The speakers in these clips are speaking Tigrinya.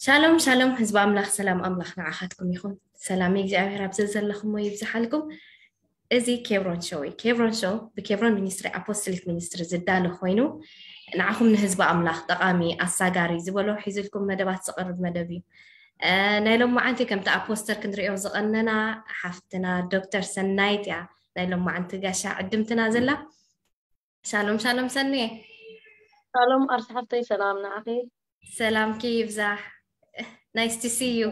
ሻሎም ሻሎም ህዝቢ ኣምላኽ፣ ሰላም ኣምላኽ ንዓኻትኩም ይኹን። ሰላም እግዚኣብሔር ኣብ ዘዘለኹሞ ይብዝሓልኩም። እዚ ኬብሮን ሾው እዩ። ኬብሮን ሾው ብኬብሮን ሚኒስትሪ ኣፖስቶሊክ ሚኒስትሪ ዝዳሎ ኮይኑ ንዓኹም ንህዝቢ ኣምላኽ ጠቓሚ ኣሳጋሪ ዝበሎ ሒዝልኩም መደባት ዝቐርብ መደብ እዩ። እ፣ ናይ ሎም መዓንቲ ከምቲ ኣብ ፖስተር ክንሪኦ ዝቐነና ሓፍትና ዶክተር ሰናይት እያ ናይ ሎም መዓንቲ ጋሻ ዕድምትና ዘላ። ሻሎም ሻሎም ሰንየ። ሻሎም ኣርሲ ሓፍተይ፣ ሰላም ንዓኺ። ሰላምኪ ይብዛሕ። Nice to see you።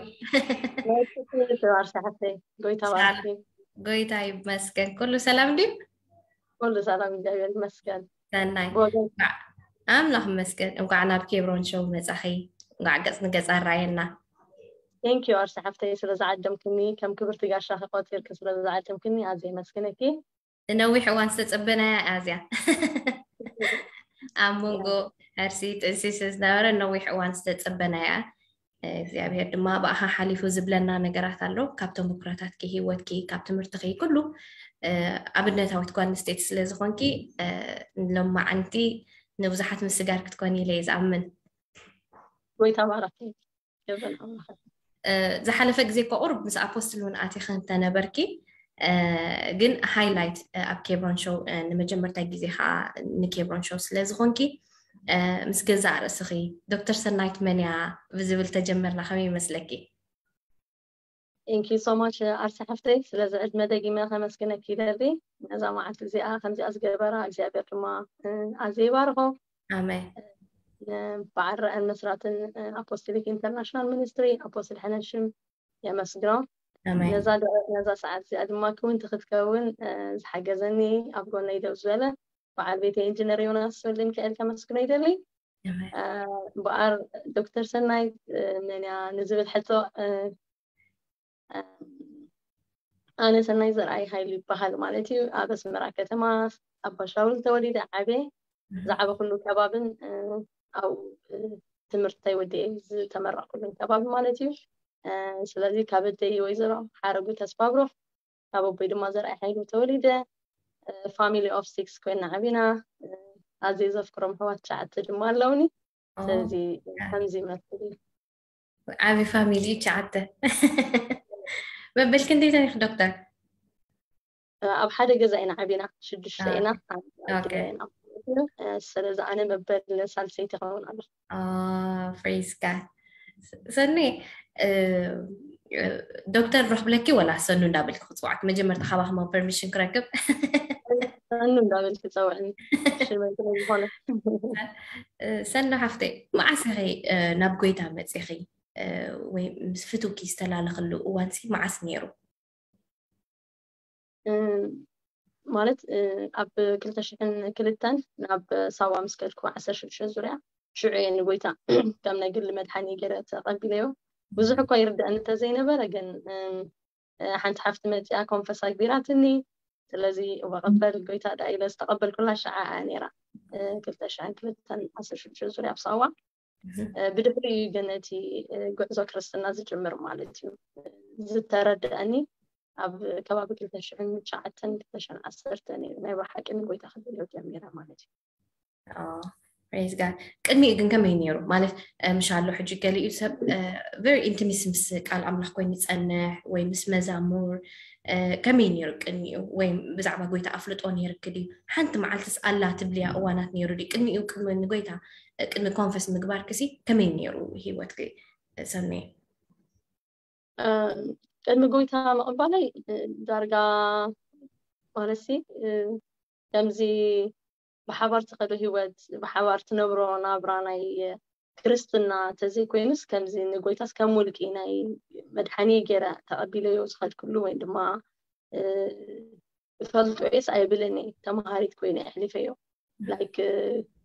ናይ ትክክል ኣርሲ ሓፍተይ፣ ጎይታ ባርኪ። ጎይታ ይመስገን። ኩሉ ሰላም ድዩ? ኩሉ ሰላም እግዚኣብሔር ይመስገን። ሰናይ ብወገን ኣምላኽ ይመስገን። እንኳዕ ናብ ኬብሮን ሾው መጻኺ። እንኳዕ ገጽ ንገጽ ኣራየና። Thank you ኣርሲ ሓፍተይ ስለ ዝዓደምክኒ፣ ከም ክብርቲ ጋሻኺ ቆጺርኪ ስለ ዝዓደምክኒ ኣዝየ የመስግነኪ። ነዊሕ እዋን ዝተጸበናያ እያ እዚኣ። ኣብ መንጎ ሕርሲ ጥንሲ ዝነበረ ነዊሕ እዋን ዝተጸበናያ። እግዚኣብሔር ድማ ብኣኻ ሓሊፉ ዝብለና ነገራት ኣሎ። ካብ ተመክሮታትኪ፣ ህይወትኪ፣ ካብ ትምህርትኺ ኩሉ፣ እ፣ ኣብነታዊት ጓል ኣንስተይቲ ስለ ዝኾንኪ፣ እ፣ ሎማዓንቲ ንብዙሓት ምስጋር ክትኮኒ ኢለ እየ ዝኣምን። ጎይታ ባረኪ። ጀበን ኣምላኽ። እ፣ ዝሓለፈ ግዜ እኮ ቁሩብ ምስ ኣፖስትል እውን ኣቲኺ እንተነበርኪ፣ እ፣ ግን ሃይላይት፣ እ፣ ኣብ ኬብሮን ሾው፣ እ፣ ንመጀመርታ ግዜ ከዓ ንኬብሮን ሾው ስለ ዝኾንኪ፣ እ፣ ምስ ገዛእ ርእስኺ ዶክተር ሰናይት መን እያ ብዝብል ተጀመርና ከመይ ይመስለኪ? Thank you so much ኣርሲ ሓፍተይ፣ ስለዚ ዕድመ ደጊመ ከመስግነኪ ይደሊ። ነዛ መዓልቲ እዚኣ ከምዚኣ ዝገበራ እግዚኣብሔር ድማ፣ እ፣ ኣዝየ ይባርኾ። ኣሜን። እ፣ በዓል ራእን መስራትን፣ እ፣ ኣፖስቶሊክ ኢንተርናሽናል ሚኒስትሪ ኣፖስትል ሕነሽም የመስግኖ። ኣሜን። ነዛ ዶ-፣ ነዛ ሰዓት እዚኣ ድማ ክውንቲ ክትከውን፣ እ፣ ዝሓገዘኒ ኣብ ጎነይ ደው ዝበለ በዓል ቤተይ ኢንጂነር ዮናስ ወልደ ሚካኤል ከመስግኖ ይደሊ። ኣሜን። እ፣ እምበኣር ዶክተር ሰናይት፣ እ፣ መን እያ ንዝብል ሕቶ፣ እ፣ እ፣ ኣነ ሰናይ ዘርኣይ ሃይሉ ይበሃል ማለት እዩ። ኣብ ኣስመራ ከተማ ኣብ ባሻውል ተወሊደ ዓብየ። ዝዓበኹሉ ከባብን፣ እ፣ ኣብኡ፣ እ፣ ትምህርተይ ወዲኤ ዝተመረቕኩሉን ከባቢ ማለት እዩ። እ፣ ስለዚ ካብ ኣደይ ወይዘሮ ሓረጉ ተስፋ ብሩኽ፣ ካብ ኣቦይ ድማ ዘርኣይ ሓይሉ ተወሊደ። እ፣ family of six ኮይና ዓቢና። እ፣ ኣዝየ ዘፍቅሮም ኣሕዋት ትሽዓተ ድማ ኣለውኒ። ኦ፣ ስለዚ ከምዚ ይመስል እዩ። ዓቢ ፋሚሊ ትሽዓተ። መበል ክንደይ ኢኺ ዶክተር? ኣብ ሓደ ገዛ ኢና ዓቢና፣ ሽዱሽተ ኦኬ። ኢና። ኣብ ኦኬ። ግዳይና። ስለዚ ኣነ መበል ሳልሰይቲ ክኸውን ኣሎ። ፕሬዝ ጋድ። ሰኒ፣ እ፣ ዶክተር ረኽብለኪ ወላ ሰኑ እንዳበልኪ ክፅዋዕኪ? መጀመርታ ካባኽማ ፐርሚሽን ክረክብ። ሰኑ እንዳበልኪ ፀውዕኒ፣ ሽመይ ስለ ዝኾነ። እ፣ ሰኑ ሓፍተይ፣ መዓስ ኢኺ፣ እ፣ ናብ ጎይታ መፂኺ? እ፣ ወይ ምስ ፍትውኪ ዝተላለኽሉ እዋንሲ መዓስ ነይሩ? እ፣ ማለት፣ እ፣ ኣብ ክልተ ሽሕን ክልተን ናብ ሳዋ ምስ ከድኩ፣ ዓሰርተ ሽዱሽተ ዙርያ፣ ሽዑ እየ ንጎይታ ከም ናይ ግሊ መድሓኒ ገይረ ተቐቢለዮ። ብዙሕ እኳ ይርድኣኒ እንተዘይነበረ ግን፣ እ፣ እ፣ ሓንቲ ሓፍቲ መፂኣ ኮንፈስ ኣግቢራትኒ። ስለዚ እወ ቀበል ጎይታ ደኣ ኢለ ዝተቐበልኩላ ሸዓ እያ ነይራ። እ፣ ክልተ ሽሕን ክልተን ዓሰርተ ሽዱሽተ ዙርያ ኣብ ሳዋ። እህ። እ፣ ብድሕሪኡ እዩ ግን እቲ፣ እ፣ ጉዕዞ ክርስትና ዝጅምር ማለት እዩ። ዝተረድኣኒ ኣብ ከባቢ ክልተ ሽሕን ትሽዓተን ክልተ ሽሕን ዓሰርተን እዩ ናይ ብሓቂ ንጎይታ ክደልዮ ጀሚረ ማለት እዩ። ፕሬዝ ጋድ። ቅድሚኡ ግን ከመይ ነይሩ? ማለት፣ እ፣ ምሻሎ ሕጂ ገሊኡ ሰብ፣ እ፣ ቨሪ ኢንቲሚስ ምስ ቃል ኣምላኽ ኮይኑ ይጸንሕ ወይ ምስ መዛሙር፣ እ፣ ከመይ ነይሩ ቅድሚኡ? ወይ ብዛዕባ ጎይታ ኣፍልጦ ነይርኪ ድዩ? ሓንቲ መዓልትስ ኣላ ትብልያ እዋናት ነይሩ ድዩ? ቅድሚኡ ቅድሚ ንጎይታ፣ እ፣ ቅድሚ ኮንፈስ ምግባርክሲ ከመይ ነይሩ ህይወትኪ፣ እ፣ ሰኑየ? እ፣ ቅድሚ ጎይታ ምቕባለይ፣ እ፣ ዳርጋ ማለትሲ፣ እ፣ ከምዚ ብሓባር ትኸዶ ህይወት፣ ብሓባር ትነብሮ ናብራ ናይ ክርስትና ተዘይኮይኑስ፣ ከምዚ ንጎይታስ ከም ውልቂ ናይ መድሓኒ ገይረ ተቐቢለዮ ዝኸድኩሉ ወይ ድማ፣ እ፣ እፈልጦ እየስ ኣይብልን እየ፣ ተምሃሪት ኮይነ ኣሕሊፈዮ። ላይክ፣ እ፣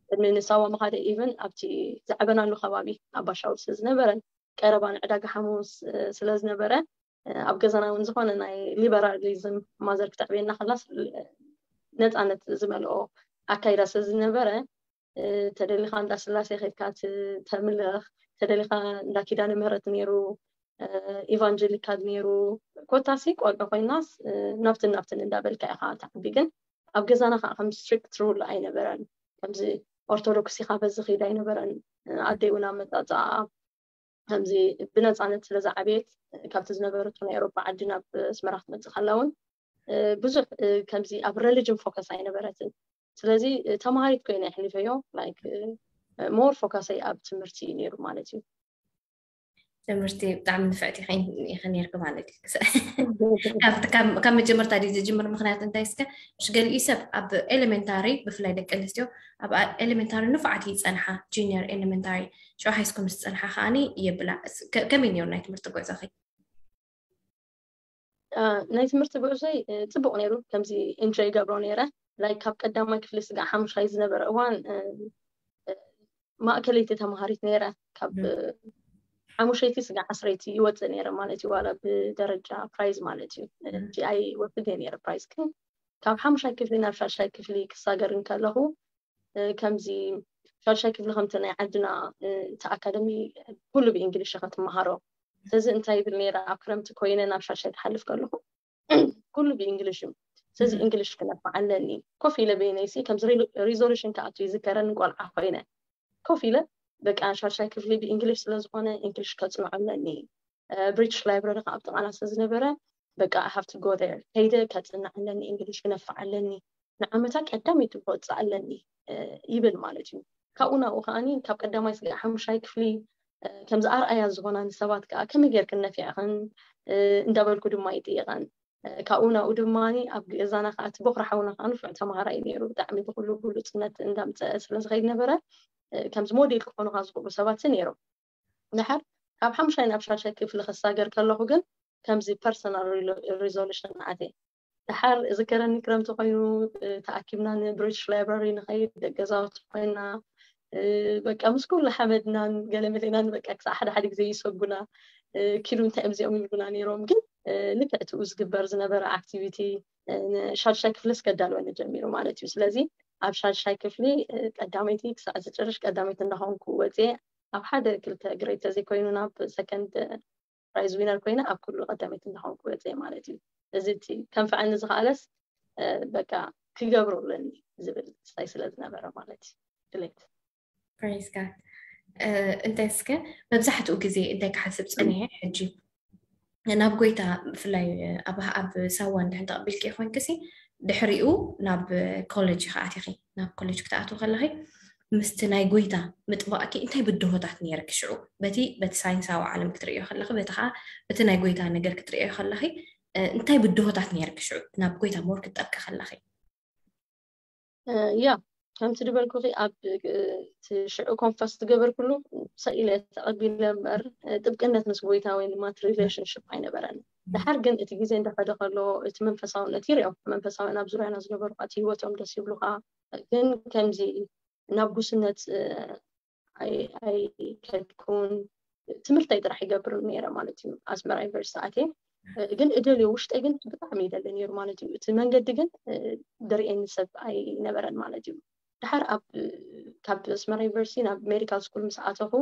ቅድሚ ንሳዋ ምኻደ ኢቨን ኣብቲ ዝዓበናሉ ከባቢ ኣብ ባሻውል ስለ ዝነበረ፣ ቀረባ ንዕዳጋ ሓሙስ፣ እ፣ ስለ ዝነበረ፣ እ፣ ኣብ ገዛና እውን ዝኾነ ናይ ሊበራሊዝም ማዘር ክተዕብየና ከላስ፣ እ፣ ነፃነት ዝመልኦ ኣካይዳ ስለ ዝነበረ፣ እ፣ ተደሊኻ እንዳ ስላሴ ከድካ ት-፣ ተምልኽ፣ ተደሊኻ እንዳ ኪዳነ ምህረት ነይሩ፣ እ፣ ኢቫንጀሊካል ነይሩ፣ ኮታሲ ቆልዑ ኮይናስ ናብትን ናብትን እንዳበልካ ኢኻ ትዓቢ። ግን ኣብ ገዛና ከዓ ከም ስትሪክት ሩል ኣይነበረን። ከምዚ ኦርቶዶክስ ኢኻ በዚ ኺድ ኣይነበረን። ኣደይ እውን ኣመፃፅኣ ከምዚ ብነፃነት ስለ ዝዓበየት ካብቲ ዝነበረቶ ናይ ኤሮፓ ዓዲ ናብ ኣስመራ ክትመፅእ ከላ እውን ብዙሕ ከምዚ ኣብ ሬሊጅን ፎከስ ኣይነበረትን። ስለዚ ተማሃሪት ኮይነ የሕሊፈዮ። ላይክ ሞር ፎከሰይ ኣብ ትምህርቲ እዩ ነይሩ ማለት እዩ። ትምህርቲ ብጣዕሚ ንፍዕቲ ኢኺ ነርኪ ማለት እዩ። ካብ መጀመርታ ድዩ ዝጅምር? ምክንያቱ እንታይ እስከ፣ ምሽ ገሊኡ ሰብ ኣብ ኤሌመንታሪ፣ ብፍላይ ደቂ ኣንስትዮ ኣብ ኤሌመንታሪ ንፉዓት ይፀንሓ፣ ጁኒየር ኤሌመንታሪ፣ ሽዑ ሃይስኩል ምስ ፀንሓ ከዓኒ የብላ። ከመይ ነይሩ ናይ ትምህርቲ ጉዕዞኺ? ናይ ትምህርቲ ጉዕዞይ ፅቡቅ ነይሩ። ከምዚ ኢንጆይ ይገብሮ ነይረ። ላይክ ካብ ቀዳማይ ክፍሊ ስጋዕ ሓሙሻይ ዝነበረ እዋን ማእከለይቲ ተማሃሪት ነይረ። ካብ ሓሙሸይቲ ስጋዕ ዓስረይቲ ይወፅእ ነይረ ማለት እዩ። ዋላ ብደረጃ ፕራይዝ ማለት እዩ። ጂኣይ ወስድ ነይረ ፕራይዝ። ግን ካብ ሓሙሻይ ክፍሊ ናብ ሻድሻይ ክፍሊ ክሳገር እንከለኹ ከምዚ ሻድሻይ ክፍሊ ከምቲ ናይ ዓድና እቲ ኣካደሚ ኩሉ ብእንግሊሽ ኢኻ ትመሃሮ። ስለዚ እንታይ ይብል ነይረ፣ ኣብ ክረምቲ ኮይነ ናብ ሻድሻይ ክሓልፍ ከለኹ ኩሉ ብእንግሊሽ እዩ። ስለዚ እንግሊሽ ክነፋዕ ኣለኒ። ኮፍ ኢለ በይነይሲ ከምዚ ሪዞሉሽን ክኣቱ ይዝከረኒ፣ ቆልዓ ኮይነ ኮፍ ኢለ በቃ ሻድሻይ ክፍሊ ብእንግሊሽ ስለዝኾነ እንግሊሽ ከፅንዖ ኣለኒ። ብሪቲሽ ላይብረሪ ከዓ ኣብ ጥቓና ስለዝነበረ በቃ I have to go there፣ ከይደ ከፅንዕ ኣለኒ፣ እንግሊሽ ክነፋዕ ኣለኒ፣ ንዓመታ ቀዳመይቲ ክወፅእ ኣለኒ ይብል ማለት እዩ። ካብኡ ናብኡ ከዓኒ ካብ ቀዳማይ ስጋዕ ሓሙሻይ ክፍሊ ከምዚ ኣርኣያ ዝኾና ንሰባት ከዓ ከመይ ጌርክን ነፊዕኽን እንዳበልኩ ድማ ይጥይቐን። ካብኡ ናብኡ ድማ ኣብ ገዛና ከዓ እቲ ቦኽሪ ሓውና ከዓ ንፉዕ ተምሃራይ ነይሩ። ብጣዕሚ ብኩሉ ብሉፅነት እንዳምፀአ ስለዝኸይድ ነበረ። ከምዚ ሞዴል ክኾኑኻ ዝኽእሉ ሰባት ነይሮም። ድሓር ካብ ሓሙሻይ ናብ ሻድሻይ ክፍሊ ክሳገር ከለኹ ግን ከምዚ ፐርሰናል ሪዞሉሽን ኣትየ። ድሓር ዝከረኒ ክረምቲ ኮይኑ ተኣኪብና ንብሪቲሽ ላይብራሪ ንኸይድ፣ ደገዛውቲ ኮይና በቃ ምስ ኩሉ ሓመድናን ገለ መሌናን በቃ ክሳዕ ሓደ ሓደ ግዜ ይሰጉና፣ ኪዱ እንታይ እዮም እዚኦም ይብሉና ነይሮም። ግን ልክዕ ትኡ ዝግበር ዝነበረ ኣክቲቪቲ ንሻድሻይ ክፍልስ ከዳልወኒ ጀሚሩ ማለት እዩ። ስለዚ ኣብ ሻድሻይ ክፍሊ ቀዳመይቲ ክሳዕ ዝጭርሽ ቀዳመይቲ እንዳኾንኩ ወፅየ። ኣብ ሓደ ክልተ ግሬድ ተዘይኮይኑ ናብ ሰከንድ ፕራይዝ ዊነር ኮይነ ኣብ ኩሉ ቀዳመይቲ እንዳኾንኩ ወፅየ ማለት እዩ። እዚ እቲ ከንፍዐኒ ዝኽኣለስ በቃ ክገብሮ ኣለኒ ዝብል ስታይ ስለ ዝነበረ ማለት እዩ ድሌት። ፕሬዝ ጋድ። እንታይ እስከ መብዛሕትኡ ግዜ እንታይ ክሓስብ ፀኒሐ ሕጂ ናብ ጎይታ ብፍላይ ኣብ ኣብ ሳዋ እንድሕን ተቐቢልኪ ኮይንክሲ ድሕሪኡ ናብ ኮሌጅ ኢኻ ኣቲኺ። ናብ ኮሌጅ ክትኣትዊ ከለኺ ምስቲ ናይ ጎይታ ምጥባቕኪ እንታይ ብድሆታት ነይርኪ ሽዑ? በቲ በቲ ሳይንሳዊ ዓለም ክትርእዮ ከለኺ በቲ ከዓ በቲ ናይ ጎይታ ነገር ክትርእዮ ከለኺ እንታይ ብድሆታት ነይርኪ ሽዑ ናብ ጎይታ ሞር ክትጠብቂ ከለኺ? ያ ከምቲ ዝበልኩኺ ኣብ ሽዑ ኮንፈስ ዝገበርኩሉ ሰኢለ ተቐቢለ እምበር ጥብቅነት ምስ ጎይታ ወይ ድማ ሪሌሽንሽፕ ኣይነበረን። ድሓር ግን እቲ ግዜ እንዳኸደ ከሎ እቲ መንፈሳውነት ይርኦ። መንፈሳውያን ኣብ ዙርያና ዝነበሩ እቲ ህይወቶም ደስ ይብሉኻ። ግን ከምዚ ናብ ጉስነት ኣይከድኩን። ትምህርተይ ጥራሕ ይገብር ነይረ ማለት እዩ። ኣስመራ ዩኒቨርሲቲ ኣትየ ግን እደልዮ ውሽጠይ ግን ብጣዕሚ ይደሊ ነይሩ ማለት እዩ። እቲ መንገዲ ግን ድርእየኒ ሰብ ኣይነበረን ማለት እዩ። ድሓር ኣብ ካብ ኣስመራ ዩኒቨርሲቲ ናብ ሜዲካል ስኩል ምስ ኣተኹ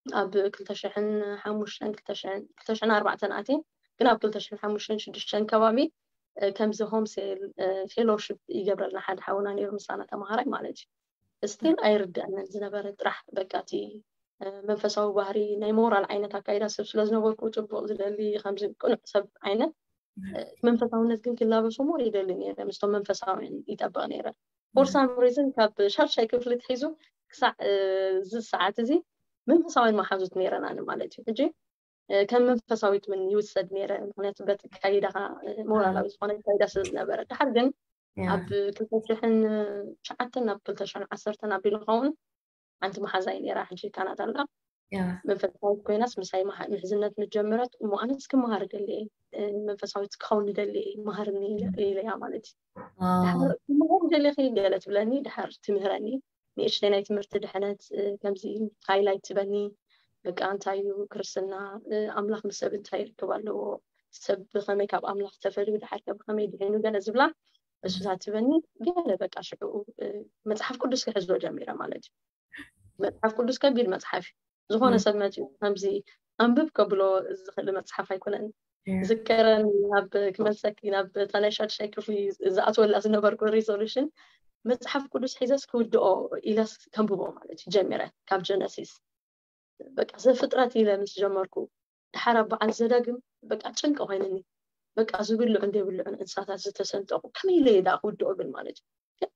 ኣብ ክልተ ሽሕን ሓሙሽተን ክልተ ሽሕን ኣርባዕተን ኣትየ። ግን ኣብ ክልተ ሽሕን ሓሙሽተን ሽዱሽተን ከባቢ ከምዚ ሆም ሴል ፌሎሺፕ ይገብረልና ሓደ ሓውና ነይሩ ምሳና ተምሃራይ ማለት እዩ። ስቲል ኣይርድአንን ዝነበረ ጥራሕ በቃ እቲ መንፈሳዊ ባህሪ ናይ ሞራል ዓይነት ኣካይዳ ሰብ ስለ ዝነበርኩ ፅቡቅ ዝደሊ ከምዚ ቅኑዕ ሰብ ዓይነት መንፈሳውነት ግን ክላበሶ ሞር ይደሊ ነይረ። ምስቶም መንፈሳውያን ይጠብቕ ነይረ። ፎር ሳም ሪዝን ካብ ሻድሻይ ክፍሊ ትሒዙ ክሳዕ እዚ ሰዓት እዚ መንፈሳውያን መሓዙት ነይረና ማለት እዩ። ሕጂ ከም መንፈሳዊት እውን ይውሰድ ነይረ። ምክንያቱ በቲ ካይዳኻ ሞራላዊ ዝኾነ ካይዳ ስለ ዝነበረ። ድሓር ግን ኣብ ክልተ ሽሕን ትሽዓተን ናብ ክልተ ሽሕን ዓሰርተን ኣቢሉ ኸውን ሓንቲ መሓዛይ ነይራ፣ ሕጂ ካናዳ ኣላ። መንፈሳዊት ኮይናስ ምሳይ ምሕዝነት ምስ ጀመረት እሞ ኣነስ ክመሃር ደልየ፣ መንፈሳዊት ክኸውን ደልየ፣ መሃርኒ ኢለያ ማለት እዩ። ክመሃር ደልየኺ ገለ ትብለኒ፣ ድሓር ትምህረኒ። ንእሽተይ ናይ ትምህርቲ ድሕነት ከምዚ ሃይላይት ትበኒ። በቃ እንታይ እዩ ክርስትና፣ ኣምላኽ ምስ ሰብ እንታይ ርክብ ኣለዎ፣ ሰብ ብኸመይ ካብ ኣምላኽ ተፈልዩ፣ ድሓር ከ ብኸመይ ድሒኑ ገለ ዝብላ እሱታት ትበኒ። ገለ በቃ ሽዑ መፅሓፍ ቅዱስ ክሕዞ ጀሚረ ማለት እዩ። መፅሓፍ ቅዱስ ከቢድ መፅሓፍ እዩ። ዝኾነ ሰብ መፂኡ ከምዚ ኣንብብ ከብሎ ዝኽእል መፅሓፍ ኣይኮነን። ዝከረኒ ናብ ክመልሰኪ ናብ እታ ናይ ሻድሻይ ክፍሊ ዝኣትወላ ዝነበርኩ ሪዞሉሽን መፅሓፍ ቅዱስ ሒዘስ ክውድኦ ኢለስ ከንብቦ ማለት እዩ ጀሚረ ካብ ጀነሲስ በቃ ዘፍጥረት ኢለ ምስ ጀመርኩ ድሓር ኣብ በዓል ዘዳግም በቃ ጭንቂ ኮይንኒ በቃ ዝብልዑን ዘይብልዑን እንስሳታት ዝተሰንጠቁ ከመይ ኢለ እየ ደኣ ክውድኦ ግን ማለት እዩ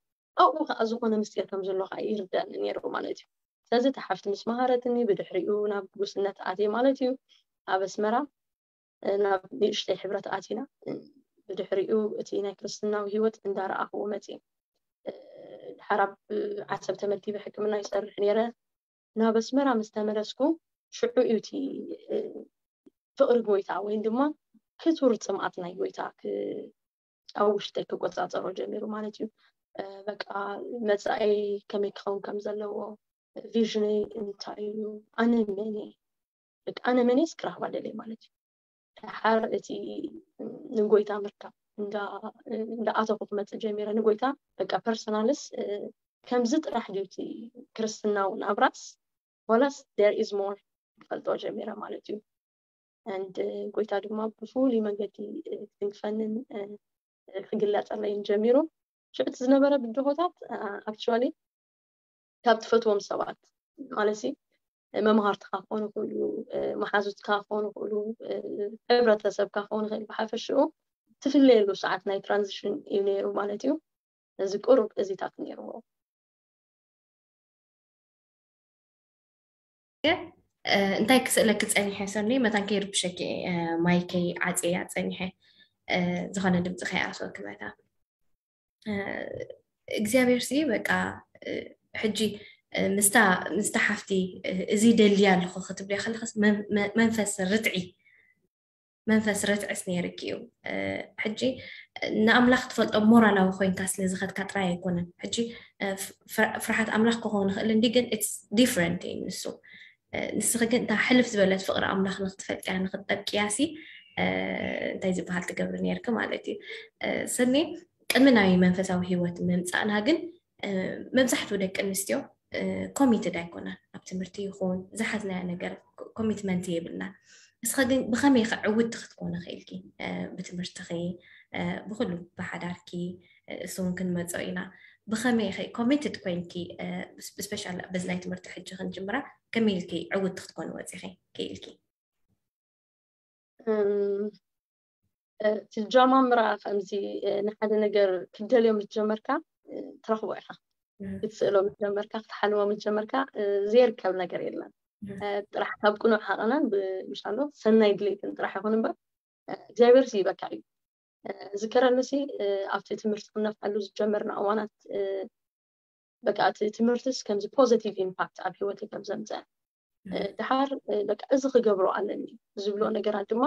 ኣብኡ ከዓ ዝኾነ ምስጢር ከም ዘሎ ከዓ ይርዳኒ ነይሩ ማለት እዩ ስለዚ ተሓፍቲ ምስ መሃረትኒ ብድሕሪኡ ናብ ጉስነት ኣትየ ማለት እዩ ኣብ ኣስመራ ናብ ንእሽተይ ሕብረት ኣቲና ብድሕሪኡ እቲ ናይ ክርስትናዊ ህይወት እንዳረኣኽዎ መፅእ ድሓር ኣብ ዓሰብ ተመዲበ ሕክምና ይሰርሕ ነይረ ናብ ኣስመራ ምስ ተመለስኩ ሽዑ እዩ እቲ ፍቕሪ ጎይታ ወይ ድማ ክቱር ፅምኣት ናይ ጎይታ ኣብ ውሽጠይ ክቆፃፀሮ ጀሚሩ ማለት እዩ በቃ መፃኢ ከመይ ክኸውን ከም ዘለዎ ቪዥነይ እንታይ እዩ ኣነ መን እየ ኣነ መን እየ ስክራባ ደለይ ማለት እዩ ድሓር እቲ ንጎይታ ምርካብ እንዳኣተኹ ክመፅእ ጀሚረ ንጎይታ በቃ ፐርሰናልስ ከምዚ ጥራሕ ድዩ እቲ ክርስትናውን ኣብራስ ዋላስ there is more ክፈልጦ ጀሚረ ማለት እዩ and ጎይታ ድማ ብፍሉይ መንገዲ ክትንክፈንን ክግለፀለይን ጀሚሩ ሽዑ እቲ ዝነበረ ብድሆታት actually ካብ ትፈትዎም ሰባት ማለት መምሃርትኻ ክኾኑ ይኽእሉ መሓዙትካ ክኾኑ ይኽእሉ ሕብረተሰብካ ክኾኑ ይኽእል ብሓፈሽኡ ትፍለየሉ ሰዓት ናይ ትራንዚሽን እዩ ነይሩ ማለት እዩ እዚ ቁሩብ እዚታት ነይርዎ እንታይ ክስእለኪ ፀኒሐ ሰኒ መታን ከይርብሸኪ ማይከይ ዓፅያ ፀኒሐ ዝኾነ ድምፂ ከይኣስወኪ መታ እግዚኣብሔር ሲ በቃ ሕጂ ምስታ ምስታ ሓፍቲ እዚ ደልያ ኣለኹ ክትብልያ ከለኸስ መንፈስ ርትዒ መንፈስ ርትዕስ ነይርኪ እዩ ሕጂ ንኣምላኽ ትፈልጦ ሞራላዊ ኮይንካ ስለ ዝኸድካ ጥራይ ኣይኮነን ሕጂ ፍርሓት ኣምላኽ ክኸውን ይኽእል እንዲ ግን ዲፍረንት እዩ ንሱ ንስኺ ግን እታ ሕልፍ ዝበለት ፍቕሪ ኣምላኽ ንክትፈልጥያ ንክትጠብቅያ ሲ እንታይ ዝበሃል ትገብሪ ነርኪ ማለት እዩ ሰኒ ቅድሚ ናይ መንፈሳዊ ህይወት ምምፃእና ግን መብዛሕትኡ ደቂ ኣንስትዮ ኮሚትድ ኣይኮናን ኣብ ትምህርቲ ይኹን ዝሓዝናዮ ነገር ኮሚትመንት የብልናን ንስኻ ግን ብኸመይ ከ ዕውድቲ ክትኮኒ ክኢልኪ ብትምህርትኺ ብኩሉ ብሓዳርኪ እሱ እውን ክንመፆ ኢና ብኸመይ ኸ ኮሚትድ ኮይንኪ ብስፔሻል በዚ ናይ ትምህርቲ ሕጂ ክንጅምራ ከመይ ኢልኪ ዕውድቲ ክትኮኒ ወፂኺ ክኢልኪ እቲ ጃማምራ ከምዚ ንሓደ ነገር ክትደልዮ ምስ ጀመርካ ትረኽቦ ኢኻ ክትስእሎ ምስ ጀመርካ ክትሓልሞ ምስ ጀመርካ ዘይርከብ ነገር የለን ጥራሕ ካብ ቅኑዕ ሓቐናን ብሻሎ ሰናይ ድሌትን ጥራሕ ይኹን እምበር እግዚኣብሔር ይበካ እዩ ዝከረኒ ሲ ኣብቲ ትምህርቲ ክነፍዓሉ ዝጀመርና እዋናት በቃ እቲ ትምህርትስ ከምዚ ፖዘቲቭ ኢምፓክት ኣብ ህይወተይ ከም ዘምፀ ድሓር በቃ እዚ ክገብሮ ኣለኒ ዝብሎ ነገራት ድማ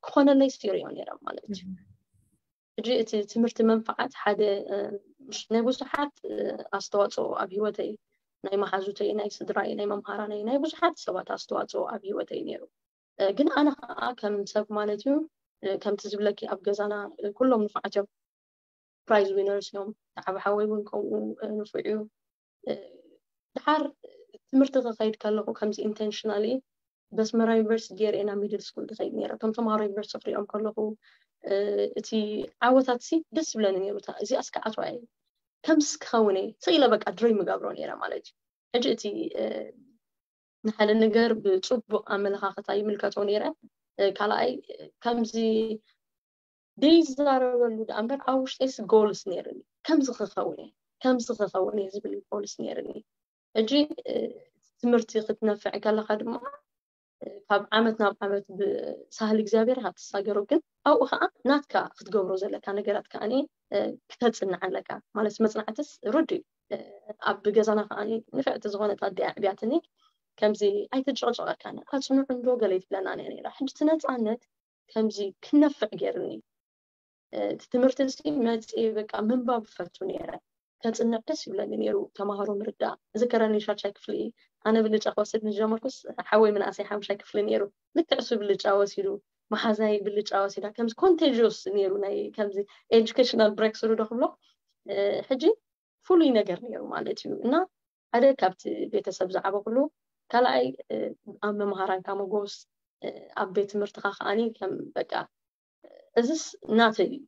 ክኾነለይ ስሪኦ ነይረ ማለት እዩ ሕጂ እቲ ትምህርቲ መንፍዓት ሓደ ናይ ብዙሓት ኣስተዋፅኦ ኣብ ህይወተይ ናይ መሓዙተይ ናይ ስድራይ ናይ መምሃራነይ ናይ ብዙሓት ሰባት ኣስተዋፅኦ ኣብ ህይወተይ ነይሩ ግን ኣነ ከዓ ከም ሰብ ማለት እዩ ከምቲ ዝብለኪ ኣብ ገዛና ኩሎም ንፉዓት እዮም ፕራይዝ ዊነርስ እዮም ተዓብ ሓወይ እውን ከምኡ ንፉዕ እዩ ድሓር ትምህርቲ ክኸይድ ከለኹ ከምዚ ኢንቴንሽናሊ በስመራ ዩኒቨርሲቲ ገይረ ናብ ሚድል ስኩል ክኸይድ ነይረ ከም ተምሃሮ ዩኒቨርሲቲ ክሪኦም ከለኹ እቲ ዓወታት ሲ ደስ ዝብለኒ ነይሩ እዚ ኣስከዓትዋ እየ ከምዚ ክኸውን እየ ስኢለ በቃ ድሪም ይገብሮ ነይረ ማለት እዩ ሕጂ እቲ ንሓደ ነገር ብፅቡቅ ኣመለኻኽታ ይምልከቶ ነይረ ካልኣይ ከምዚ ደይዛረበሉ ደኣ እምበር ኣብ ውሽጠይስ ጎልስ ነይርኒ ከምዚ ክኸውን እየ ከምዚ ክኸውን እየ ዝብል ጎልስ ነይርኒ ሕጂ ትምህርቲ ክትነፍዕ ከለካ ድማ ካብ ዓመት ናብ ዓመት ብሳህሊ እግዚኣብሔር ኢካ ትሳገሮ ግን ኣብኡ ከዓ ናትካ ክትገብሮ ዘለካ ነገራት ከዓ ክተፅንዕ ኣለካ ማለት መፅናዕትስ ርዱ እዩ ኣብ ገዛና ከዓ ንፍዕቲ ዝኾነት ኣዲኣ ዕብያትኒ ከምዚ ኣይትጨቅጨቀካን ኣፅንዑ እንዶ ገለ ይትብለና ነይራ ሕጂ ትነፃነት ከምዚ ክነፍዕ ገይርኒ እቲ ትምህርቲ እዚ መፅእ በቃ ምንባብ ፈቱ ነይረ ከፅንዕ ደስ ይብለኒ ነይሩ ተማሃሮ ምርዳእ ዝከረኒ ሻሻይ ክፍሊ ኣነ ብልጫ ክወስድ ምስ ጀመርኩስ ሓወይ ምንኣሰይ ሓሙሻይ ክፍሊ ነይሩ ልክዕ እሱ ብልጫ ወሲዱ መሓዛይ ብልጫ ወሲዳ ከምዚ ኮንቴጅስ ነይሩ ናይ ከምዚ ኤጁኬሽናል ብሬክ ስሩ ዶ ክብሎ ሕጂ ፍሉይ ነገር ነይሩ ማለት እዩ እና ሓደ ካብቲ ቤተሰብ ዝዓበኩሉ ካልኣይ ኣብ መምሃራንካ መጎስ ኣብ ቤት ትምህርትኻ ከዓኒ ከም በቃ እዚስ ናተይ እዩ፣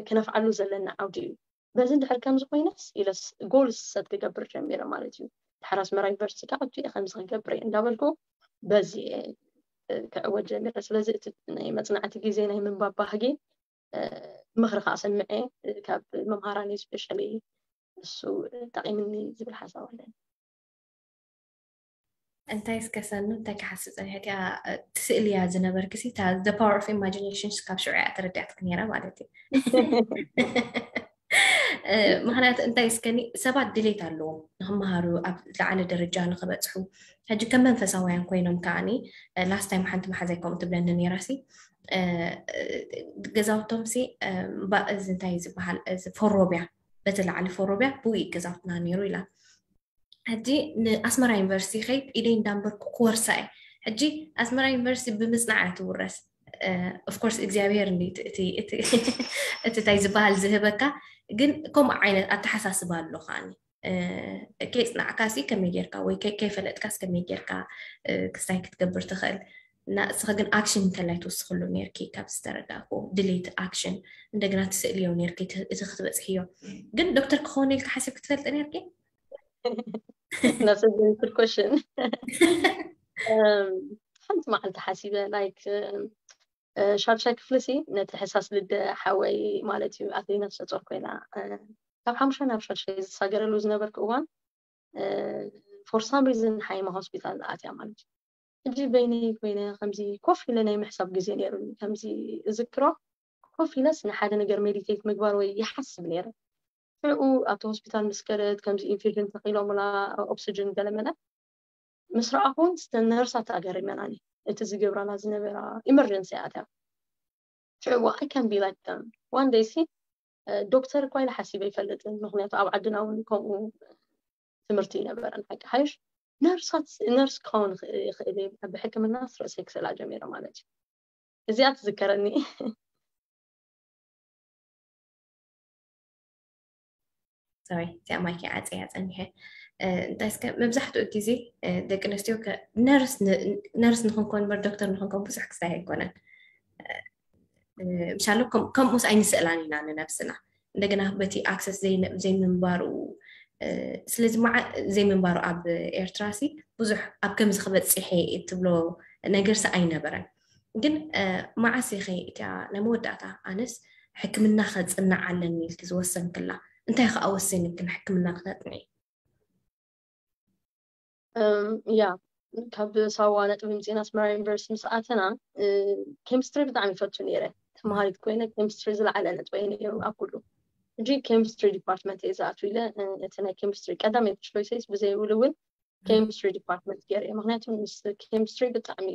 ክነፍዓሉ ዘለና ዓውዲ እዩ። በዚ እንድሕር ከምዚ ኮይነስ ኢለስ ጎል ሰት ክገብር ጀሚረ ማለት እዩ። ድሓር ኣስመራ ዩኒቨርሲቲ ከዓ እየ ከምዚ ክገብር እየ እንዳበልኩ በዚ እየ ክዕወት ጀሚረ። ስለዚ እቲ ናይ መፅናዕቲ ግዜ ናይ ምንባብ ባህጊ ምኽሪ ከዓ ሰምዐ ካብ መምሃራን ስፔሻሊ እሱ ጠቂምኒ ዝብል ሓሳብ ኣለኒ። እንታይ እስከ ሰኑ እንታይ ክሓስብ ፀኒሐ እቲኣ ትስእልያ ዝነበርክሲ the power of imagination ካብ ሽዑ እያ ተረዲኣትክ ነይራ ማለት እዩ። ምክንያቱ እንታይ እስከኒ ሰባት ድሌት ኣለዎም ንክመሃሩ ኣብ ዝለዓለ ደረጃ ንክበፅሑ ሕጂ ከም መንፈሳውያን ኮይኖም ከዓኒ last time ሓንቲ መሓዛይ ከምኡ ትብለኒ ነይራሲ ገዛውቶም ሲ እዚ እንታይ ዝበሃል እዚ ፎሮብያ በቲ ላዕሊ ፎሮብያ ብኡ ገዛውትና ነይሩ ኢላ ሕጂ ንኣስመራ ዩኒቨርሲቲ ከይድ ኢደይ እንዳንበርኩ ክወርሳ እየ ሕጂ ኣስመራ ዩኒቨርሲቲ ብምፅናዕ እያ ትውረስ of course እግዚኣብሔር እቲ እንታይ ዝበሃል ዝህበካ ግን ከምኡ ዓይነት ኣተሓሳስባ ኣሎ ከዓኒ ከይፅናዕካ ሲ ከመይ ጌርካ ወይ ከይፈለጥካስ ከመይ ጌርካ ክስታይ ክትገብር ትኽእል እና እስኻ ግን ኣክሽን እንተላይ ትወስኽሉ ነርኪ ካብ ዝተረዳእኩ ድሌት ኣክሽን እንደገና ትስእልዮ ነርኪ እቲ ክትበፅሕዮ ግን ዶክተር ክኾነ ኢልካ ሓሲብ ክትፈልጥ ነርኪ ናሰብንትል ኮሽን ሓንቲ መዓልቲ ሓሲበ ላይክ ሻድሻይ ክፍሊ ሲ ነቲ ሕሳስ ልደ ሓወይ ማለት እዩ ኣትሌና ተሰፀር ኮይና ካብ ሓሙሻ ናብ ሻድሻይ ዝሳገረሉ ዝነበርኩ እዋን for some reason ሓይማ ሆስፒታል ኣትያ ማለት እዩ ሕጂ በይነይ ኮይነ ከምዚ ኮፍ ኢለ ናይ ምሕሳብ ግዜ ነይሩኒ ከምዚ እዝክሮ ኮፍ ኢለስ ንሓደ ነገር ሜዲቴት ምግባር ወይ ይሓስብ ነይረ ሽዑ ኣብቲ ሆስፒታል ምስ ከደት ከምዚ ኢንፊዥን ተኺሎምላ ኦክስጅን ገለመለ ምስ ረኣኹን ነርሳት ኣገሪመናኒ እቲ ዝገብራና ዝነበራ ኢመርጀንሲ ኣትያ ሽዑ I can be like them one day ሲ ዶክተር እኳ ኢለ ሓሲበ ይፈልጥን ምክንያቱ ኣብ ዓድና እውን ከምኡ ትምህርቲ ይነበረን ሓቂ ሓይሽ ነርሳት ነርስ ክኸውን ይኽእል ብሕክምና ርእሰይ ክስእላ ጀሚረ ማለት እዩ እዚኣ ትዝከረኒ ሶሪ እዚኣ ማይክ ዓፀያ ፀኒሐ እንታይ እስከ መብዛሕትኡ ግዜ ደቂ ኣንስትዮ ነርስ ንክንኮን በር ዶክተር ንክንኮን ብዙሕ ክስታይ ኣይኮነን ምሻሎ ከምኡስ ኣይንስእላን ኢና ንነብስና እንደገና በቲ ኣክሰስ ዘይምንባሩ ስለዚ ዘይምንባሩ ኣብ ኤርትራ ሲ ብዙሕ ኣብ ከምዚ ክበፅሐ ትብሎ ነገርሲ ኣይነበረን ግን መዓስ ኢኸ እቲያ ናይ መወዳእታ ኣነስ ሕክምና ከፅናዕ ኣለኒ ኢልኪ ዝወሰንክላ እንታይ ከዓ ወሲንክን ሕክምና ክተፅንዒ ያ ካብ ሳዋ ነጥቢ ምፅና ኣስመራ ዩኒቨርሲቲ ምስ ኣተና ኬሚስትሪ ብጣዕሚ ይፈቱ ነይረ ተምሃሪት ኮይነ ኬሚስትሪ ዝለዓለ ነጥበይ ነይሩ ኣብ ኩሉ ሕጂ ኬሚስትሪ ዲፓርትመንት እየ ዝኣትው ኢለ እቲ ናይ ኬሚስትሪ ቀዳመይቲ ቾይሰይስ ብዘይብሉ እውን ኬሚስትሪ ዲፓርትመንት ገይረ ምክንያቱ ምስ ኬሚስትሪ ብጣዕሚ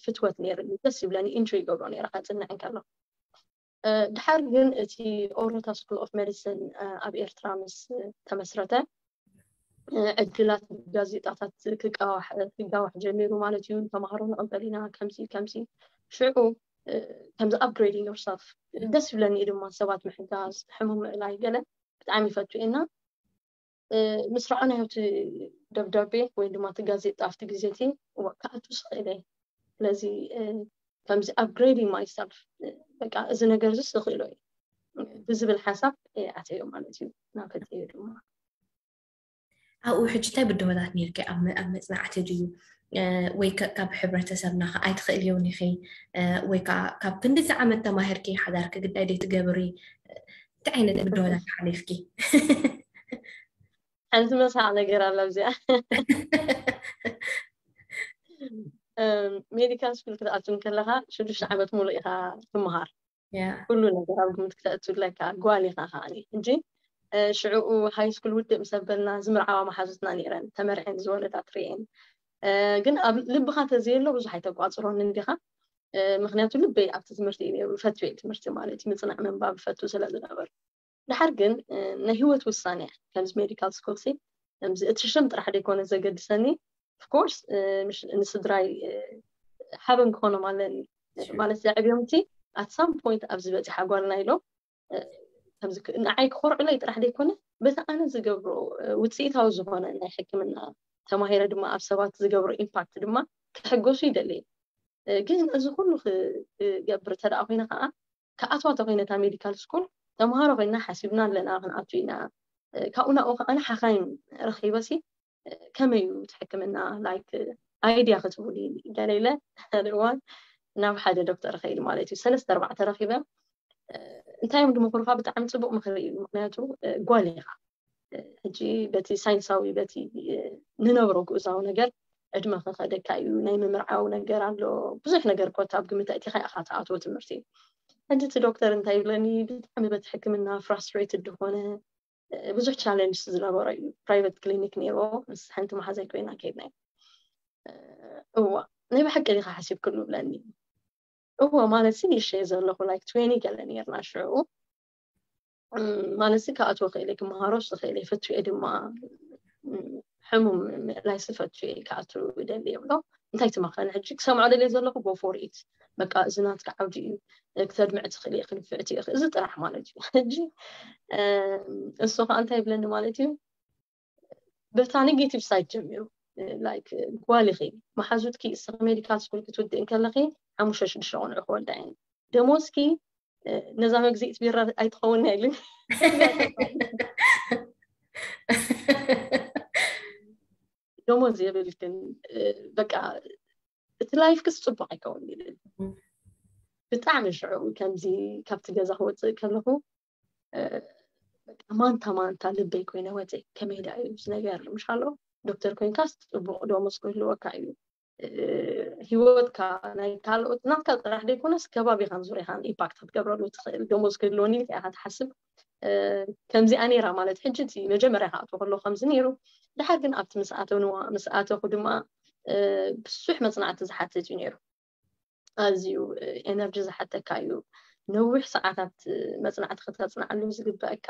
ፍትወት ነይርኒ ደስ ይብለኒ ኢንጆይ ይገብሮ ነይረ ከፅንዕ እንከሎ ድሓር ግን እቲ ኦሮታ ስኩል ኦፍ ሜዲሲን ኣብ ኤርትራ ምስ ተመስረተ ዕድላት ጋዜጣታት ክጋዋሕ ጀሚሩ ማለት እዩ ተማሃሮ ንቕበል ኢና ከምዚ ከምዚ ሽዑ ከምዚ upgrading yourself ደስ ይብለኒ እዩ ድማ ሰባት ምሕጋዝ ሕሙም ምእላይ ገለ ብጣዕሚ ይፈቱ ኢና ምስ ረኣናዮ እቲ ደብዳቤ ወይ ድማ እቲ ጋዜጣ ኣብቲ ግዜ እቲ ክኣቱ ስኽእል እየ ስለዚ ከምዚ upgrading myself በቃ እዚ ነገር እዚ ስኽእሎ እዩ ብዝብል ሓሳብ ኣተዮ ማለት እዩ ናፈተዮ ድማ ኣብኡ ሕጂ እንታይ ብድሆታት ነርኪ ኣብ መፅናዕቲ ድዩ ወይ ካብ ሕብረተሰብና ኣይትኽእልዮን ኢኺ ወይ ከዓ ካብ ክንድዚ ዓመት ተማሂርኪ ሓዳርኪ ግዳይ ደይ ትገብሪ እንታይ ዓይነት ብድሆታት ሓሊፍኪ ሓንቲ መሳቕ ነገር ኣላ ኣብዚኣ ሜዲካል ስኩል ክትኣቱ ከለካ ሽዱሽተ ዓመት ሙሉእ ኢካ ትምሃር ኩሉ ነገር ኣብ ግምት ክተእትለካ ጓል ኢካ ከዓኒ ሕጂ ሽዕኡ ሃይ ስኩል ውድእ ምስ ኣበልና ዝምርዓዋ መሓዙትና ነይረን ተመርዐን ዝወለዳ ትርእየን ግን ኣብ ልብካ ተዘየሎ ብዙሕ ኣይተቋፅሮን እንዲካ ምክንያቱ ልበይ ኣብቲ ትምህርቲ እዩ ነይሩ ፈትየ ትምህርቲ ማለት እዩ ምፅናዕ ምንባብ ፈቱ ስለ ዝነበሩ ድሓር ግን ናይ ሂወት ውሳነ እያ ከምዚ ሜዲካል ስኩል ሲ ከምዚ እቲ ሽም ጥራሕ ደይኮነ ዘገድሰኒ ኦፍኮርስ ንስድራይ ሓበን ክኾኖም ኣለኒ ማለት ዘዕብዮም እቲ ኣት ሳም ፖይንት ኣብዚ በፂሓ ጓልና ኢሎም ንዓይ ክኮርዑለይ ጥራሕ ደይኮነ በቲ ኣነ ዝገብሮ ውፅኢታዊ ዝኾነ ናይ ሕክምና ተማሂረ ድማ ኣብ ሰባት ዝገብሮ ኢምፓክት ድማ ክሕገሱ ይደሊ ግን እዚ ኩሉ ክገብር ተደኣ ኮይነ ከዓ ክኣትዋ ተኮይነ እታ ሜዲካል ስኩል ተምሃሮ ኮይና ሓሲብና ኣለና ክንኣቱ ኢና። ካብኡ ናብኡ ከዓ ሓኻይም ረኺበሲ ከመይ እዩ እቲ ሕክምና ላይክ ኣይድያ ክትብሉ ገለ ኢለ ሓደ እዋን ናብ ሓደ ዶክተር ከይድ ማለት እዩ ሰለስተ ኣርባዕተ ረኺበ እንታይ እዮም ድምክሩካ ብጣዕሚ ፅቡቅ ምክሪ እዩ ምክንያቱ ጓል ኢካ ሕጂ በቲ ሳይንሳዊ በቲ ንነብሮ ግኡዛዊ ነገር ዕድመ ከኸደካ እዩ ናይ ምምርዓው ነገር ኣሎ ብዙሕ ነገር ኮታ ኣብ ግምት ኣእቲካ ኢካ ትኣትዎ ትምህርቲ ሕጂ እቲ ዶክተር እንታይ ይብለኒ ብጣዕሚ በቲ ሕክምና ፍራስትሬትድ ዝኾነ ብዙሕ ቻለንጅ ዝነበሮ እዩ ፕራይቨት ክሊኒክ ነይርዎ ምስ ሓንቲ መሓዛይ ኮይና ከይድና እዋ ናይ ብሓቂ ዲካ ሓሲብክሉ ብለኒ እዎ ማለት ሲ ንእሽተይ ዘለኹ ላይክ ትዌኒ ገለ ነርና ሽዑ ማለት ሲ ክኣትዎ ክእል ክመሃሮስ ዝኽእል ፈትየ ድማ ሕሙም ምእላይ ስፈቱ ክኣቱ ይደሊ ይብሎ እንታይ ትመኸኒ ሕጂ ክሰምዖ ደልየ ዘለኹ ጎፎር ኢት በቃ እዚ ናትካ ዓውዲ እዩ ክተድምዕ ትኽእል እየ ክንፍዕቲ እየ እዚ ጥራሕ ማለት እዩ ሕጂ እሱ ከዓ እንታይ ይብለኒ ማለት እዩ በታ ኔጌቲቭ ሳይድ ጀሚሩ ላይክ ጓል ኢኺ መሓዙትኪ እስኺ ሜዲካል ስኩል ክትውድእ እንከለኺ ሓሙሽተ ሽዱሽተ ቆልዑ ክወልዳ እየን ደሞዝኪ ነዛ መግዚእት ቢራ ኣይትኸውን ኢሉኒ ደሞዝ የብልክን በቃ እቲ ላይፍ ክስ ፅቡቅ ኣይከውን ይብል ብጣዕሚ ሽዑ ከምዚ ካብቲ ገዛ ክወፅእ ከለኹ ማንታ ማንታ ልበይ ኮይነ ወፅእ ከመይ ዳ እዩ ነገር ምሻሎ ዶክተር ኮይንካስ ፅቡቅ ደሞዝ ክህልወካ እዩ ሂወትካ ናይ ካልኦት ናትካ ጥራሕ ዘይኮነስ ከባቢኻን ዙሪያኻን ኢምፓክት ክትገብረሉ ትኽእል ደሞዝ ክህልወኒ ኢልካ ኢኻ ትሓስብ ከምዚኣ ነይራ ማለት ሕጂ እቲ መጀመርያ ክኣትዎ ከሎ ከምዚ ነይሩ ድሓር ግን ኣብቲ ምስ ኣተንዋ ምስ ኣተኹ ድማ ብዙሕ መፅናዕቲ ዝሓትት እዩ ነይሩ ኣዝዩ ኤነርጂ ዝሓተካ እዩ ነዊሕ ሰዓታት መፅናዕቲ ክተፅናዓሉ ዝግበአካ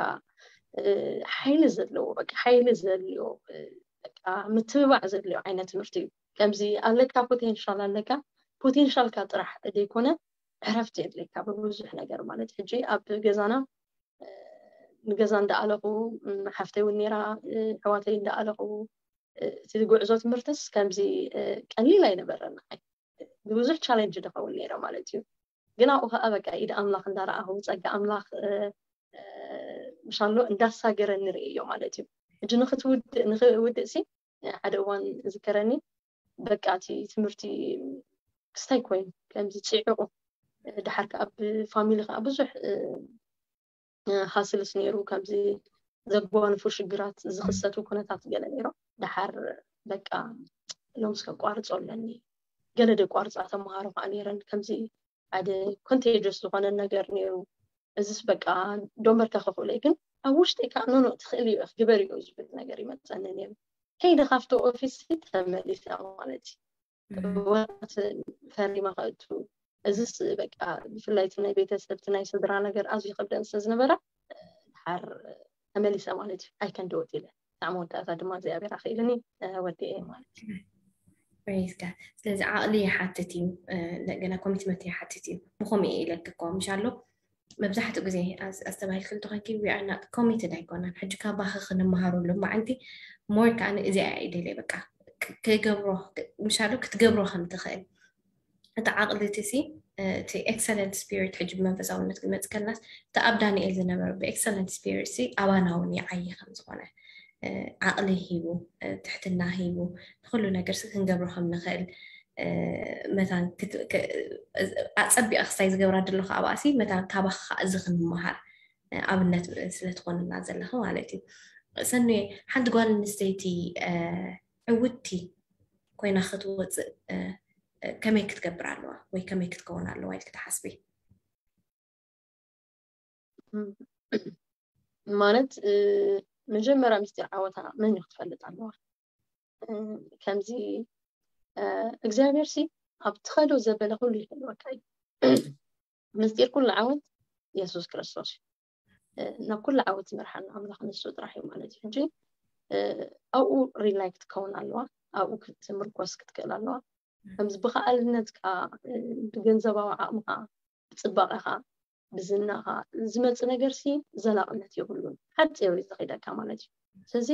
ሓይሊ ዘለዎ በቃ ሓይሊ ዘድልዮ በቃ ምትብባዕ ዘድልዮ ዓይነት ትምህርቲ እዩ ከምዚ ኣለካ ፖቴንሻል ኣለካ ፖቴንሻልካ ጥራሕ ዘይኮነ ዕረፍቲ የድልየካ ብብዙሕ ነገር ማለት ሕጂ ኣብ ገዛና ንገዛ እንዳኣለኹ ሓፍተይ እውን ነራ ኣሕዋተይ እንዳኣለኹ እቲ ጉዕዞ ትምህርትስ ከምዚ ቀሊል ኣይነበረን ንዓይ ብብዙሕ ቻለንጅ ዝኸውን ነይረ ማለት እዩ ግን ኣብኡ ከዓ በቃ ኢድ ኣምላኽ እንዳረኣኹ ፀጋ ኣምላኽ ምሻሎ እንዳሳገረ ንርእዮ ማለት እዩ ሕጂ ንክትውድእ ንክውድእ ሲ ሓደ እዋን ዝከረኒ በቃ እቲ ትምህርቲ ክስታይ ኮይኑ ከምዚ ፅዕቁ ድሓር ከዓ ብፋሚሊ ከዓ ብዙሕ ሃስልስ ነይሩ ከምዚ ዘጓንፉ ሽግራት ዝኽሰቱ ኩነታት ገለ ነይሮም ድሓር በቃ ሎምስ ከቋርፆ ኣለኒ ገለ ደቋርፃ ተምሃሮ ከዓ ነይረን ከምዚ ሓደ ኮንቴጀስ ዝኾነ ነገር ነይሩ እዚስ በቃ ዶንበርካ ከኽእሎ ግን ኣብ ውሽጢ ከዓ ኖኖ ትኽእል እዩ ግበር እዩ ዝብል ነገር ይመፀኒ ነይሩ ከይደ ካብቲ ኦፊስ ተመሊሰ ማለት እዩ ወራት ፈሪማ ከእቱ እዚስ በቃ ብፍላይ እቲ ናይ ቤተሰብ እቲ ናይ ስድራ ነገር ኣዝዩ ከብደን ስለ ዝነበረ ድሓር ተመሊሰ ማለት እዩ ኣይከንድወት ኢለ ብጣዕሚ ወዳእታ ድማ እግዚኣብሔር ኣኽኢልኒ ወዲኤ ማለት እዩ ፕሬዝ ጋድ ስለዚ ዓቕሊ ይሓትት እዩ እንደገና ኮሚትመንት ይሓትት እዩ ብኸምኡ እየ ኢለኪ እኮ ምሽ ኣሎ መብዛሕትኡ ግዜ ኣስተባሂልኪ እንተኾንኪ we are not committed ኣይኮናን ሕጂ ካባኺ ክንመሃረሉ መዓንቲ ሞር ከዓ ንእዚኣ እየ ደልየ በቃ ክገብሮ ምሻሉ ክትገብሮ ከም ትኽእል እቲ ዓቕሊ እቲ ሲ እቲ ኤክሰለንት ስፒሪት ሕጂ ብመንፈሳውነት ክመፅ ከላስ እቲ ኣብ ዳንኤል ዝነበረ ብኤክሰለንት ስፒሪት ሲ ኣባና እውን ይዓይ ከም ዝኾነ ዓቕሊ ሂቡ ትሕትና ሂቡ ንኩሉ ነገር ሲ ክንገብሮ ከም ንኽእል መታን ኣፀቢቐ ክስታይ ዝገብራ ዘለኹ ኣብኣ ሲ መታን ካባኻ እዚ ክንመሃር ኣብነት ስለ ትኾንና ዘለኺ ማለት እዩ ሰኒ ሓንቲ ጓል ኣንስተይቲ ዕውቲ ኮይና ክትወፅእ ከመይ ክትገብር ኣለዋ ወይ ከመይ ክትከውን ኣለዋ ኢልክ ትሓስቢ ማለት መጀመርያ ምስጢር ዓወታ መን እዩ ክትፈልጥ ኣለዋ ከምዚ እግዚኣብሔር ሲ ኣብ ትኸዶ ዘበለ ኩሉ ይፈልወካ እዩ ምስጢር ኩሉ ዓወት የሱስ ክርስቶስ እዩ ናብ ኩሉ ዓወት ዝመርሓና ኣምላኽ ንሱ ጥራሕ እዩ ማለት እዩ ሕጂ ኣብኡ ሪላይ ክትከውን ኣለዋ ኣብኡ ክትምርኮስ ክትክእል ኣለዋ ከምዚ ብከኣልነትካ ብገንዘባዊ ዓቕምካ ብፅባቐካ ብዝናኻ ዝመፅ ነገር ሲ ዘላቕነት የብሉን ሓፂር እዩ ዝኺደካ ማለት እዩ ስለዚ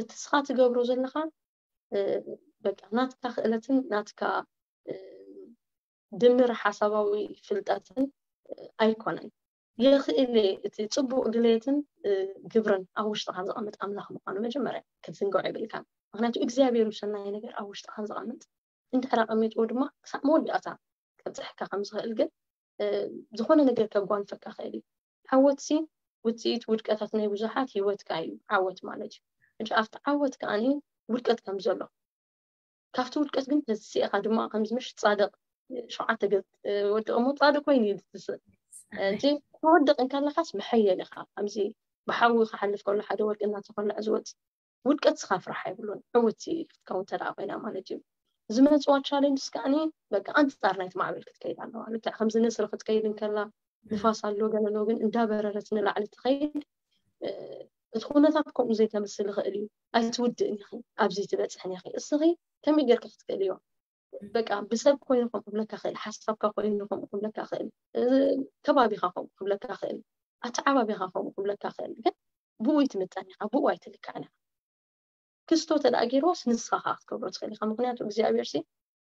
እቲ ስኻ ትገብሮ ዘለኻ በቃ ናትካ ክእለትን ናትካ ድምር ሓሳባዊ ፍልጠትን ኣይኮነን። የኽእል እቲ ጽቡቕ ድሌትን ግብርን ኣብ ውሽጥኻ ዘቐምጥ ኣምላኽ ምዃኑ መጀመርያ ክትዝንግዖ የብልካን። ምክንያቱ እግዚኣብሔር ሰናይ ነገር ኣብ ውሽጥኻ ዘቐምጥ እንድሕር ኣቐሚጥዎ ድማ ክሳብ መወዳእታ ከብፅሐካ ከም ዝኽእል ግን ዝኾነ ነገር ከጓንፈካ ክእል እዩ። ዓወትሲ ውፅኢት ውድቀታት ናይ ብዙሓት ህይወትካ እዩ። ዓወት ማለት እዩ። ሕጂ ኣብቲ ዓወት ከዓኒ ውድቀት ከም ዘሎ ካብቲ ውድቀት ግን ተሲእኻ ድማ ከምዚ ምሽ ጻድቕ ሸውዓተ ገጽ ወድቕ እሞ ጻድቕ ኮይኑ እዩ ዝትስእ። እንጂ ክወድቕ እንከለኻስ መሐየል ኢኻ። ከምዚ ብሓዊ ክሓልፍ ከሎ ሓደ ወርቂ እናተኾልዐ ዝወጽእ ውድቀት ስኻ ፍራሕ ኣይብሉን። ዕውቲ ክትከውን እንተ ደኣ ኮይና ማለት እዩ። ዝመጽዋ ቻሌንጅስ ከዓኒ በቃ ኣንጻር ናይቲ ማዕበል ክትከይድ ኣለዋ። ልክዕ ከምዚ ንስሪ ክትከይድ እንከላ ንፋስ ኣሎ ገለ ኣሎ፣ ግን እንዳበረረት ንላዕሊ ትኸይድ። እቲ ኩነታት ከምኡ ዘይተምስል ይኽእል እዩ። ኣይትውድእን ኢኺ፣ ኣብዚ ትበጽሕን ኢኺ። እስኺ ከመይ ጌርካ ክትክእልዮ? በቃ ብሰብ ኮይኑ ከምኡ ክብለካ ክእል፣ ሓሳብካ ኮይኑ ከምኡ ክብለካ ክእል፣ ከባቢኻ ከምኡ ክብለካ ክእል፣ ኣተዓባቢኻ ከምኡ ክብለካ ክእል። ግን ብኡ ይትምጠን ኢኻ፣ ብኡ ኣይትልካዕን ኢኻ። ክስቶ ተደኣ ገይርዋስ ንስኻ ከዓ ክትገብሮ ትኽእል ኢኻ። ምክንያቱ እግዚኣብሔር ሲ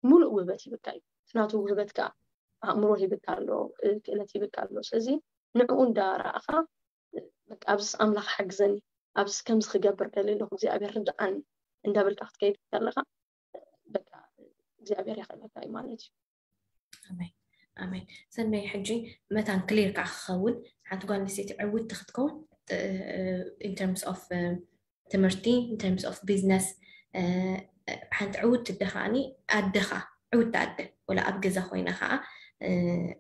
ሙሉእ ውህበት ሂብካ እዩ። እቲ ናቱ ውህበት ከዓ ኣእምሮ ሂብካ ኣሎ፣ ክእለት ሂብካ ኣሎ። ስለዚ ንዕኡ እንዳረኣኻ በቃ ኣብዚስ ኣምላኽ ሓግዘኒ፣ ኣብዚስ ከምዚ ክገብር ደልየ ኣለኹ እግዚኣብሔር ርድኣኒ እንዳበልካ ክትከይድ ከለኻ በቃ እግዚኣብሔር የኽእለካ እዩ ማለት እዩ። ኣሜን ኣሜን። ሰናይ ሕጂ መታን ክሊር ከዓ ክኸውን ሓንቲ ጓል ኣንስተይቲ ዕውቲ ክትከውን in terms of ትምህርቲ in terms of business ሓንቲ ዕውቲ ኣደ ከዓኒ ኣደ ከዓ ዕውቲ ኣደ ወላ ኣብ ገዛ ኮይና ከዓ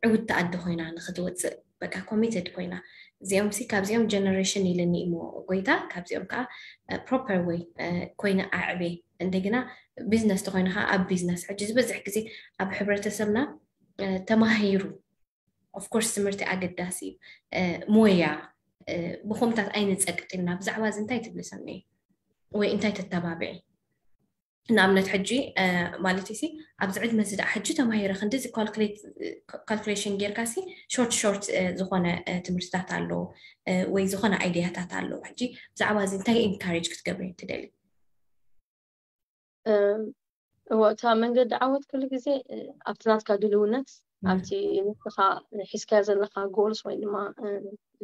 ዕውቲ ኣደ ኮይና ንክትወፅእ በቃ ኮሚትድ ኮይና እዚኦም ሲ ካብዚኦም ጀነሬሽን ኢልኒ እሞ ጎይታ ካብዚኦም ከዓ proper way ኮይነ ኣዕቤ እንደገና ቢዝነስ ተኮይኑ ከዓ ኣብ ቢዝነስ ሕጂ ዝበዝሕ ግዜ ኣብ ሕብረተሰብና ተማሂሩ of course ትምህርቲ ኣገዳሲ እዩ ሞያ ብኮምታት ኣይንፀቅጥ ኢና ብዛዕባ እዚ እንታይ ትብሊ ሰኒ ወይ እንታይ ተተባብዒ ንኣብነት ሕጂ ማለት ሲ ኣብዚ ዕድመ እዚ ደኣ ሕጂ ተማሂረ ክንዲዚ ካልኩሌሽን ጌርካ ሲ ሾርት ሾርት ዝኾነ ትምህርትታት ኣሎ ወይ ዝኾነ ኣይድያታት ኣሎ ሕጂ ብዛዕባ እዚ እንታይ ኢንካሬጅ ክትገብሪ ትደሊ እዎ እታ መንገዲ ዓወት ኩሉ ግዜ ኣብቲ ናትካ ድልውነት ኣብቲ ንስኻ ሒዝካዮ ዘለካ ጎልስ ወይ ድማ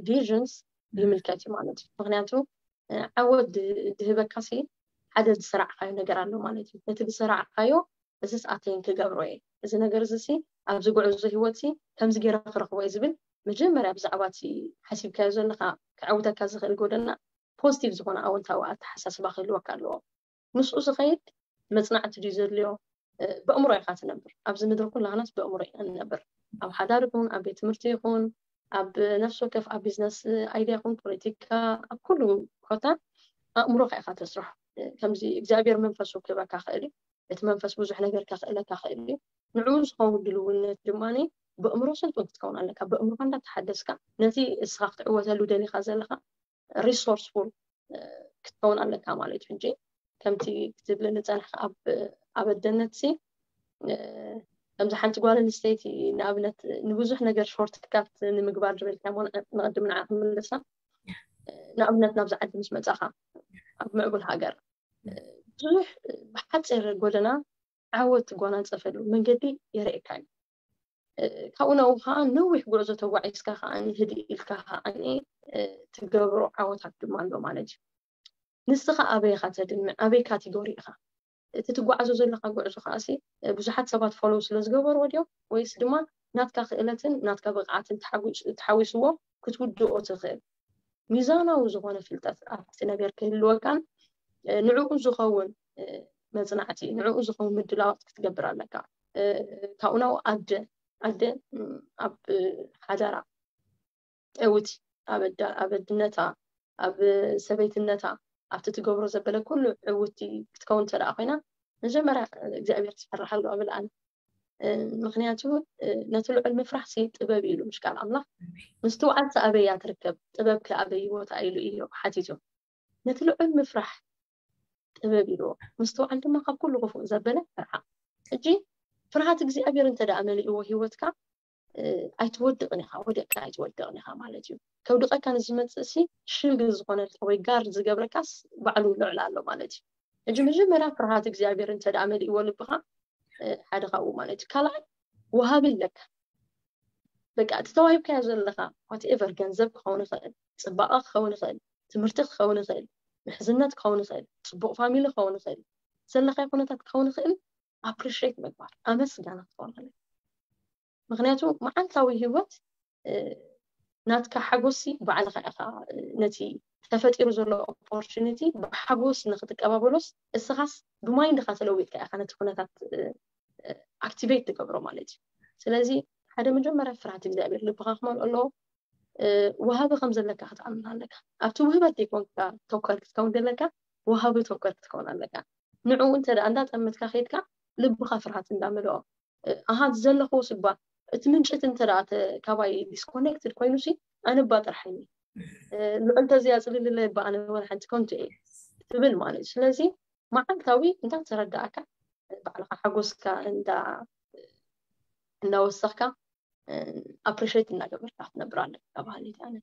ቪዥንስ ይምልከት እዩ ማለት እዩ ምክንያቱ ዓወት ድህበካ ሲ ሓደ ዝሰራዕካዮ ነገር ኣሎ ማለት እዩ ነቲ ዝሰራዕካዮ እዚስ ኣተይን ክገብሮ እየ እዚ ነገር እዚ ሲ ኣብዚ ጉዕዞ ህይወት ሲ ከምዚ ገይረ ክረክቦ እየ ዝብል መጀመርያ ብዛዕባ እቲ ሓሲብካዮ ዘለካ ክዕውተካ ዝኽእል ጎደና ፖዚቲቭ ዝኾነ ኣወንታዊ ኣተሓሳስባ ክህልወካ ኣለዎ ምስኡ ዝኸይድ መፅናዕቲ ድዩ ዘድልዮ ብእምሮ ኢኻ ትነብር ኣብዚ ምድሪ ኩላህናስ ብእምሮ ኢና ንነብር ኣብ ሓዳር ይኹን ኣብ ቤት ትምህርቲ ይኹን ኣብ ነፍሲ ወከፍ ኣብ ቢዝነስ ኣይድያ ይኹን ፖለቲካ ኣብ ኩሉ ኮታ ኣእምሮኻ ኢኻ ተስርሖ ከምዚ እግዚኣብሔር መንፈሱ ክህበካ ክእል እዩ እቲ መንፈስ ብዙሕ ነገር ከኽእለካ ክእል እዩ ንዕኡ ዝኸውን ድልውነት ድማ ብእምሮ ስልጡን ክትከውን ኣለካ ብእምሮካ እንዳተሓደስካ ነቲ እስኻ ክትዕወተሉ ደሊካ ዘለካ ሪሶርስፉል ክትከውን ኣለካ ማለት እዩ ሕጂ ከምቲ ክትብል ንፀንሕ ኣብ ኣበደነት ሲ ከምዚ ሓንቲ ጓል ኣንስተይቲ ንኣብነት ንብዙሕ ነገር ሾርት ካት ንምግባር ዝበልካ ሞ ንቅድም ንዓ ክምልሳ ንኣብነት ናብዚ ዓዲ ምስ መፃኻ ኣብ ምዕቡል ሃገር ብዙሕ ብሓፂር ጎደና ዓወት ትጓናፀፈሉ መንገዲ የርእየካ እዩ ካብኡ ናብኡ ከዓ ነዊሕ ጉዕዞ ተጓዒዝካ ከዓ ህድእ ኢልካ ከዓ ትገብሮ ዓወታት ድማ ኣሎ ማለት እዩ ንስኻ ኣበይ ኢኻ ተድምዕ ኣበይ ካቴጎሪ ኢኻ እቲ ትጓዓዞ ዘለካ ጉዕዞ ከዓሲ ብዙሓት ሰባት ፎሎው ስለ ዝገበርዎ ድዮም ወይስ ድማ ናትካ ክእለትን ናትካ ብቕዓትን ተሓዊስዎ ክትውድኦ ትኽእል ሚዛናዊ ዝኾነ ፍልጠት ኣብቲ ነገር ክህልወካን ንዕኡ ዝኸውን መፅናዕቲ ንዕኡ ዝኸውን ምድላዋት ክትገብር ኣለካ ካብኡ ናብኡ ኣደ ኣደ ኣብ ሓዳራ ዕውቲ ኣብ ኣደነታ ኣብ ሰበይትነታ ኣብቲ ትገብሮ ዘበለ ኩሉ ዕውቲ ክትከውን እንተ ደኣ ኮይና መጀመርያ እግዚኣብሔር ትፈርሓሉ እብል ኣነ ምክንያቱ ነቲ ልዑል ምፍራሕ ሲ ጥበብ ኢሉ ምሽ ቃል ኣምላኽ ምስትውዓል ሲ ኣበይ እያ ትርከብ ጥበብ ከ ኣበይ ቦታ ኢሉ እዩ ሓቲቱ ነቲ ልዑል ምፍራሕ ጥበብ ኢልዎ ምስትውዓል ድማ ካብ ኩሉ ክፉእ ዘበለ ፍርሓ ሕጂ ፍርሃት እግዚኣብሔር እንተ ደኣ መሊእዎ ህይወትካ ኣይትወድቕን ኢኻ ወደቅካ ኣይትወድቕን ኢኻ ማለት እዩ ከውድቐካ ንዝመፅእ ሲ ሽልግ ዝኾነልካ ወይ ጋር ዝገብረካስ ባዕሉ ልዕል ኣሎ ማለት እዩ ሕጂ መጀመርያ ፍርሃት እግዚኣብሔር እንተ ደኣ መሊእዎ ልብኻ ሓደ ካብኡ ማለት እዩ ካልኣይ ወሃቢ ኣለካ። በቃ እቲ ተዋሂብካዮ ዘለኻ whatever፣ ገንዘብ ክኸውን ይኽእል፣ ፅባቐ ክኸውን ይኽእል፣ ትምህርቲ ክኸውን ይኽእል፣ ምሕዝነት ክኸውን ይኽእል፣ ፅቡቕ ፋሚሊ ክኸውን ይኽእል፣ ዘለኻዮ ኩነታት ክኸውን ይኽእል። ኣፕሪሽት ምግባር፣ ኣመስጋና ክኸውን ይኽእል። ምክንያቱ መዓልታዊ ህይወት ናትካ ሓጎሲ ባዕልኻ ኢኻ ነቲ ተፈጢሩ ዘሎ ኦፖርቹኒቲ ብሓጎስ ንክትቀባበሎስ፣ እስኻስ ብማይንድኻ ተለዊጥካ ኢኻ ነቲ ኩነታት ኣክቲቬት ትገብሮ ማለት እዩ። ስለዚ ሓደ መጀመርያ ፍርሃት እግዚኣብሔር ልብኻ ክመልኦ ኣለዎ። ወሃቢ ከም ዘለካ ክትኣምን ኣለካ። ኣብቲ ውህበት ዘይኮንካ ተኮር ክትከውን ዘለካ፣ ወሃቢ ተኮር ክትከውን ኣለካ። ንዕኡ እንተ ደኣ እንዳጠመትካ ከይድካ፣ ልብኻ ፍርሃት እንዳመልኦ፣ ኣሃ፣ ዘለኹ ስባ እቲ ምንጭ እቲ እንተ ደኣ ተ-፣ ካባይ ዲስኮኔክትድ ኮይኑ ሲ፣ ኣነ እባ ጥራሕ እየ፣ ልዑል ተዝያጽልልለ እባ ኣነ ወላ ሓንቲ ከንቱ እየ ትብል ማለት እዩ። ስለዚ መዓልታዊ እንዳተረዳእካ፣ ባዕልኻ ሓጎስካ እንዳ-፣ እንዳወሰኽካ፣ ኣፕሪሽት እናገበርካ ክትነብር ኣለካ ባህሊ ኣነ።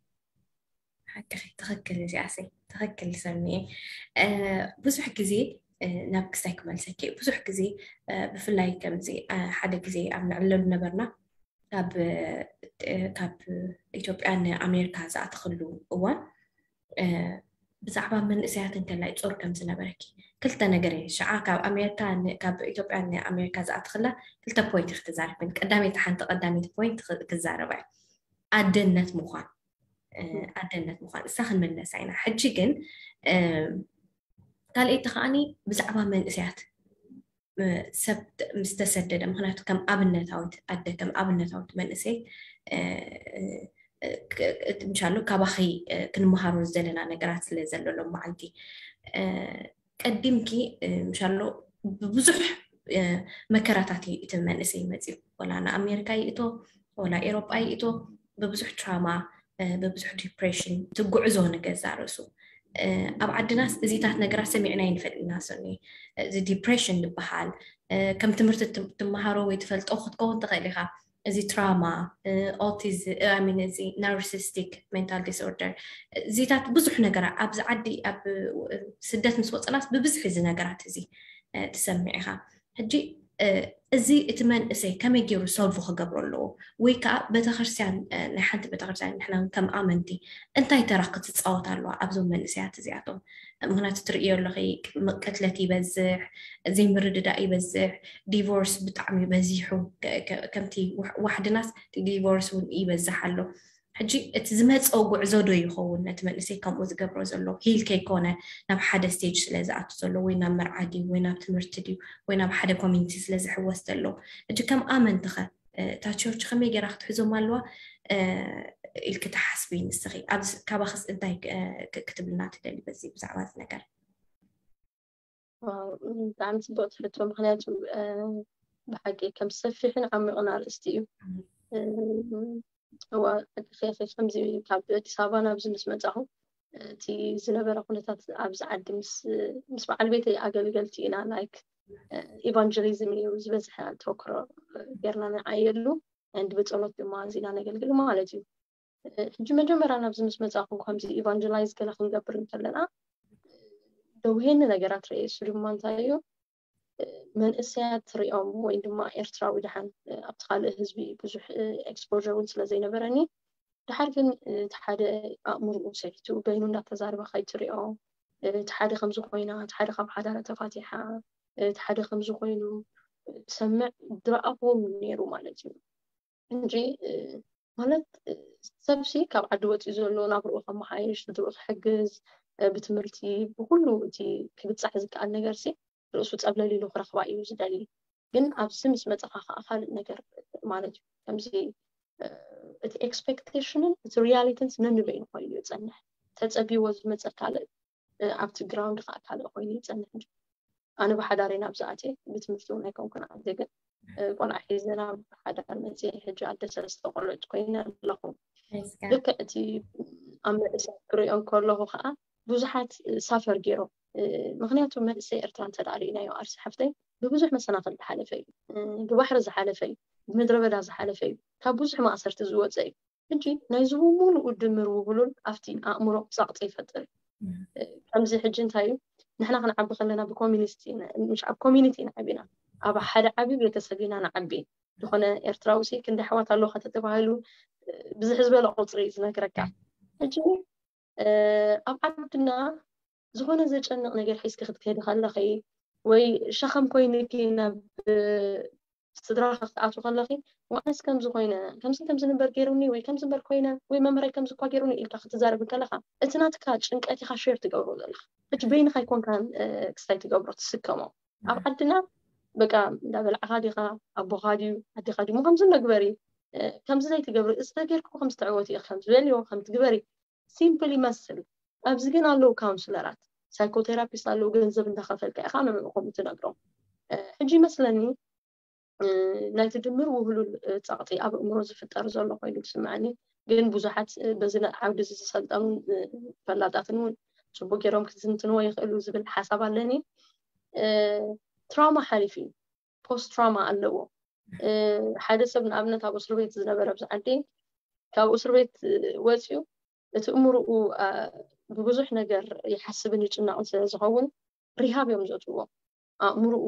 ሓቅኺ፣ ትኽክል። እዚኣሰይ ትኽክል ሰኒ። ብዙሕ ግዜ ናብ ክስታይ ክመልሰኪ፣ ብዙሕ ግዜ ብፍላይ ከምዚ ሓደ ግዜ ኣብ ንዕለሉ ነበርና፣ ካብ ኢትዮጵያ ንኣሜሪካ ዝኣተኽሉ እዋን ብዛዕባ መንእሰያት እንከላይ ጾር ከም ዝነበረኪ ክልተ ነገር እየ። ሽዓ ካብ ኣሜሪካ ን-፣ ካብ ኢትዮጵያ ንኣሜሪካ ዝኣትኽላ ክልተ ፖይንት ክትዛረብ፣ ቀዳመይቲ፣ ሓንቲ ቀዳመይቲ ፖይንት ክዛረባ እየ። ኣደነት ምዃን፣ ኣደነት ምዃን እሳ ክንምለሳ ኢና። ሕጂ ግን ካልኣይቲ ከዓኒ ብዛዕባ መንእሰያት ሰብ ምስ ተሰደደ፣ ምክንያቱ ከም ኣብነታዊት ኣደ፣ ከም ኣብነታዊት መንእሰይ ምሻሉ ካባኺ ክንመሃሮ ዝደለና ነገራት ስለ ዘሎ ሎም መዓልቲ ቀዲምኪ ምሻሎ ብብዙሕ መከራታት እዩ እቲ መንእሰይ መፅዩ። ወላ ንኣሜሪካ ይእቶ፣ ወላ ኤሮጳ ይእቶ፣ ብብዙሕ ትራማ፣ ብብዙሕ ዲፕሬሽን ትጉዕዞ ንገዛ ርእሱ። ኣብ ዓድናስ እዚታት ነገራት ሰሚዕና ይንፈልጥና። ሰኒ እዚ ዲፕሬሽን ዝበሃል ከም ትምህርቲ ትመሃሮ ወይ ትፈልጦ ክትከውን ትኽእል ኢኻ። እዚ ትራማ፣ ኦቲዝም፣ እዚ ናርሲስቲክ ሜንታል ዲስኦርደር፣ እዚታት ብዙሕ ነገራት ኣብዚ ዓዲ ኣብ ስደት ምስ ወፅናስ ብብዝሒ እዚ ነገራት እዚ ትሰምዕ ኢኻ። ሕጂ እዚ እቲ መንእሰይ ከመይ ገይሩ ሶልቭ ክገብሮ ኣለዎ? ወይ ከዓ ቤተክርስትያን፣ ናይ ሓንቲ ቤተክርስትያን ንሕና እውን ከም ኣመንቲ እንታይ ተራ ክትፃወት ኣለዋ ኣብዞም መንእሰያት እዚኣቶም? ምክንያቱ ትርእዮ ኣለኺ፣ ቅትለት ይበዝሕ፣ ዘይምርድዳእ ይበዝሕ፣ ዲቮርስ ብጣዕሚ በዚሑ። ከምቲ ዋሕድናስ ዲቮርስ እውን ይበዝሕ ኣሎ። ሕጂ እቲ ዝመፀ ጉዕዞ ዶ ይኸውን ነቲ መንእሰይ ከምኡ ዝገብሮ ዘሎ? ሂል ከይኮነ ናብ ሓደ ስቴጅ ስለ ዝኣቱ ዘሎ፣ ወይ ናብ መርዓ ድዩ፣ ወይ ናብ ትምህርቲ ድዩ፣ ወይ ናብ ሓደ ኮሚኒቲ ስለ ዝሕወስ ዘሎ? ሕጂ ከም ኣመንትኸ እታ ቸርች ከመይ ገይራ ክትሕዞም ኣለዋ ኢልኪ ትሓስቢ ንስኺ? ኣብዚ ካባኽስ እንታይ ክትብልና ትደሊ በዚ ብዛዕባ እዚ ነገር? ብጣዕሚ ፅቡቅ ትሕቶ። ምክንያቱ ብሓቂ ከም ሰፊሕን ዓሚቕን ኣርእስቲ እዩ። እዋ ከምዚ ካብ ኣዲስ ኣበባ ናብዚ ምስ መፃኹ እቲ ዝነበረ ኩነታት ኣብዚ ዓዲ ምስ በዓል ቤተይ ኣገልገልቲ ኢና፣ ላይክ ኢቫንጀሊዝም እዩ ዝበዝሐ ተወክሮ ጌርና ንዓየሉ። And ብፀሎት ድማ እዚና ነገልግል ማለት እዩ። ሕጂ መጀመርያ ናብዚ ምስ መፃኹ ከምዚ ኢቫንጀላይዝ ገለ ክንገብር እንከለና ደውሄኒ ነገራት ርኤ። እሱ ድማ እንታይ እዩ? መንእሰያት ሪኦም ወይ ድማ ኤርትራዊ ደሓን ኣብቲ ካልእ ህዝቢ ብዙሕ ኤክስፖር እውን ስለ ዘይነበረኒ፣ ድሓር ግን እቲ ሓደ ኣእምርኡ ሰሒቱ በይኑ እንዳተዛረበ ከይትሪኦ፣ እቲ ሓደ ከምዚ ኮይና፣ እቲ ሓደ ካብ ሓዳራ ተፋቲሓ፣ እቲ ሓደ ከምዚ ኮይኑ ሰምዕ ድረኣኹዎም ነይሩ ማለት እዩ። እንጂ ማለት ሰብሲ ካብ ዓዲ ወፂኡ ዘሎ ናብርኡ ከመሓይሽ፣ ስድርኡ ክሕግዝ፣ ብትምህርቲ ብኩሉ እቲ ክብፃሕ ዝከኣል ነገር ሲ ርእሱ ፀብለል ኢሉ ክረኽባ እዩ ዝደሊ። ግን ኣብዚ ምስ መፀኻ ከዓ ካልእ ነገር ማለት እዩ። ከምዚ እቲ ኤክስፔክቴሽንን እቲ ሪያሊቲን ነንበይኑ ኮይኑ እዩ ዝፀንሕ። ተፀቢዎ ዝመፀ ካልእ ኣብቲ ግራውንድ ከዓ ካልእ ኮይኑ ይፀንሕ። እንጂ ኣነ ብሓዳር ኢና ኣብዚ ኣትየ፣ ብትምህርቲ እውን ኣይኮንኩን ኣትየ፣ ግን ቆልዓ ሒዘ ናብ ሓዳር መፅየ። ሕጂ ኣደ ሰለስተ ቆልዑት ኮይነ ኣለኹ። ልክዕ እቲ ኣብ መንእሰያት ክሪኦ እንከለኹ ከዓ ብዙሓት ሳፈር ገይሮም። ምክንያቱ መንእሰይ ኤርትራ እንተ ደኣ ርኢናዮ ኣርሲ ሓፍተይ ብብዙሕ መሰናኽል ዝሓለፈ እዩ። ብባሕሪ ዝሓለፈ እዩ። ብምድረ በዳ ዝሓለፈ እዩ። ካብ ብዙሕ ማእሰርቲ ዝወፀ እዩ። ሕጂ ናይዚ ብምሉኡ ድምር ውህሉል ኣብቲ ኣእምሮ ጸቕጢ ይፈጥር። ከምዚ ሕጂ እንታይ እዩ፣ ንሕና ክንዓቢ ከለና ብኮሚኒቲ፣ ምሽ ኣብ ኮሚኒቲ ኢና ዓቢና፣ ኣብ ሓደ ዓቢ ቤተሰብ ኢና ንዓቢ። ዝኾነ ኤርትራዊ ሲ ክንዲ ኣሕዋት ኣለዎ ከተተባሂሉ ብዝሕ ዝበለ ቁፅሪ እዩ ዝነግረካ። ሕጂ ኣብ ዓድና ዝኾነ ዘጨንቕ ነገር ሒዝኪ ክትከዲ ከለኺ ወይ ሸኸም ኮይንኪ ናብ ስድራኺ ክትኣትዊ ከለኺ፣ ዋዕነስ ከምዚ ኮይነ፣ ከምዚ ከምዚ ንበር ገይሩኒ ወይ ከምዚ ንበር ኮይነ ወይ መምህረይ ከምዚ እኳ ገይሩኒ ኢልካ ክትዛረብ ከለኻ፣ እቲ ናትካ ጭንቀት ኢኻ ሼር ትገብሮ ዘለኻ። ሕጂ በይንኻ ኣይኮንካን ክስታይ ትገብሮ ትስከሞ። ኣብ ዓድና በቃ እንዳበላዕኻ ዲኻ፣ ኣቦኻ ድዩ ኣዴኻ ድዩ ከምዚ ነግበሪ፣ ከምዚ ዘይትገብሪ፣ እዚ ተገይርኩ ከምዚ ተዕወቲ ኢኺ፣ ከምዚ በልዮ፣ ከምዚ ግበሪ፣ ሲምፕል ይመስል። ኣብዚ ግን ኣለዉ ካውንስለራት፣ ሳይኮቴራፒስት ኣለዉ፣ ገንዘብ እንዳኸፈልካ ኢኻ ንዕኡ ከምኡ ትነግሮም። ሕጂ ይመስለኒ ናይቲ ድምር ውህሉል ጸቕጢ ኣብ ኣእምሮ ዝፍጠር ዘሎ ኮይኑ ዝስምዐኒ። ግን ብዙሓት በዚ ዓውዲ እዚ ዝሰልጠኑን ፈላጣትን እውን ጽቡቅ ገይሮም ክትዝንትንዎ ይኽእሉ ዝብል ሓሳብ ኣለኒ። ትራውማ ሓሊፉ እዩ። ፖስት ትራውማ ኣለዎ። ሓደ ሰብ ንኣብነት ኣብ እስር ቤት ዝነበረ ኣብዚ ዓዲ ካብ እስር ቤት ወፂኡ እቲ እምርኡ ብብዙሕ ነገር ይሓስብን ይጭነቕን ስለ ዝኸውን ሪሃብ እዮም ዘእትዎ። ኣእምርኡ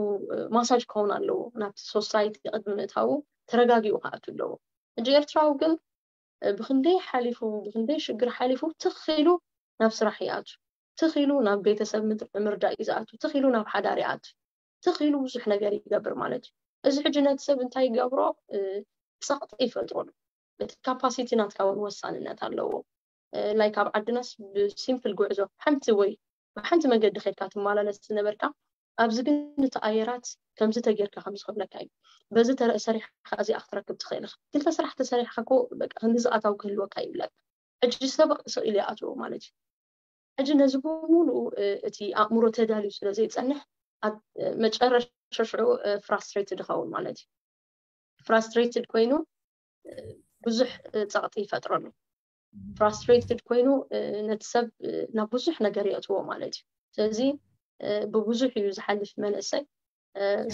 ማሳጅ ክኸውን ኣለዎ። ናብቲ ሶሳይቲ ቅድሚ ምእታዉ ተረጋጊኡ ክኣቱ ኣለዎ። ሕጂ ኤርትራዊ ግን ብክንደይ ሓሊፉ ብክንደይ ሽግር ሓሊፉ ትኽ ኢሉ ናብ ስራሕ ይኣቱ፣ ትኽ ኢሉ ናብ ቤተሰብ ምርዳእ እዩ ዝኣቱ፣ ትኽ ኢሉ ናብ ሓዳር ይኣቱ፣ ትኽ ኢሉ ብዙሕ ነገር ይገብር ማለት እዩ። እዚ ሕጂ ነቲ ሰብ እንታይ ይገብሮ? ጸቕጢ ይፈጥረሉ። እቲ ካፓሲቲ ናትካ እውን ወሳንነት ኣለዎ። ላይክ ኣብ ዓድናስ ብሲምፕል ጉዕዞ ሓንቲ ወይ ብሓንቲ መገዲ ከድካ ትመላለስ ዝነበርካ ኣብዚ ግን እቲ ኣየራት ከምዚ ተጌርካ ከምዚ ክብለካ እዩ። በዚ ተረ- ሰሪሕካ እዚኣ ክትረክብ ትኽእል ኢኻ። ክልተ ስራሕ ተሰሪሕካ እኮ በቃ ክንዲ ዝኣታው ክህልወካ ይብለካ። ሕጂ ሰብ ስቕ ኢሉ ይኣትዎ ማለት እዩ። ሕጂ ነዚ ብምሉኡ እቲ ኣእምሮ ተዳልዩ ስለ ዘይጸንሕ ኣብ መጨረሻ ሽዑ ፍራስትሬትድ ይኸውን ማለት እዩ። ፍራስትሬትድ ኮይኑ ብዙሕ ጸቕጢ ይፈጥረሉ። ፍራስትሬትድ ኮይኑ ነቲ ሰብ ናብ ብዙሕ ነገር የእትዎ ማለት እዩ። ስለዚ ብብዙሕ እዩ ዝሓልፍ መንእሰይ።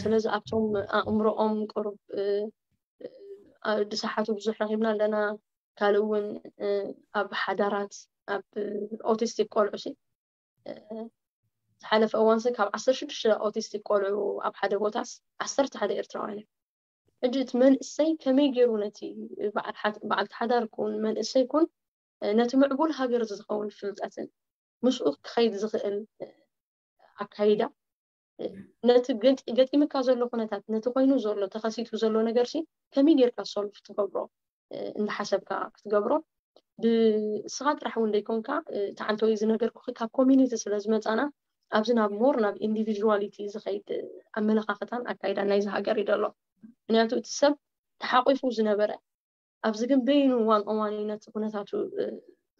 ስለዚ ኣብቶም ኣእምሮኦም ቁሩብ ዝሰሓቱ ብዙሕ ረኺብና ኣለና። ካልእ እውን ኣብ ሓዳራት ኣብ ኦቲስቲክ ቆልዑ ሲ ዝሓለፈ እዋንሲ ካብ ዓሰርተ ሽዱሽተ ኦቲስቲክ ቆልዑ ኣብ ሓደ ቦታስ ዓሰርተ ሓደ ኤርትራውያን እዮም። ሕጂ እቲ መንእሰይ ከመይ ገይሩ ነቲ በዓልቲ ሓዳር ኩን መንእሰይ ኩን ነቲ ምዕቡል ሃገር ዝኸውን ፍልጠትን ምስኡ ክኸይድ ዝኽእል ኣካይዳ ነቲ ገጢምካ ዘሎ ኩነታት ነቲ ኮይኑ ዘሎ ተኸሲቱ ዘሎ ነገር ሲ ከመይ ጌርካ ሶልቭ ትገብሮ እንዳሓሰብካ ክትገብሮ ብስኻ ጥራሕ እውን ዘይኮንካ ተዓንተወይ ዝነገርኩ ካብ ኮሚኒቲ ስለ ዝመፃና ኣብዚ ናብ ሞር ናብ ኢንዲቪዥዋሊቲ ዝኸይድ ኣመለኻኽታን ኣካይዳ ናይዚ ሃገር እዩ ዘሎ። ምክንያቱ እቲ ሰብ ተሓቂፉ ዝነበረ ኣብዚ ግን በይኑ ዋን ኦን ዋን ነቲ ኩነታቱ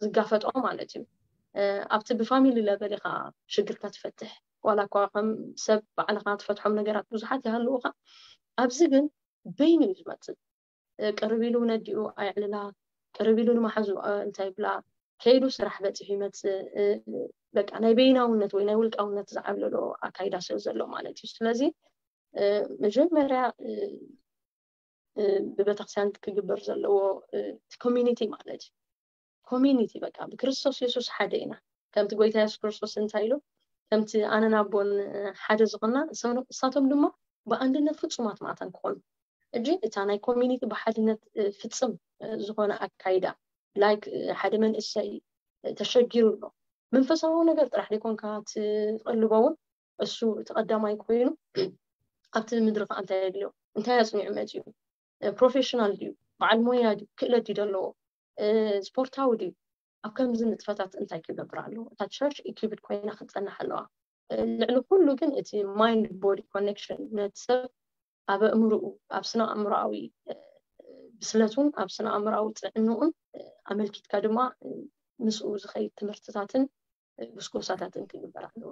ዝጋፈጦ ማለት እዩ። ኣብቲ ብፋሚሊ ለቨል ኢኻ ሽግርካ ትፈትሕ ዋላ እኳ ከም ሰብ ባዕልኻ ትፈትሖም ነገራት ብዙሓት ይሃልውኻ። ኣብዚ ግን በይኑ እዩ ዝመፅእ። ቅርብ ኢሉ ነዲኡ ኣየዕልላ፣ ቅርብ ኢሉ ንመሓዙ እንታይ ይብላ፣ ከይዱ ስራሕ በፂሑ ይመፅእ። በቃ ናይ በይናውነት ወይ ናይ ውልቃውነት ዝዓብለሎ ኣካይዳ ስለ ዘሎ ማለት እዩ። ስለዚ መጀመርያ ብቤተክርስትያን ክግበር ዘለዎ ኮሚኒቲ ማለት እዩ። ኮሚኒቲ በቃ ብክርስቶስ የሱስ ሓደ ኢና። ከምቲ ጎይታ የሱስ ክርስቶስ እንታይ ኢሉ ከምቲ ኣነን ኣቦን ሓደ ዝኾና እሳቶም ድማ ብኣንድነት ፍጹማት ማእታን ክኾኑ። እጂ እታ ናይ ኮሚኒቲ ብሓድነት ፍጽም ዝኾነ ኣካይዳ ላይክ ሓደ መንእሰይ ተሸጊሩ ኣሎ መንፈሳዊ ነገር ጥራሕ ዘይኮንካ ትቕልቦ እውን እሱ እቲ ቀዳማይ ኮይኑ ኣብቲ ምድሪ ከዓ እንታይ የድልዮ እንታይ ኣፅኒዑ መፅኡ ፕሮፌሽናል ድዩ በዓል ሞያ ድዩ ክእለት ድዩ ዘለዎ ስፖርታዊ ድዩ ኣብ ከምዚ ንጥፈታት እንታይ ክገብር ኣለዎ እታ ቸርች ኢኪብድ ኮይና ክትፀንሕ ኣለዋ ልዕሊ ኩሉ ግን እቲ ማይንድ ቦዲ ኮኔክሽን ነቲ ሰብ ኣብ ኣእምርኡ ኣብ ስነ ኣእምሮኣዊ ብስለቱን ኣብ ስነ ኣእምሮኣዊ ጥዕንኡን ኣመልኪትካ ድማ ምስኡ ዝኸይድ ትምህርትታትን ጉስጎሳታትን ክግበር ኣለዎ።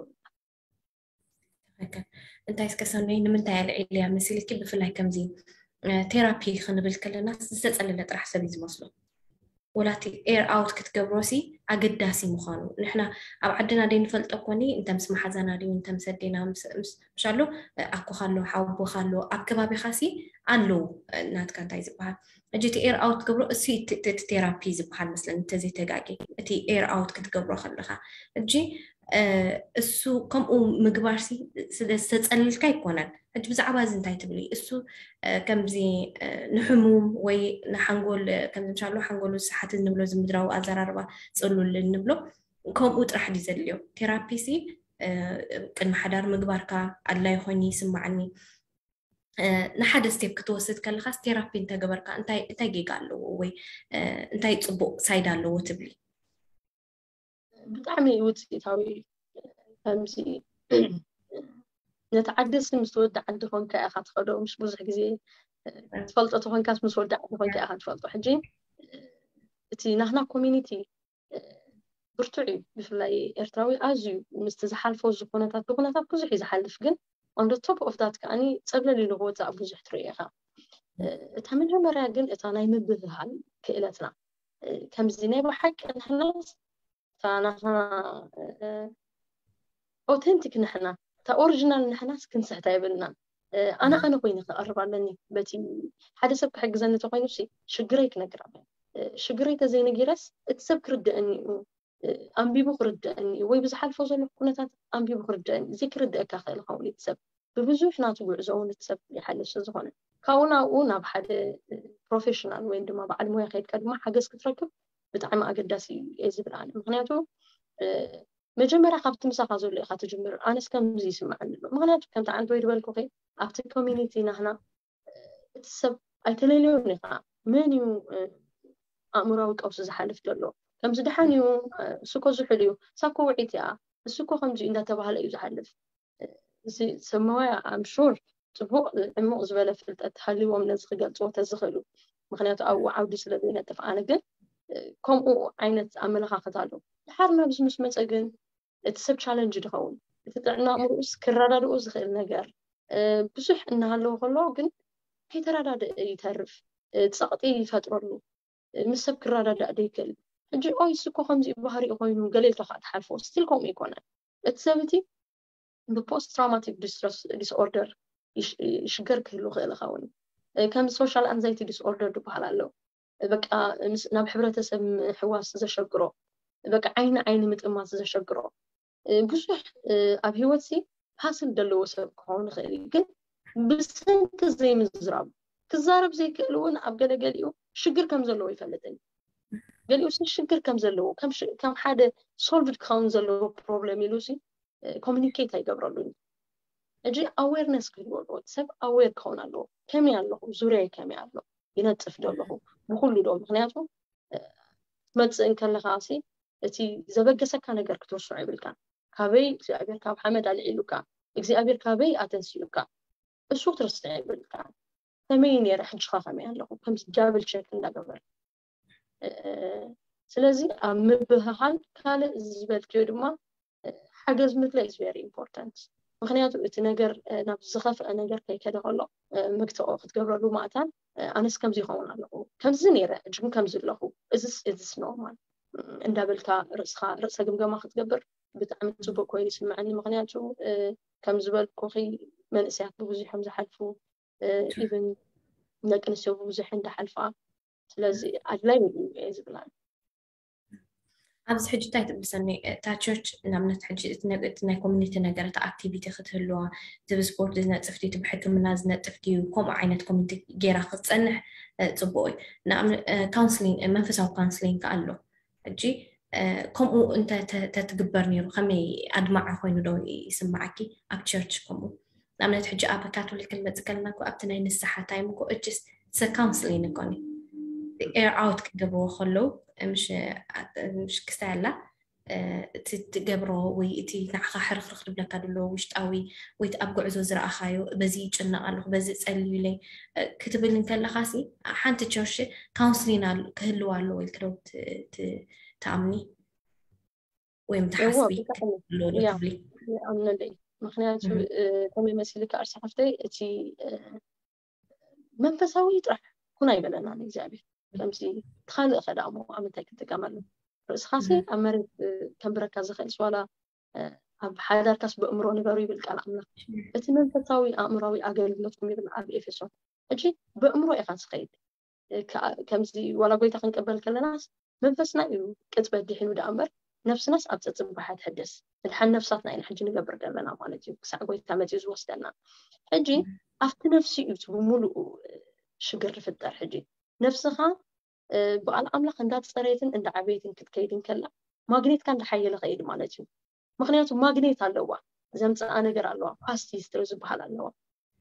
ትክክል እንታይ እስከ ሰኖይ ንምንታይ ኣልዒልያ መሲልኪ ብፍላይ ከምዚ ቴራፒ ክንብል ከለና ዝተፀለለ ጥራሕ ሰብ እዩ ዝመስሎ ወላቲ ኤር ኣውት ክትገብሮ ሲ ኣገዳሲ ምዃኑ ንሕና ኣብ ዓድና ደይ ንፈልጦ ኮኒ እንተ ምስ መሓዛና ድዩ እንተ ምስ ኣዴና ምሻሉ ኣኮኻ ኣሎ ሓወቦኻ ኣሎ ኣብ ከባቢኻ ሲ ኣለዉ ናትካ እንታይ ዝበሃል ሕጂ እቲ ኤር ኣውት ትገብሮ እሱ እቲ ቴራፒ ዝበሃል መስለኒ እንተዘይተጋጊ እቲ ኤር ኣውት ክትገብሮ ከለኻ ሕጂ እሱ ከምኡ ምግባር ስለ ዝተፀልልካ ኣይኮነን። ሕጂ ብዛዕባ እዚ እንታይ ትብሊ? እሱ ከምዚ ንሕሙም ወይ ንሓንጎል ከምዚ ምሻሉ ሓንጎሉ ዝሰሓት እንብሎ ዝምድራዊ ኣዘራርባ ፅሉል እንብሎ ከምኡ ጥራሕ ድዩ ዘድልዮ? ቴራፒ ሲ ቅድሚ ሓዳር ምግባርካ ኣድላይ ኮይኑ ይስማዓኒ። ንሓደ ስቴፕ ክትወስድ ከለካስ ቴራፒ እንተገበርካ እንታይ እንታይ ጌጋ ኣለዎ ወይ እንታይ ፅቡቅ ሳይድ ኣለዎ ትብሊ? ብጣዕሚ ውፅኢታዊ እዩ። ከምዚ ነቲ ዓዲ ሲ ምስ ወዲ ዓዲ ኮንካ ኢኻ ትኸዶ። ምስ ብዙሕ ግዜ ትፈልጦ ተኾንካስ ምስ ወዲ ዓዲ ኮንካ ኢኻ ትፈልጦ። ሕጂ እቲ ናህና ኮሚኒቲ ብርቱዕ እዩ። ብፍላይ ኤርትራዊ ኣዝዩ ምስቲ ዝሓልፎ እዚ ኩነታት ብኩነታት ብዙሕ እዩ ዝሓልፍ፣ ግን on the top of that ከዓኒ ፀብለል ኢሉ ክወፃእ ብዙሕ ትርኢ ኢኻ። እታ መጀመርያ ግን እታ ናይ ምብህሃል ክእለትና ከምዚ ናይ ብሓቂ ንሕናስ እታ ናትና ኦተንቲክ ንሕና እታ ኦሪጂናል ንሕናስ ክንስሕታ የብልናን። ኣነ ኣነ ኮይነ ክቐርብ ኣለኒ። በቲ ሓደ ሰብ ክሕግዘኒ ተኮይኑ ሲ ሽግረይ ክነግር ኣለኒ። ሽግረይ ተዘይነጊረስ እቲ ሰብ ክርድአኒ እዩ፣ ኣንቢቡ ክርድአኒ እዩ፣ ወይ ብዝሓልፎ ዘለኹ ኩነታት ኣንቢቡ ክርድአኒ እዩ። ዘይክርድአካ ክእል ይኸውን እቲ ሰብ ብብዙሕ ናቱ ጉዕዞ እውን እቲ ሰብ ይሓልፍ ስለዝኾነ ካብኡ ናብኡ ናብ ሓደ ፕሮፌሽናል ወይም ድማ በዓል ሞያ ከይድካ ድማ ሓገዝ ክትረክብ ብጣዕሚ ኣገዳሲ እዩ እየ ዝብል ኣነ። ምክንያቱ መጀመርያ ካብቲ ምሳኻ ዘሎ ኢኻ ትጅምር። ኣነስ ከምዚ ይስምዓኒ ኣሎ። ምክንያቱ ከምቲ ዓንተ ወይ ዝበልኩኺ ኣብቲ ኮሚኒቲ ናህና እቲ ሰብ ኣይተለልዮን ኢኻ። መን እዩ ኣእምራዊ ቀውሲ ዝሓልፍ ዘሎ? ከምዚ ደሓን እዩ፣ እሱ እኮ ዝሑል እዩ፣ እሳ እኮ ውዒት እያ፣ እሱ እኮ ከምዚ እዩ እንዳተባህለ እዩ ዝሓልፍ። እዚ ሰብ ሞያ ኣም ሹር ፅቡቅ ዕሙቅ ዝበለ ፍልጠት ሃልዎም ነዚ ክገልፅዎ ተዝኽእሉ። ምክንያቱ ኣብኡ ዓውዲ ስለ ዘይነጥፍ። ኣነ ግን ከምኡ ዓይነት ኣመለኻኽታ ኣሎ። ድሓር ናብዚ ምስ መፀ ግን እቲ ሰብ ቻለንጅ ድኸውን እቲ ጥዕና ኣእምሮኡስ ክረዳድኡ ዝኽእል ነገር ብዙሕ እናሃለዎ ከሎ ግን ከይተረዳድእ ይተርፍ። ፀቕጢ ይፈጥረሉ። ምስ ሰብ ክረዳዳእ ደይክእል። ሕጂ ኦይ ስኮ ከምዚ ባህሪኡ ኮይኑ ገለ ኢልካ ከዓ ትሓልፎ ስቲል ከምኡ ይኮነ። እቲ ሰብ እቲ ብፖስት ትራውማቲክ ዲስትረስ ዲስኦርደር ይሽገር ክህሉ ክእል ይኸውን። ከም ሶሻል ኣንዛይቲ ዲስኦርደር ዝበሃል ኣሎ። በቃ ናብ ሕብረተሰብ ምሕዋስ ዘሸግሮ፣ በቃ ዓይኒ ዓይኒ ምጥማት ዘሸግሮ ብዙሕ ኣብ ህይወት ሲ ፓስል ዘለዎ ሰብ ክኸውን ይኽእል እዩ። ግን ብሰንኪ ዘይምዝራቡ ክዛረብ ዘይክእል እውን ኣብ ገለገሊኡ ሽግር ከም ዘለዎ ይፈልጥን። ገሊኡ ሲ ሽግር ከም ዘለዎ ከም ሓደ ሶልቭድ ክኸውን ዘለዎ ፕሮብለም ኢሉ ሲ ኮሚኒኬት ኣይገብረሉን። ሕጂ ኣዌርነስ ክህልዎ ኣለዎ። ሰብ ኣዌር ክኸውን ኣለዎ። ከመይ ኣለኹ፣ ዙርያይ ከመይ ኣሎ፣ ይነጥፍ ዶ ኣለኹ ብኩሉ ዶ? ምክንያቱ ትመፅእ እንከለካ ሲ እቲ ዘበገሰካ ነገር ክትርስዖ ይብልካ። ካበይ እግዚኣብሔር ካብ ሓመድ ኣልዒሉካ፣ እግዚኣብሔር ካበይ ኣተንሲኡካ፣ እሱ ክትርስዕ ይብልካ። ከመይ ነይረ፣ ሕጂኻ ከመይ ኣለኹ፣ ከምዚ ዳብል ቸክ እንዳገበር። ስለዚ ኣብ ምብህሃል ካልእ ዝበልክዮ ድማ ሓገዝ ምድላይ is very important። ምክንያቱ እቲ ነገር ናብ ዝኸፍአ ነገር ከይከደ ከሎ መግትኦ ክትገብረሉ ማእታን ኣነስ ከምዚ ይኸውን ኣለኹ፣ ከምዚ ነይረ፣ ሕጂ ግን ከምዚ ኣለኹ፣ እዚስ እዚስ ኖርማል እንዳበልካ ርእስኻ ርእሰ ግምገማ ክትገብር ብጣዕሚ ፅቡቅ ኮይኑ ይስምዐኒ። ምክንያቱ ከም ዝበልኩኺ መንእሰያት ብብዙሕ እዮም ዝሓልፉ፣ ኢቭን ደቂ ኣንስትዮ ብብዙሕ እንዳሓልፋ። ስለዚ ኣድላይ እዩ እየ ዝብላ። ኣብዚ ሕጂ እንታይ ትብል ሰኒ? እታ ቸርች ንኣብነት ሕጂ እቲ ናይ ኮሚኒቲ ነገር፣ እቲ ኣክቲቪቲ ክትህልዋ፣ እቲ ብስፖርት ዝነጥፍ ድዩ፣ እቲ ብሕክምና ዝነጥፍ ድዩ፣ ከምኡ ዓይነት ኮሚኒቲ ገይራ ክትፀንሕ ፅቡቅ እዩ። ንኣብነት ካውንስሊንግ፣ መንፈሳዊ ካውንስሊንግ ከ ኣሎ። ሕጂ ከምኡ እንተትግበር ነይሩ ከመይ ኣድማዒ ኮይኑ ዶ ይስምዓኪ? ኣብ ቸርች ከምኡ ንኣብነት ሕጂ ኣብ ካቶሊክ ክንመፅእ ከለና እኮ ኣብቲ ናይ ንስሓ ታይም እኮ እችስ ሰ ካውንስሊን እኮ ኒ ኤር ኣውት ክገብርዎ ከለዉ ምሽ ክስታይ ኣላ እቲ ትገብሮ ወይ እቲ ንዓኻ ሕርኽርኽ ዝብለካ ዘሎ ውሽጣዊ ወይ እቲ ኣብ ጉዕዞ ዝረኣኻዮ በዚ ይጭነቕ ኣለኹ በዚ ጸልዩለይ ክትብል እንከለኻሲ ሓንቲ ቸርች ካውንስሊን ክህልዋ ኣለዎ ኢልክዶ ትኣምኒ? ወይም ትሓስቢ ኣለዎ ትብሊ? ይኣምነሉ እዩ። ምክንያቱ ከመይ መሲልካ ኣርሲ ሓፍተይ እቲ መንፈሳዊ ጥራሕ ኩን ኣይበለናን እግዚኣብሔር። ከምዚ ትኻልእ ከ ደኣ እሞ ኣብ ምንታይ ክትጥቀመሉ? ርእስኻሲ ኣብ መሬት ከንብረካ ዝኽእል ዋላ ኣብ ሓዳርካስ ብእምሮ ንበሩ ይብል ቃል ኣምላኽ። እቲ መንፈሳዊ ኣእምራዊ ኣገልግሎትኩም ይብል ኣብ ኤፌሶን። ሕጂ ብእምሮ ኢኻ ትኸይድ። ከምዚ ዋላ ጎይታ ክንቀበል ከለናስ መንፈስና እዩ ቅጽበት ድሒኑ ደኣ እምበር ነፍስናስ ኣብ ጸጽባሓ ትሕደስ። ምድሓን ነፍሳትና ኢና ሕጂ ንገብር ዘለና ማለት እዩ፣ ክሳዕ ጎይታ መጺኡ ዝወስደና። ሕጂ ኣብቲ ነፍሲ እዩ እቲ ብምሉኡ ሽግር ዝፍጠር። ሕጂ ነፍስኻ ብቓል ኣምላኽ እንዳጸረየትን እንዳዓበየትን ክትከይድ እንከላ፣ ማግኔትካ እንዳሓየለ ከይድ ማለት እዩ። ምክንያቱ ማግኔት ኣለዋ፣ ዘምጽኣ ነገር ኣለዋ፣ ፓስት ሂስትሪ ዝበሃል ኣለዋ።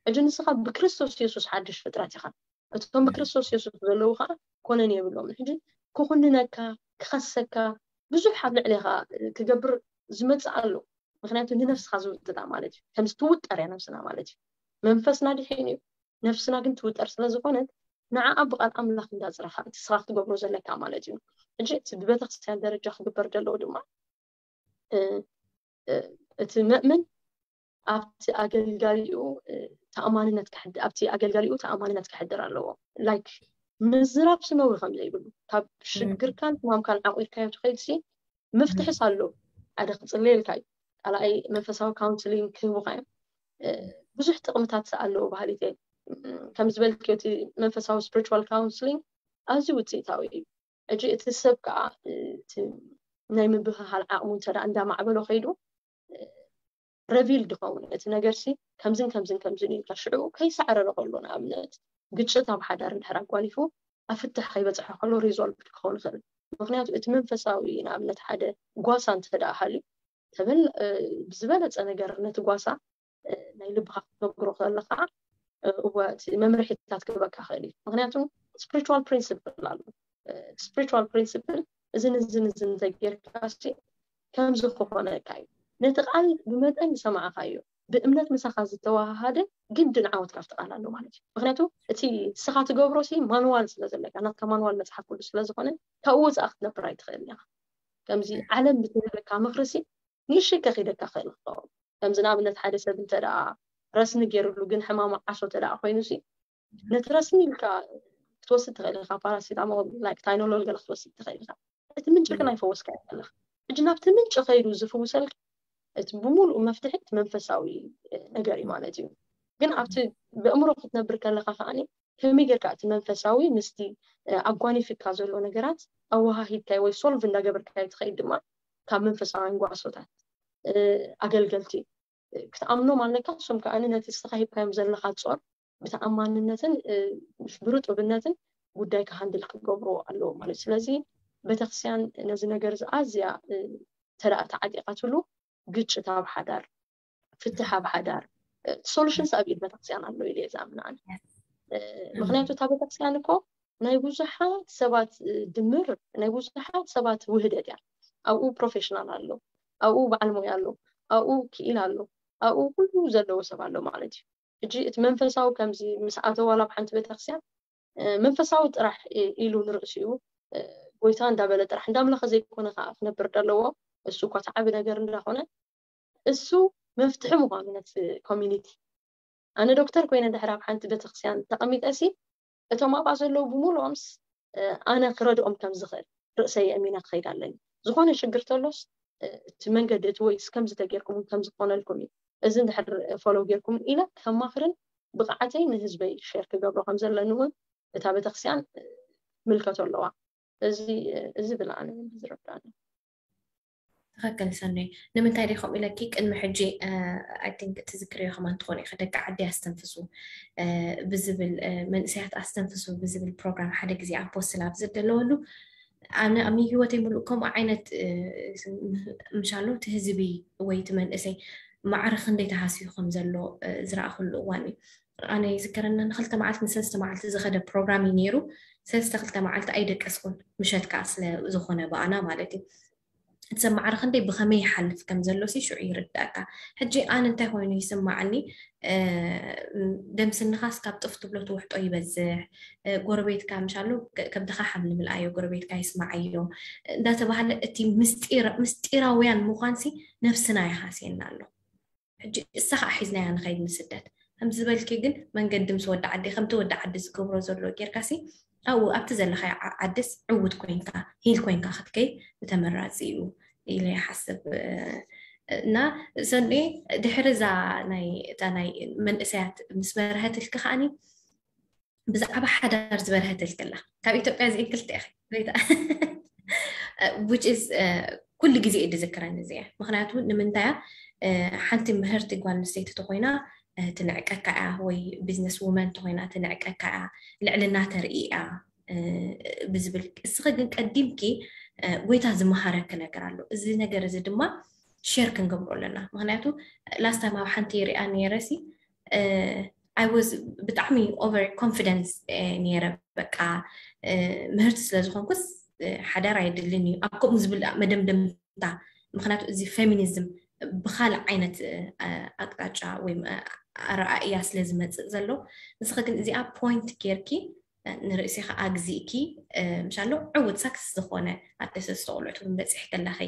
ሕጂ ንስኻ ብክርስቶስ የሱስ ሓድሽ ፍጥረት ኢኻ። እቶም ብክርስቶስ የሱስ ዘለዉ ከዓ ኮነን የብሎም። ሕጂ ክኹንነካ፣ ክኸሰካ፣ ብዙሕ ኣብ ልዕሌኻ ክገብር ዝመጽእ ኣሎ። ምክንያቱ ንነፍስኻ ዝውጥጣ ማለት እዩ። ከምዚ ትውጠር እያ ነፍስና ማለት እዩ። መንፈስና ድሒን እዩ፣ ነፍስና ግን ትውጠር ስለ ዝኾነት፣ ንዓኣ ብቓል ኣምላኽ እንዳጽረኻ እቲ ስኻ ክትገብሮ ዘለካ ማለት እዩ። ሕጂ እቲ ብቤተክርስትያን ደረጃ ክግበር ዘለዎ ድማ እቲ መእመን ኣብቲ ኣገልጋሊኡ ተኣማንነት ኣብቲ ኣገልጋሊኡ ተኣማንነት ክሕድር ኣለዎ። ላይክ ምዝራብ ስነዊ ከም ዘይብሉ፣ ካብ ሽግርካን ሕማምካን ዓቂርካዮ ትኸይድ ሲ መፍትሕስ ኣሎ። ሓደ ክጽለየልካ እዩ፣ ካልኣይ መንፈሳዊ ካውንስሊንግ ክህቡካ እዮም። ብዙሕ ጥቕምታት ኣለዎ ባህሊት። ከም ዝበልክዮ እቲ መንፈሳዊ ስፕሪቹዋል ካውንስሊንግ ኣዝዩ ውፅኢታዊ እዩ። ሕጂ እቲ ሰብ ከዓ ናይ ምብህሃል ዓቕሙ እንተ እንዳማዕበሎ ከይዱ ረቪል ድኸውን እቲ ነገር ሲ ከምዝን ከምዝን ከምዝን ኢልካ ሽዑ ከይሳዕረረ ከሎ፣ ንኣብነት ግጭት ኣብ ሓዳር እንድሕር ኣጓኒፉ ኣብ ፍትሕ ከይበፅሐ ከሎ ሪዞልቭ ክኸውን ይኽእል። ምክንያቱ እቲ መንፈሳዊ ንኣብነት ሓደ ጓሳ እንተ ደኣ ሃልዩ ተበል ብዝበለፀ ነገር ነቲ ጓሳ ናይ ልብኻ ክትነግሮ ከለኻ እወ እቲ መምርሒታት ክበካ ክእል እዩ። ምክንያቱ ስፕሪቹዋል ፕሪንስፕል ኣሎ። ስፕሪቹዋል ፕሪንስፕል እዝን እዝን እዝን እንተጌርካ ሲ ከምዚ ክኾነካ እዩ። ነቲ ቃል ብመጠን ዝሰማዕኻዮ ብእምነት ምሳኻ ዝተዋሃሃደ ግድን ዓወት ካብቲ ቃል ኣሎ ማለት እዩ። ምክንያቱ እቲ ንስኻ ትገብሮ ሲ ማንዋል ስለ ዘለካ፣ ናትካ ማንዋል መፅሓፍ ቅዱስ ስለ ዝኾነ ካብኡ ወፃእ ክትነብር ኣይትኽእልን ኢኻ። ከምዚ ዓለም ብትህበካ ምክሪ ሲ ንእሽተይ ከኺደካ ክእል ክኸውን። ከምዚ ንኣብነት ሓደ ሰብ እንተ ደኣ ረስኒ ገይሩሉ ግን ሕማሙ ዓሶ እንተ ደኣ ኮይኑ ሲ ነቲ ረስኒ ኢልካ ክትወስድ ትኽእል ኢኻ። ፓራሲታሞል ላይክ ታይኖሎል ገለ ክትወስድ ትኽእል ኢኻ። እቲ ምንጪ ግን ኣይፈወስካ ኣለኻ። ሕጂ ናብቲ ምንጪ ከይዱ ዝፍውሰልካ እቲ ብምሉእ መፍትሒ እቲ መንፈሳዊ ነገር እዩ ማለት እዩ። ግን ኣብቲ ብእምሮ ክትነብር ከለኻ ከዓኒ ከመይ ጌርካ እቲ መንፈሳዊ ምስቲ ኣጓኒፍካ ዘሎ ነገራት ኣወሃሂድካዮ ወይ ሶልቭ እንዳገበርካዮ ትኸይድ ድማ ካብ መንፈሳውያን ጓሶታት ኣገልገልቲ ክትኣምኖም ኣለካ። እሶም ከዓኒ ነቲ ንስኻ ሂብካዮም ዘለኻ ጾር ብተኣማንነትን ብርጡብነትን ጉዳይ ክሃንድል ክገብሩ ኣለዎ ማለት እዩ። ስለዚ ቤተክርስትያን ነዚ ነገር እዚ ኣዝያ ተደኣ ተዓጢቓትሉ ግጭት ኣብ ሓዳር፣ ፍትሕ ኣብ ሓዳር፣ ሶሉሽንስ ኣብ ኢድ ቤተክርስትያን ኣሎ ኢለ እየ ዝኣምን ኣነ። ምክንያቱ እታ ቤተክርስትያን እኮ ናይ ብዙሓት ሰባት ድምር፣ ናይ ብዙሓት ሰባት ውህደት እያ። ኣብኡ ፕሮፌሽናል ኣሎ፣ ኣብኡ በዓል ሞያ ኣሎ፣ ኣብኡ ክኢል ኣሎ፣ ኣብኡ ኩሉ ዘለዎ ሰብ ኣሎ ማለት እዩ። ሕጂ እቲ መንፈሳዊ ከምዚ ምስ ኣተወ ዋላ ኣብ ሓንቲ ቤተክርስትያን መንፈሳዊ ጥራሕ ኢሉ ንርእሲኡ ጎይታ እንዳበለ ጥራሕ እንዳምለኸ ዘይኮነ ከዓ ክነብር ደለዎ። እሱ እኳ ተዓቢ ነገር እንዳኾነ እሱ መፍትሒ ምዃኑ ነቲ ኮሚኒቲ። ኣነ ዶክተር ኮይነ ድሕር ኣብ ሓንቲ ቤተክርስትያን ተቐሚጠ ሲ እቶም ኣብኣ ዘለዉ ብምሉኦምስ ኣነ ክረድኦም ከም ዝኽእል ርእሰይ ኣሚነ ክኸይድ ኣለኒ። ዝኾነ ሽግር ተሎስ እቲ መንገዲ እቲ ወይስ ከምዚ ተጌርኩም ከምዚ ክኾነልኩም እዩ፣ እዚ እንድሕር ፎሎው ጌርኩም ኢለ ከማኽርን ብቕዓተይ ንህዝበይ ሼር ክገብሮ ከም ዘለኒ እውን እታ ቤተክርስትያን ምልከቶ ኣለዋ። እዚ እዚ ብለኣነ ዝረዳኒ። ትኽክል ሰኒ። ንምንታይ ደ ከምኡ ኢለኪ ቅድሚ ሕጂ ኣይ ቲንክ ትዝክርዮ ከማን ትኾኑ ኢኺ ደቂ ዓዲ ኣስተንፍሱ ብዝብል መንእሰያት ኣስተንፍሱ ብዝብል ፕሮግራም ሓደ ግዜ ኣብ ፖስት ላብ ዝደለወሉ ኣነ ኣብ ህይወተይ ሙሉእ ከምኡ ዓይነት ምሻሎ እቲ ህዝቢ ወይ እቲ መንእሰይ ማዕረ ክንደይ ተሃስዩ ከም ዘሎ ዝረኣኹሉ እዋን እዩ። ኣነ ይዝከረና ንክልተ መዓልቲ ንሰለስተ መዓልቲ ዝኸደ ፕሮግራም እዩ ነይሩ። ሰለስተ ክልተ መዓልቲ ኣይደቀስኩን፣ ምሸት ከዓ ስለ ዝኾነ ብኣና ማለት እዩ። እቲ ሰብ ማዕረ ክንደይ ብኸመይ ይሓልፍ ከም ዘሎ ሲ ሽዑ ይርዳእካ። ሕጂ ኣነ እንታይ ኮይኑ ይስማዓኒ፣ ደምስንኻስ ካብ ጥፍ ትብሎ ትውሕጦ ይበዝሕ፣ ጎረቤትካ ምሻሉ ከብድኻ ሓምሊ ምልኣዮ፣ ጎረቤትካ ይስማዓዮ እንዳተባሃለ እቲ ምስጢራውያን ምዃን ሲ ነብስና ይሃስየና ኣሎ። ሕጂ እሳ ከዓ ሒዝናያ ንኸይድ ንስደት ከም ዝበልኪ ግን መንገዲ ምስ ወዲ ዓዲ ከምቲ ወዲ ዓዲ ዝገብሮ ዘሎ ጌርካ ሲ ኣብኡ ኣብቲ ዘለካ ዓድስ ዕውት ኮይንካ ሂል ኮይንካ ክትከይድ ብተመራፂ እዩ ኢለ ይሓስብ። እና ሰኔ ድሕሪ እዛ ናይ እታ ናይ መንእሰያት ምስ በርሀትልኪ ከዓኒ ብዛዕባ ሓዳር ዝበርሀትልክላ ካብ ኢትዮጵያ እዚአን ክልተ ኢኺ which is ኩሉ ግዜ እየ ዝዝክረን እዚኣ። ምኽንያቱ ንምንታይ እያ? ሓንቲ ምህርቲ ጓል ኣንስተይቲ ተኾይና ትንዕቀካ እያ፣ ወይ ቢዝነስ ውመን ተኾይና ትንዕቀካ እያ፣ ልዕልና ተርኢ እያ ብዝብል። እስኺ ግን ቀዲምኪ ጎይታ ዝመሃረኪ ነገር ኣሎ። እዚ ነገር እዚ ድማ ሼር ክንገብሮ ኣለና። ምኽንያቱ ላስት ታይም ኣብ ሓንቲ ሪኣ ነይረ ሲ ኣይ ወዝ ብጣዕሚ ኦቨር ኮንፊደንስ ነይረ። በቃ ምህርቲ ስለ ዝኾንኩስ ሓዳር ኣይድልን እዩ ኣብ ከምኡ ዝብል መደምደምታ። ምኽንያቱ እዚ ፌሚኒዝም ብኻልእ ዓይነት ኣቅጣጫ ወይ ኣረኣእያ ስለ ዝመፅእ ዘሎ። ንስኺ ግን እዚኣ ፖይንት ጌርኪ ንርእሲ ከዓ ግዜእኪ ምሻሎ ዕውት ሳክስ ዝኾነ ኣደሰስ ተቆልዑት እውን በፂሕ ከለኺ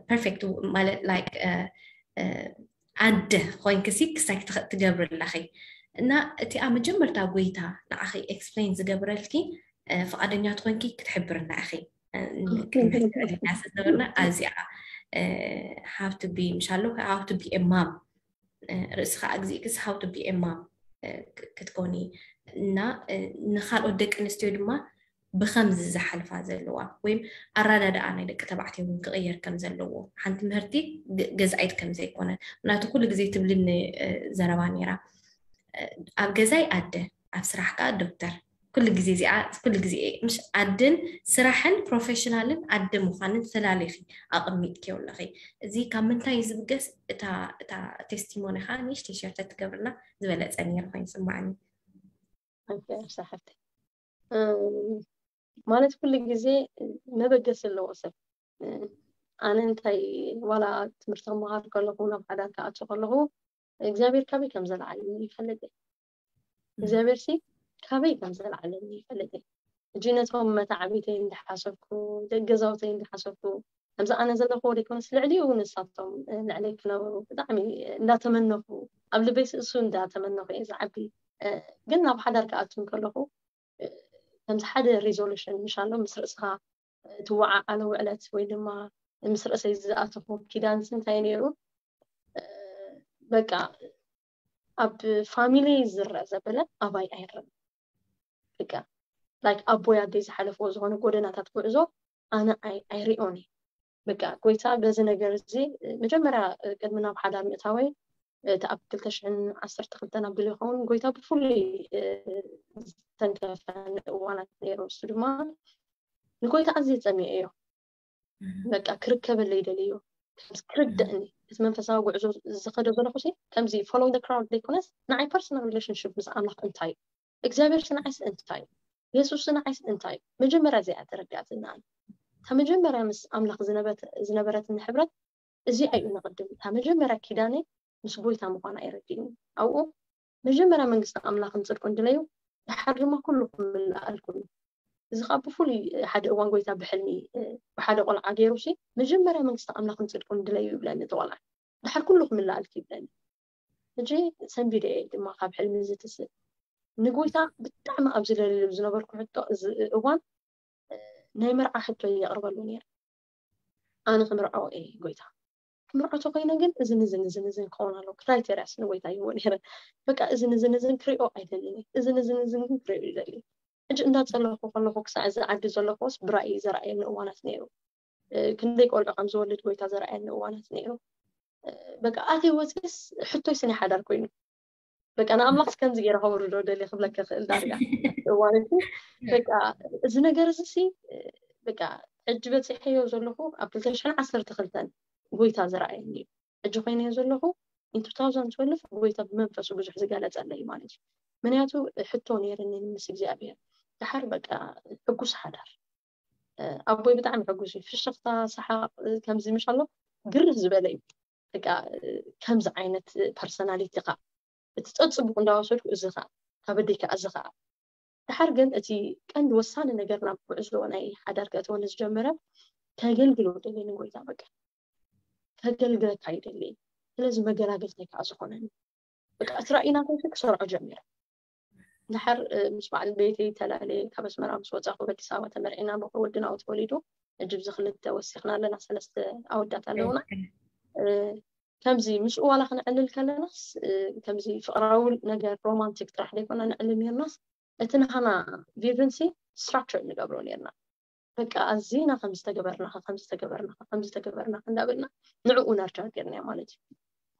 ፐርፌክት ማለት ላይክ ኣደ ኮይንክሲ ክሳይ ትገብሪ ኣለኺ። እና እቲኣ መጀመርታ ጎይታ ንዓኺ ኤክስፕሌን ዝገብረልኪ ፍቓደኛ ትኾንኪ ክትሕብርና ኢኺ። ክሕብርና ስለዝነበርና ኣብዚኣ ሃው ቱ ቢ ምሻሎ ሃው ቱ ቢ ማም ርእስኻ ኣግዚእክስ ሃው ቱ ቢ ማም ክትኮኒ እና ንካልኦት ደቂ ኣንስትዮ ድማ ብከምዚ ዝሓልፋ ዘለዋ ወይም ኣረዳድኣ ናይ ደቂ ተባዕትዮ እውን ክቕየር ከም ዘለዎ፣ ሓንቲ ምህርቲ ገዛኢት ከም ዘይኮነ ምናቱ ኩሉ ግዜ ትብልኒ ዘረባ ነይራ። ኣብ ገዛይ ኣደ፣ ኣብ ስራሕ ከዓ ዶክተር። ኩሉ ግዜ እዚኣ ኩሉ ግዜ ምሽ ኣድን ስራሕን ፕሮፌሽናልን ኣደ ምዃንን ፈላሊኺ ኣቐሚጥክዮ ኣለኺ። እዚ ካብ ምንታይ እዩ ዝብገስ? እታ እታ ቴስቲሞኒ ከዓ ንእሽተይ ሸርተ ትገብርና ዝበለፀ ነይሩ ኮይኑ ይስማዓኒ። ማለት ኩሉ ግዜ መበገሲ ኣለዎ ሰብ። ኣነ እንታይ ዋላ ትምህርቲ ክመሃር ከለኹ ናብ ሓዳር ክኣቱ ከለኹ እግዚኣብሔር ካበይ ከም ዘለዓለኒ ይፈልጥ እየ። እግዚኣብሔር ሲ ካበይ ከም ዘለዓለኒ ይፈልጥ እየ። ሕጂ ነቶም መታዕቢተይ እንዳሓሰብኩ ደቂ ገዛውተይ እንዳሓሰብኩ ከምዚ ኣነ ዘለኹዎ ዘይኮነስ ልዕሊኡ ንሳቶም ልዕለይ ክነብሩ ብጣዕሚ እንዳተመነኹ ኣብ ልበይ እሱ እንዳተመነኹ እየ ዝዓቢ። ግን ናብ ሓዳር ክኣቱ ከለኹ ከምዚ ሓደ ሪዞሉሽን ምሻሎ ምስ ርእስኻ ትወዓዓሎ ውዕለት ወይ ድማ ምስ ርእሰይ ዝኣተኹ ኪዳንስ እንታይ ነይሩ? በቃ ኣብ ፋሚሊ ዝረአ ዘበለ ኣባይ ኣይረን። በቃ ላይክ ኣቦይ ኣደይ ዝሓለፍዎ ዝኾነ ጎደናታት ጉዕዞ ኣነ ኣይሪኦን እየ። በቃ ጎይታ በዚ ነገር እዚ መጀመርያ ቅድሚ ናብ ሓዳር ምእታወይ እቲ ኣብ ክልተ ሽሕን ዓሰርተ ክልተን ኣቢሉ ይኸውን ጎይታ ብፍሉይ ዝተንከፈኒ እዋናት ነይሩ። እሱ ድማ ንጎይታ ኣዝየ ጸሚኤዮ። በቃ ክርከበለይ ደልዮ። ከምዚ ክርደእኒ እቲ መንፈሳዊ ጉዕዞ ዝኸዶ ዘለኹ ሲ ከምዚ follow the crowd ዘይኮነስ ንዓይ personal relationship ምስ ኣምላኽ እንታይ እዩ እግዚኣብሔር ስንዓይስ እንታይ እዩ የሱስ ስንዓይስ እንታይ እዩ መጀመርያ እዚኣ ተረዳእትና እታ መጀመርያ ምስ ኣምላኽ ዝነበረትኒ ሕብረት እዚኣ እዩ ንቕድም እታ መጀመርያ ኪዳነይ ምስ ጎይታ ምዃና የረዲእኒ ኣብኡ መጀመርያ መንግስቲ ኣምላኽን ጽድቁን ድለዩ ድሓር ድማ ኩሉ ክምልኣልኩም እዩ እዚ ከዓ ብፍሉይ ሓደ እዋን ጎይታ ብሕልሚ ብሓደ ቆልዓ ገይሩ ሲ መጀመርያ መንግስቲ ኣምላኽን ጽድቁን ድለዩ ይብለኒ እቲ ቆልዓ ድሓር ኩሉ ክምልኣልኪ ይብለኒ ሕጂ ሰንቢደ እየ ድማ ካብ ሕልሚ ዝትስእ ንጎይታ ብጣዕሚ ኣብ ዝለልሉ ዝነበርኩ ሕቶ እዚ እዋን ናይ መርዓ ሕቶ የቕርበሉ ነይረ ኣነ ክምርዖ እየ ጎይታ ክምርዖ ተኮይነ ግን እዝን እዝን እዝን እዝን ክኸውን ኣለዎ ክራይቴርያስ ንጎይታ ይህቦ ነይረ በቃ እዝን እዝን እዝን ክሪኦ ኣይደልን እየ እዝን እዝን እዝን ግን ክሪኦ ይደሊ ሕጂ እንዳፀለኹ ከለኹ ክሳዕ እዚ ዓዲ ዘለኹስ ብራእይ ዘርኣየኒ እዋናት ነይሩ ክንደይ ቆልዑ ከም ዝወልድ ጎይታ ዘርኣየኒ እዋናት ነይሩ በቃ ኣተይ ወፅስ ሕቶይ ስኒ ሓዳር ኮይኑ በቃ ንኣምላኽ ከምዚ ገይረ ከውርዶ ደልየ ክብለካ ክእል ዳርጋ እዋን በቃ እዚ ነገር እዚ ሲ በቃ ሕጂ በፂሐዮ ዘለኹ ኣብ ክልተ ሽሕን ዓሰርተ ክልተን ጎይታ ዝረኣየኒ እዩ ሕጂ ኮይነዮ ዘለኹ in two thousand twelve ጎይታ ብመንፈሱ ብዙሕ ዝገለፀለይ ማለት እዩ ምክንያቱ ሕቶ ነይርኒ ምስ እግዚኣብሔር ድሓር በቃ ሕጉስ ሓዳር ኣቦይ ብጣዕሚ ሕጉስ እዩ ፍሽኽታ ሰሓቕ ከምዚ ምሽ ኣሎ ግርህ ዝበለ እዩ በቃ ከምዚ ዓይነት ፐርሰናሊቲ ካ እቲ ፀፅቡቅ እንዳወሰድኩ እዚ ካ ካብ ኣደይ ከዓ እዚ ከዓ ድሓር ግን እቲ ቀንዲ ወሳኒ ነገር ናብ ጉዕዞ ናይ ሓዳር ከእትወኒ ዝጀመረ ከገልግሎ ደልየ ንጎይታ በቃ ከገልግለካ ይደሊ ስለዚ መገላገልታይ ከዓ ዝኾነኒ በቃ እቲ ራእይ ናተይ ክሰርዖ ጀሚረ ድሓር ምስ በዓል ቤተይ ተላለየ ካብ ኣስመራ ምስ ወፃኹ ኣብ ኣዲስ ኣበባ ተመርዒና በኩር ወድና ተወሊዱ ሕጂ ብዚ ክልተ ወሲኽና ኣለና ሰለስተ ኣወዳት ኣለውና ከምዚ ምስኡ ዋላ ክነዕልል ከለናስ ከምዚ ፍቅራዊ ነገር ሮማንቲክ ጥራሕ ዘይኮና ነዕልል ነርናስ እቲ ናሃና ቪዥንሲ ስትራክቸር ንገብሮ ነርና በቃ ኣዚና ከም ዝተገበርናኻ ከም ዝተገበርናኻ ከም ዝተገበርናኻ እንዳበልና ንዕኡ ነርጃ ጌርናዮ ማለት እዩ።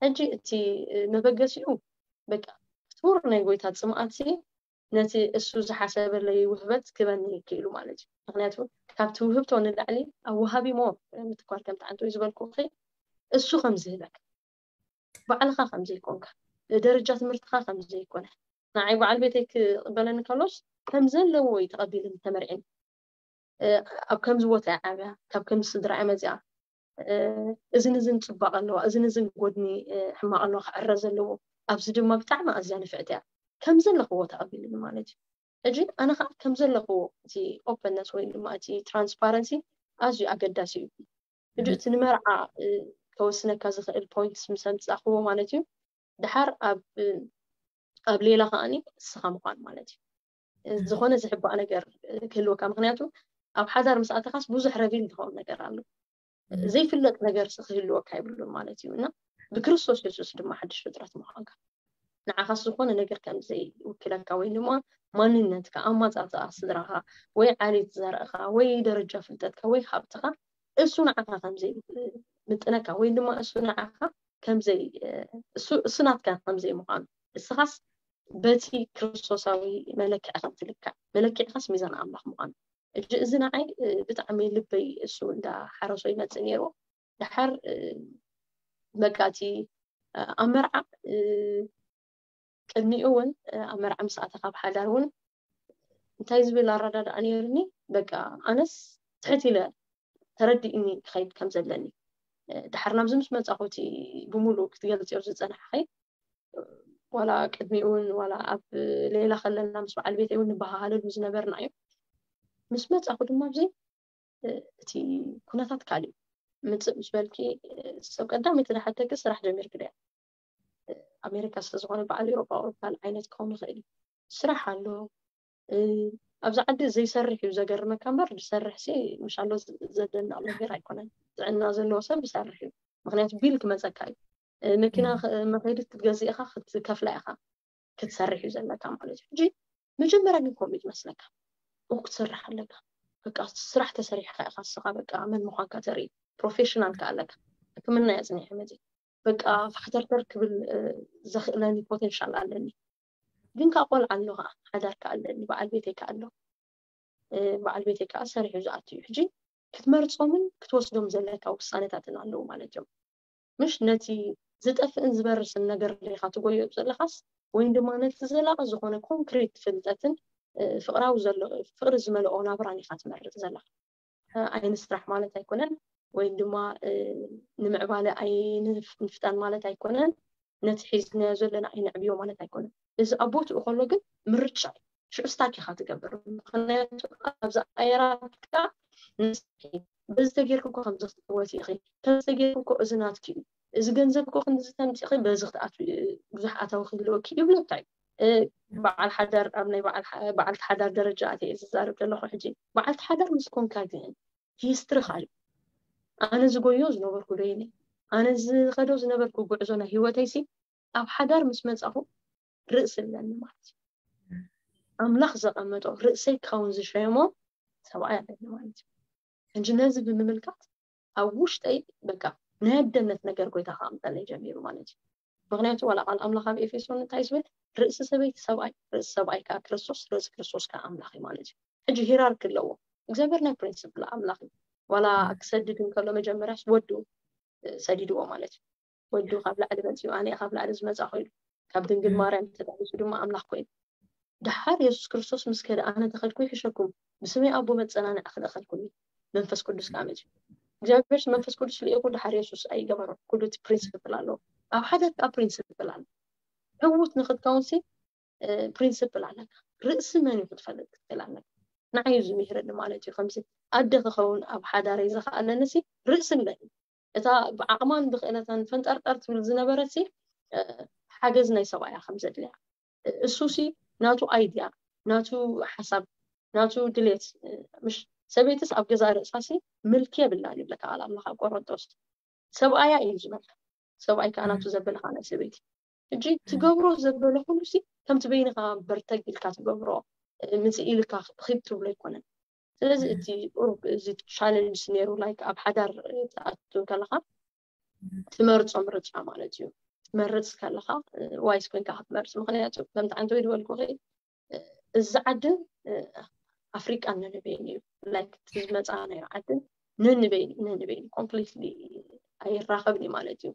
ሕጂ እቲ መበገሲኡ በቃ ክቱር ናይ ጎይታ ጽምኣት ነቲ እሱ ዝሓሰበለይ ውህበት ክበኒ ይክእሉ ማለት እዩ። ምክንያቱ ካብቲ ውህብቶ ንላዕሊ ኣብ ወሃቢ ሞ ምትኳር ከም ተዓንቶ ዝበልኩ እሱ ከም ዝህበካ ባዕልኻ ከም ዘይኮንካ ደረጃ ትምህርትኻ ከም ዘይኮነ ንዓይ በዓል ቤተይ ክቕበለኒ ከሎስ ከም ዘለዎ እዩ ተቐቢልኒ ተመርዒኒ። ኣብ ከምዚ ቦታ እያ ዓብያ፣ ካብ ከምዚ ስድራ እያ መፅያ፣ እዝን እዝን ፅባቕ ኣለዋ፣ እዝን እዝን ጎድኒ ሕማቕ ኣለዋ ክዕረ ዘለዎ፣ ኣብዚ ድማ ብጣዕሚ ኣዝያ ንፍዕቲ እያ ከም ዘለኽዎ ተቐቢልኒ ማለት እዩ። ሕጂ ኣነ ከዓ ከም ዘለኽዎ እቲ ኦፐንነስ ወይ ድማ እቲ ትራንስፓረንሲ ኣዝዩ ኣገዳሲ እዩ። ሕጂ እቲ ንመርዓ ከወስነካ ዝኽእል ፖይንትስ ምስ ኣምፃእኽዎ ማለት እዩ ድሓር ኣብ ኣብ ሌላ ከዓኒ እስኻ ምዃን ማለት እዩ። ዝኾነ ዝሕባእ ነገር ክህልወካ፣ ምክንያቱ ኣብ ሓዳር ምስ ኣተኻስ ብዙሕ ረቪል ዝኸውን ነገር ኣሎ። ዘይፍለጥ ነገር ክህልወካ ይብሉን ማለት እዩ። እና ብክርስቶስ የሱስ ድማ ሓድሽ ፍጥረት ምዃንካ ንዓኻስ ዝኾነ ነገር ከም ዘይውክለካ ወይ ድማ ማንነትካ፣ ኣማፃፅኣ ስድራኻ ወይ ዓሌት ዘርእኻ ወይ ደረጃ ፍልጠትካ ወይ ሃብትኻ እሱ ንዓኻ ከም ዘይምጥነካ ወይ ድማ እሱ ንዓኻ ከምዘይ እሱ ናትካ ከምዘይ ምዃኑ እስኻስ በቲ ክርስቶሳዊ መለክዒ ከም ትልካዕ መለክዕኻስ ሚዛን ኣምላኽ ምዃኑ እጂ እዚ ንዓይ ብጣዕሚ ልበይ እሱ እንዳ ሓረሶ ይመፅእ ነይሩ። ድሓር በቃ እቲ ኣብ መርዓ ቅድሚኡ እውን ኣብ መርዓ ምስ ኣተኻ ኣብ ሓዳር እውን እንታይ ዝብል ኣረዳድኣ ነይርኒ በቃ ኣነስ ትሕት ኢለ ተረዲእኒ ክኸይድ ከም ዘለኒ ድሓር ናብዚ ምስ መፃኹ እቲ ብምሉእ ክትገልፅዮ ዝፀናሕኸይ ዋላ ቅድሚኡ እውን ዋላ ኣብ ሌላ ከለና ምስ በዓል ቤተይ እውን ንበሃሃለሉ ዝነበርና እዩ። ምስ መፃኹ ድማ ኣብዚ እቲ ኩነታት ካሊእ ምፅእ ምስ በልኪ ሰብ ቀዳመይቲ ዝሓተኪ ስራሕ ጀሚርኪ ድያ? ኣሜሪካ ስለዝኾነ በዓል ኤውሮጳ ካልእ ዓይነት ክኸውን ይኽእል እዩ። ስራሕ ኣሎ ኣብዚ ዓዲ ዘይሰርሕ እዩ ዘገርመካ እምበር ዝሰርሕ ሲ ምሻሎ ዘደንቕ ነገር ኣይኮነን። ጥዕና ዘለዎ ሰብ ይሰርሕ እዩ ምክንያቱ ቢል ክመፀካ እዩ። መኪና መኸይዲ ክትገዝእ ኢኻ ክትከፍላ ኢኻ ክትሰርሕ እዩ ዘለካ ማለት እዩ። ሕጂ መጀመርያ ግን ከምኡ እዩ ዝመስለካ ክትሰርሕ ኣለካ በቃ ስራሕ ተሰሪሕካ ኢኻ እስኻ በቃ መን ምዃንካ ተርኢ ፕሮፌሽናል ከ ኣለካ ሕክምና እየ ኣፅኒሐ መፂ በቃ ፋሕተርተር ክብል ዘኽእለኒ ፖቴንሻል ኣለኒ ግን ከዓ ቆልዓ ኣሎ ከዓ ሓዳር ከዓ ኣለኒ በዓል ቤተይ ከዓ ኣሎ በዓል ቤተይ ከዓ ሰሪሑ ዝኣቱ እዩ ሕጂ ክትመርፆምን ክትወስዶም ዘለካ ውሳነታትን ኣለዉ ማለት እዮም ምሽ ነቲ ዝጠፍእን ዝበርስን ነገር ዲኻ ትጎዮ ዘለኻስ ወይም ድማ ነቲ ዘላቒ ዝኾነ ኮንክሪት ፍልጠትን ፍቕራዊ ዘሎ ፍቕሪ ዝመልኦ ናብራን ኢኻ ትመርፅ ዘለኻ ኣይንስራሕ ማለት ኣይኮነን ወይም ድማ ንምዕባለ ኣይንፍጠን ማለት ኣይኮነን ነቲ ሒዝናዮ ዘለና ኣይነዕብዮ ማለት ኣይኮነን እዚ ኣብ ቦትኡ ከሎ ግን ምርጫ እዩ ሽዑ ስታክ ኢኻ ትገብር ምክንያቱ ኣብዚ ኣየራትካ ንስኪ በዚ ተጌርኩ እኮ ከምዚ ክትወቲ ኢኺ ከምዚ ተጌርኩ እኮ እዚ ናትኪ እዩ እዚ ገንዘብ እኮ ክንዚ ተምፂኺ በዚ ክትኣት ብዙሕ ኣታዊ ክህልወኪ ይብለካ እዩ በዓል ሓዳር ኣብ ናይ በዓልቲ ሓዳር ደረጃ ኣተ እየ ዝዛረብ ዘለኹ ሕጂ በዓልቲ ሓዳር ምስ ኮንካ ግን ሂስትሪ ካልእ ኣነ ዝጎዮ ዝነበርኩ ዶ ኢለ ኣነ ዝኸዶ ዝነበርኩ ጉዕዞ ናይ ሂወተይሲ ኣብ ሓዳር ምስ መፃኹ ርእሲ ኣለኒ ማለት እዩ ኣምላኽ ዘቐመጦ ርእሰይ ክኸውን ዝሸየሞ ሰብኣይ ኣለኒ ማለት እዩ ሕጂ ነዚ ብምምልካት ኣብ ውሽጠይ በቃ ናይ ኣደነት ነገር ጎይታ ከኣምጠለይ ጀሚሩ ማለት እዩ ምክንያቱ ዋላ ቃል ኣምላኽ ኣብ ኤፌሶን እንታይ ዝብል ርእሲ ሰበይቲ ሰብኣይ ርእሲ ሰብኣይ ከዓ ክርስቶስ ርእሲ ክርስቶስ ከዓ ኣምላኽ እዩ ማለት እዩ ሕጂ ሂራርኪ ኣለዎ እግዚኣብሔር ናይ ፕሪንስፕል ኣምላኽ እዩ ዋላ ክሰድድ እንከሎ መጀመርያስ ወዱ ሰዲድዎ ማለት እዩ ወዱ ካብ ላዕሊ መፅኡ ኣነ ካብ ላዕሊ ዝመፃ ኮይኑ ካብ ድንግል ማርያም ተጣቂሱ ድማ ኣምላኽ ኮይኑ ድሓር የሱስ ክርስቶስ ምስ ከደ ኣነ ተኸድኩ ይሕሸኩም ብስመይ ኣቦ መፀናንዕ ክልእኸልኩም እዩ መንፈስ ቅዱስ ከዓ መፅኡ እግዚኣብሔር መንፈስ ቅዱስ ልኢኹ ድሓር የሱስ ኣይገበሮ ኩሉ እቲ ፕሪንስፕል ኣለዎ ኣብ ሓደ ከዓ ፕሪንስፕል ኣሎ ዕዉት ንክትከውንሲ ፕሪንስፕል ኣለካ ርእሲ መን እዩ ክትፈልጥ ክትክእል ኣለካ ንዓይ እዩ ዝምህረኒ ማለት እዩ ከምዚ ኣደ ክኸውን ኣብ ሓዳረይ ዝኸኣለኒ ሲ ርእሲ ኣለኒ እታ ብዓቕማን ብክእለታን ፈንጠርጠር ትብል ዝነበረት ሲ ሓገዝ ናይ ሰብኣያ ከም ዘድልያ እሱ ሲ ናቱ ኣይድያ ናቱ ሓሳብ ናቱ ድሌት ምሽ ሰበይትስ ኣብ ገዛ ርእሳ ሲ ምልኪ የብላን ይብለካ ቃል ኣምላኽ ኣብ ቆሮንጦስ ሰብኣያ እዩ ዝበልካ ሰብኣይ ከዓ ናቱ ዘበለ ከዓ ናይ ሰበይቲ ሕጂ ትገብሮ ዘበለ ኩሉ ሲ ከምቲ በይንካ በርተግ ኢልካ ትገብሮ ምፅእ ኢልካ ኺድ ትብሎ ኣይኮነን ስለዚ እቲ ቁሩብ እዚ ቻለንጅ ነይሩ፣ ላይክ ኣብ ሓዳር ትኣቱ ከለኻ ትመርጾ ምርጫ ማለት እዩ። ትመርጽ ከለኻ ዋይስ ኮይንካ ክትመርጽ፣ ምክንያቱ ከምቲ ዓንተ ወይ ዝበልኩኺ እዚ ዓድን ኣፍሪቃን ነንበይን እዩ። ላይክ እቲ ዝመፃናዮ ዓድን ነንበይን ነንበይን ኮምፕሊትሊ ኣይራኸብን እዩ ማለት እዩ።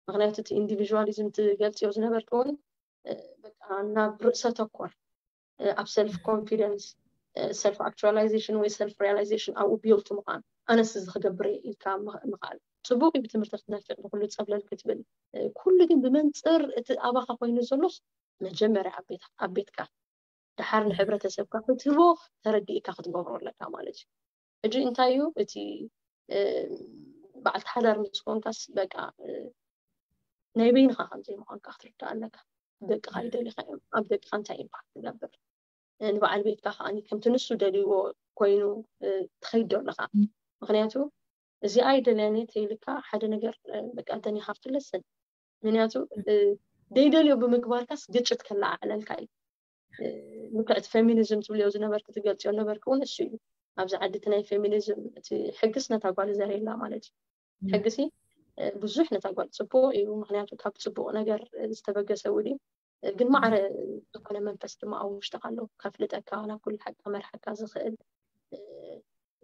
ምክንያቱ እቲ ኢንዲቪዥዋሊዝም ትገልፅዮ ዝነበርክ እውን በቃ ናብ ርእሰ ተኮር ኣብ ሰልፍ ኮንፊደንስ፣ ሰልፍ ኣክቹዋላይዜሽን ወይ ሰልፍ ሪያላይዜሽን ኣብኡ ቢልት ምዃን፣ ኣነስ እዚ ክገብር እየ ኢልካ ምኽኣል። ፅቡቅ እዩ ብትምህርቲ ክትነፍዕ ብኩሉ ፀብለል ክትብል፣ ኩሉ ግን ብመንፅር እቲ ኣባኻ ኮይኑ ዘሎስ መጀመርያ ኣብ ቤትካ፣ ደሓር ንሕብረተሰብካ ክትህቦ ተረዲእካ ክትገብሮ ኣለካ ማለት እዩ። ሕጂ እንታይ እዩ እቲ በዓልቲ ሓዳር ምስ ኮንካስ በቃ ናይ በይንኻ ከም ዘይምዃንካ ክትርዳእ ኣለካ። ደቅኻ ይደልኻ እዮም፣ ኣብ ደቅኻ እንታይ ኢምፓክት ትገብር፣ ንበዓል ቤትካ ከዓ ከምቲ ንሱ ደልይዎ ኮይኑ ትኸይድ ዶ ኣለካ። ምክንያቱ እዚኣ ኣይደልያን እየ ተይልካ ሓደ ነገር በቃ ደኒኻ ክትለስን፣ ምክንያቱ ደይደልዮ ብምግባርካስ ግጭት ከለዓዕለልካ እዩ። ልክዕ እቲ ፌሚኒዝም ትብልዮ ዝነበርክ ትገልፅዮ ነበርክ እውን እሱ እዩ። ኣብዚ ዓዲ እቲ ናይ ፌሚኒዝም እቲ ሕግስ ነታ ጓል ዘርእየላ ማለት እዩ። ሕግሲ ብዙሕ ነታ ጓል ፅቡቅ እዩ፣ ምክንያቱ ካብ ፅቡቅ ነገር ዝተበገሰ ውዲ ግን ማዕረ ዝኾነ መንፈስ ድማ ኣብ ውሽጥካ ኣለዉ፣ ከፍልጠካ፣ ናብ ኩሉ ሓቂ ከመርሓካ ዝኽእል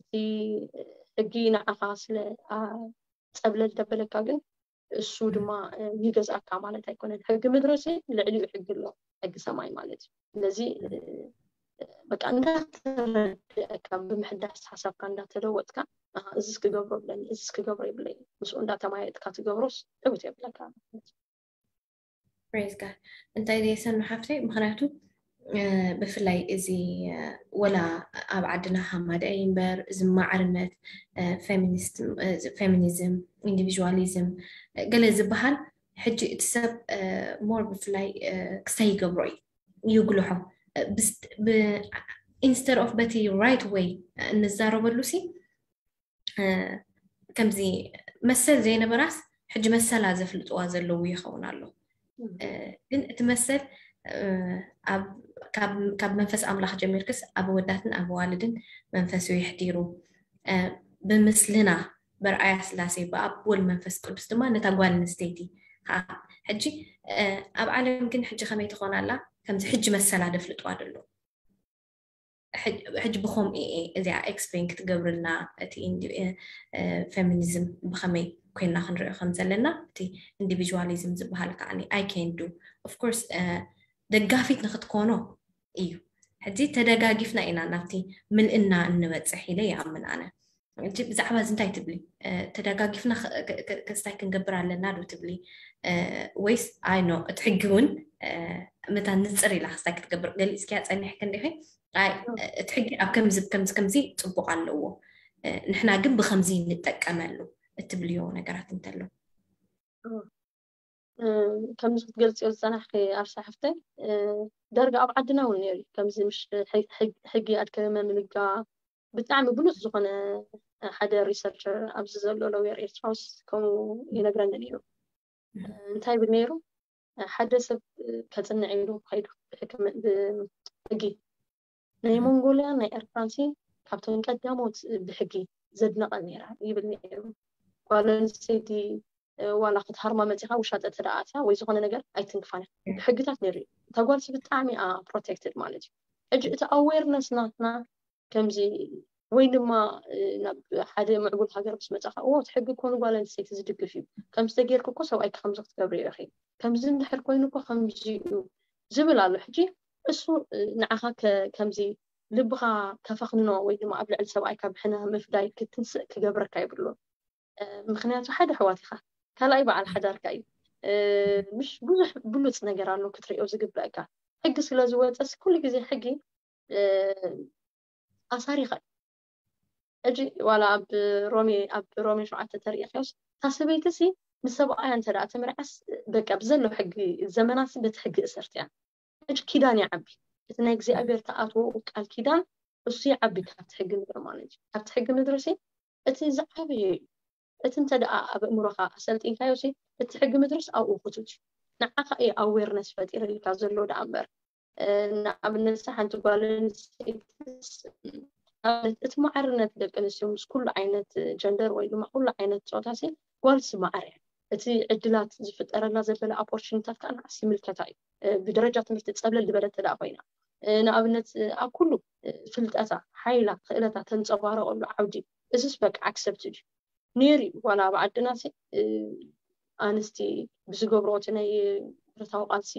እቲ ሕጊ ንዓኻ ስለ ጸብለል ደበለካ ግን እሱ ድማ ይገዝኣካ ማለት ኣይኮነን። ሕጊ ምድርሲ ልዕሊኡ ሕጊ ኣሎ፣ ሕጊ ሰማይ ማለት እዩ። ስለዚ በቃ እንዳተረድእካ ብምሕዳስ ሓሳብካ እንዳተለወጥካ እዚስ ክገብሮ ብለኒ እዚስ ክገብሮ ይብለይ ምስኡ እንዳተማየጥካ ትገብሮስ ዕውት የብለካ ማለት እዩ። ፕሬዝ ጋድ እንታይ ደየሰኑ ሓፍተይ ምክንያቱ ብፍላይ እዚ ወላ ኣብ ዓድና ሃማደ እምበር እዚ ማዕርነት ፌሚኒዝም ኢንዲቪዥዋሊዝም ገለ ዝበሃል ሕጂ እቲ ሰብ ሞር ብፍላይ ክስታይ ይገብሮ እዩ ይጉልሖ ኢንስተድ ኦፍ በቲ ራይት ወይ እንዛረበሉ ሲ ከምዚ መሰል ዘይነበራስ ሕጂ መሰላ ዘፍልጥዋ ዘለዉ ይኸውን ኣሎ ግን እቲ መሰል ካብ መንፈስ ኣምላኽ ጀሚርክስ ኣብ ወዳትን ኣብ ዋልድን መንፈሱ ይሕዲሩ ብምስልና በርኣያ ስላሴ ብኣብ ወል መንፈስ ቅዱስ ድማ ነታ ጓል ኣንስተይቲ ከዓ ሕጂ ኣብ ዓለም ግን ሕጂ ከመይ ትኾን ኣላ ከምዚ ሕጂ መሰላ ደፍልጥዋ ደሎ ሕጂ ብኸምኡ እየ እዚኣ ኤክስፕሌን ክትገብርልና እቲ ፌሚኒዝም ብኸመይ ኮይና ክንሪኦ ከም ዘለና እቲ ኢንዲቪዥዋሊዝም ዝበሃል ከዓ I can do of course ደጋፊት ንክትኮኖ እዩ ሕጂ ተደጋጊፍና ኢና ናብቲ ምልእና እንበፅሕ ኢለ ይኣምን ኣነ ሕጂ ብዛዕባ እዚ እንታይ ትብሊ ተደጋጊፍና ክስታይ ክንገብር ኣለና ዶ ትብሊ ወይስ ኣይ ኖ እቲ ሕጊ እውን መታን ንፅር ኢላ ክስታይ ክትገብር ገሊፅክያ ፀኒሕክ እንዲኺ ኣይ እቲ ሕጊ ኣብ ከምዚ ከምዚ ከምዚ ፅቡቅ ኣለዎ ንሕና ግን ብከምዚ ንጠቀመሉ እትብልዮ ነገራት እንተሎ ከምዚ ክትገልፅዮ ዝፀናሕኪ ኣርሳ ሓፍተይ ደርጋ ኣብ ዓድና እውን ነይሩ ከምዚ ምሽ ሕጊ ኣድከመ ምልጋ ብጣዕሚ ብሉፅ ዝኾነ ሓደ ሪሰርቸር ኣብዚ ዘሎ ለውየር ኤርትራውስ ከምኡ ይነግረኒ ነይሩ እንታይ ይብል ነይሩ ሓደ ሰብ ከፅንዕ ኢሉ ከይዱ ብሕጊ ናይ ሞንጎልያ ናይ ኤርትራንሲ ካብቶም ቀዳሞት ብሕጊ ዘድነቐ ነይራ ይብል ነይሩ ጓል ኣንስተይቲ ዋላ ክትሃርማ መፂኻ ውሻጠ ተደኣትያ ወይ ዝኾነ ነገር ኣይትንክፋን ብሕግታት ነይሩ እዩ እታ ጓልሲ ብጣዕሚ ፕሮቴክትድ ማለት እዩ ሕጂ እቲ ኣዌርነስ ናትና ከምዚ ወይ ድማ ናብ ሓደ ምዕቡል ሃገር ምስ መፃኻ እዎ እቲ ሕጊ እኮ ንጓል ኣንስተይቲ ዝድግፍ እዩ ከምዚ ተጌርክ እኮ ሰብኣይኪ ከምዚ ክትገብሪ ኢኺ ከምዚ እንድሕር ኮይኑ እኮ ከምዚ እዩ ዝብል ኣሎ ሕጂ እሱ ንዓኻ ከምዚ ልብኻ ከፈኽንኖ ወይ ድማ ኣብ ልዕሊ ሰብኣይካ ብሕነ ምፍዳይ ክትንስእ ክገብረካ ይብሉን ምክንያቱ ሓደ ኣሕዋት ኢኻ ካልኣይ በዓል ሓዳርካ እዩ ምሽ ብዙሕ ብሉፅ ነገር ኣሎ ክትሪኦ ዝግበአካ ሕጊ ስለ ዝወፀስ ኩሉ ግዜ ሕጊ ኣሳሪኻ እዩ ሕጂ ዋላ ኣብ ሮሜ ኣብ ሮሜ ሸውዓተ ተሪኢኻዮስ እታ ሰበይቲ ሲ ንሰብኣያ እንተ ደኣ ተመርዓስ በቃ ብዘሎ ሕጊ ዘመናሲ በቲ ሕጊ እሰርት እያ ሕጂ ኪዳን ይዓቢ እቲ ናይ እግዚኣብሔር ተኣትዎ ቃል ኪዳን እሱ ይዓቢ ካብቲ ሕጊ ምድሪ ማለት እዩ ካብቲ ሕጊ ምድሪ ሲ እቲ ዝዓበየ እዩ እቲ እንተ ደኣ ኣብ እምሮኻ ኣሰልጢንካዮ ሲ እቲ ሕጊ ምድርስ ኣብኡ ክቱት እዩ ንዓኻ እዩ ኣዌርነስ ፈጢርልካ ዘሎ ደኣ እምበር ንኣብነት ሓንቲ ጓል ኣንስተይትስ ንኣብነት እቲ ማዕርነት ደቂ ኣንስትዮ ምስ ኩሉ ዓይነት ጀንደር ወይ ድማ ኩሉ ዓይነት ፆታ ሲ ጓልሲ ማዕረ እያ። እቲ ዕድላት ዝፍጠረላ ዘበለ ኣፖርቹኒታት ከዓ ንዓስ ይምልከታ እዩ። ብደረጃ ትምህርቲ ፀብለል ዝበለት ተደኣ ኮይና ንኣብነት ኣብ ኩሉ ፍልጠታ ሓይላ ክእለታ ተንፀባረቀሉ ዓውዲ እዚስ በቃ ኣክሰፕት እዩ። ነይሩ እዩ ዋላ ኣብ ዓድና ሲ ኣንስቲ ብዝገብርኦ እቲ ናይ ብረታዊ ቃልሲ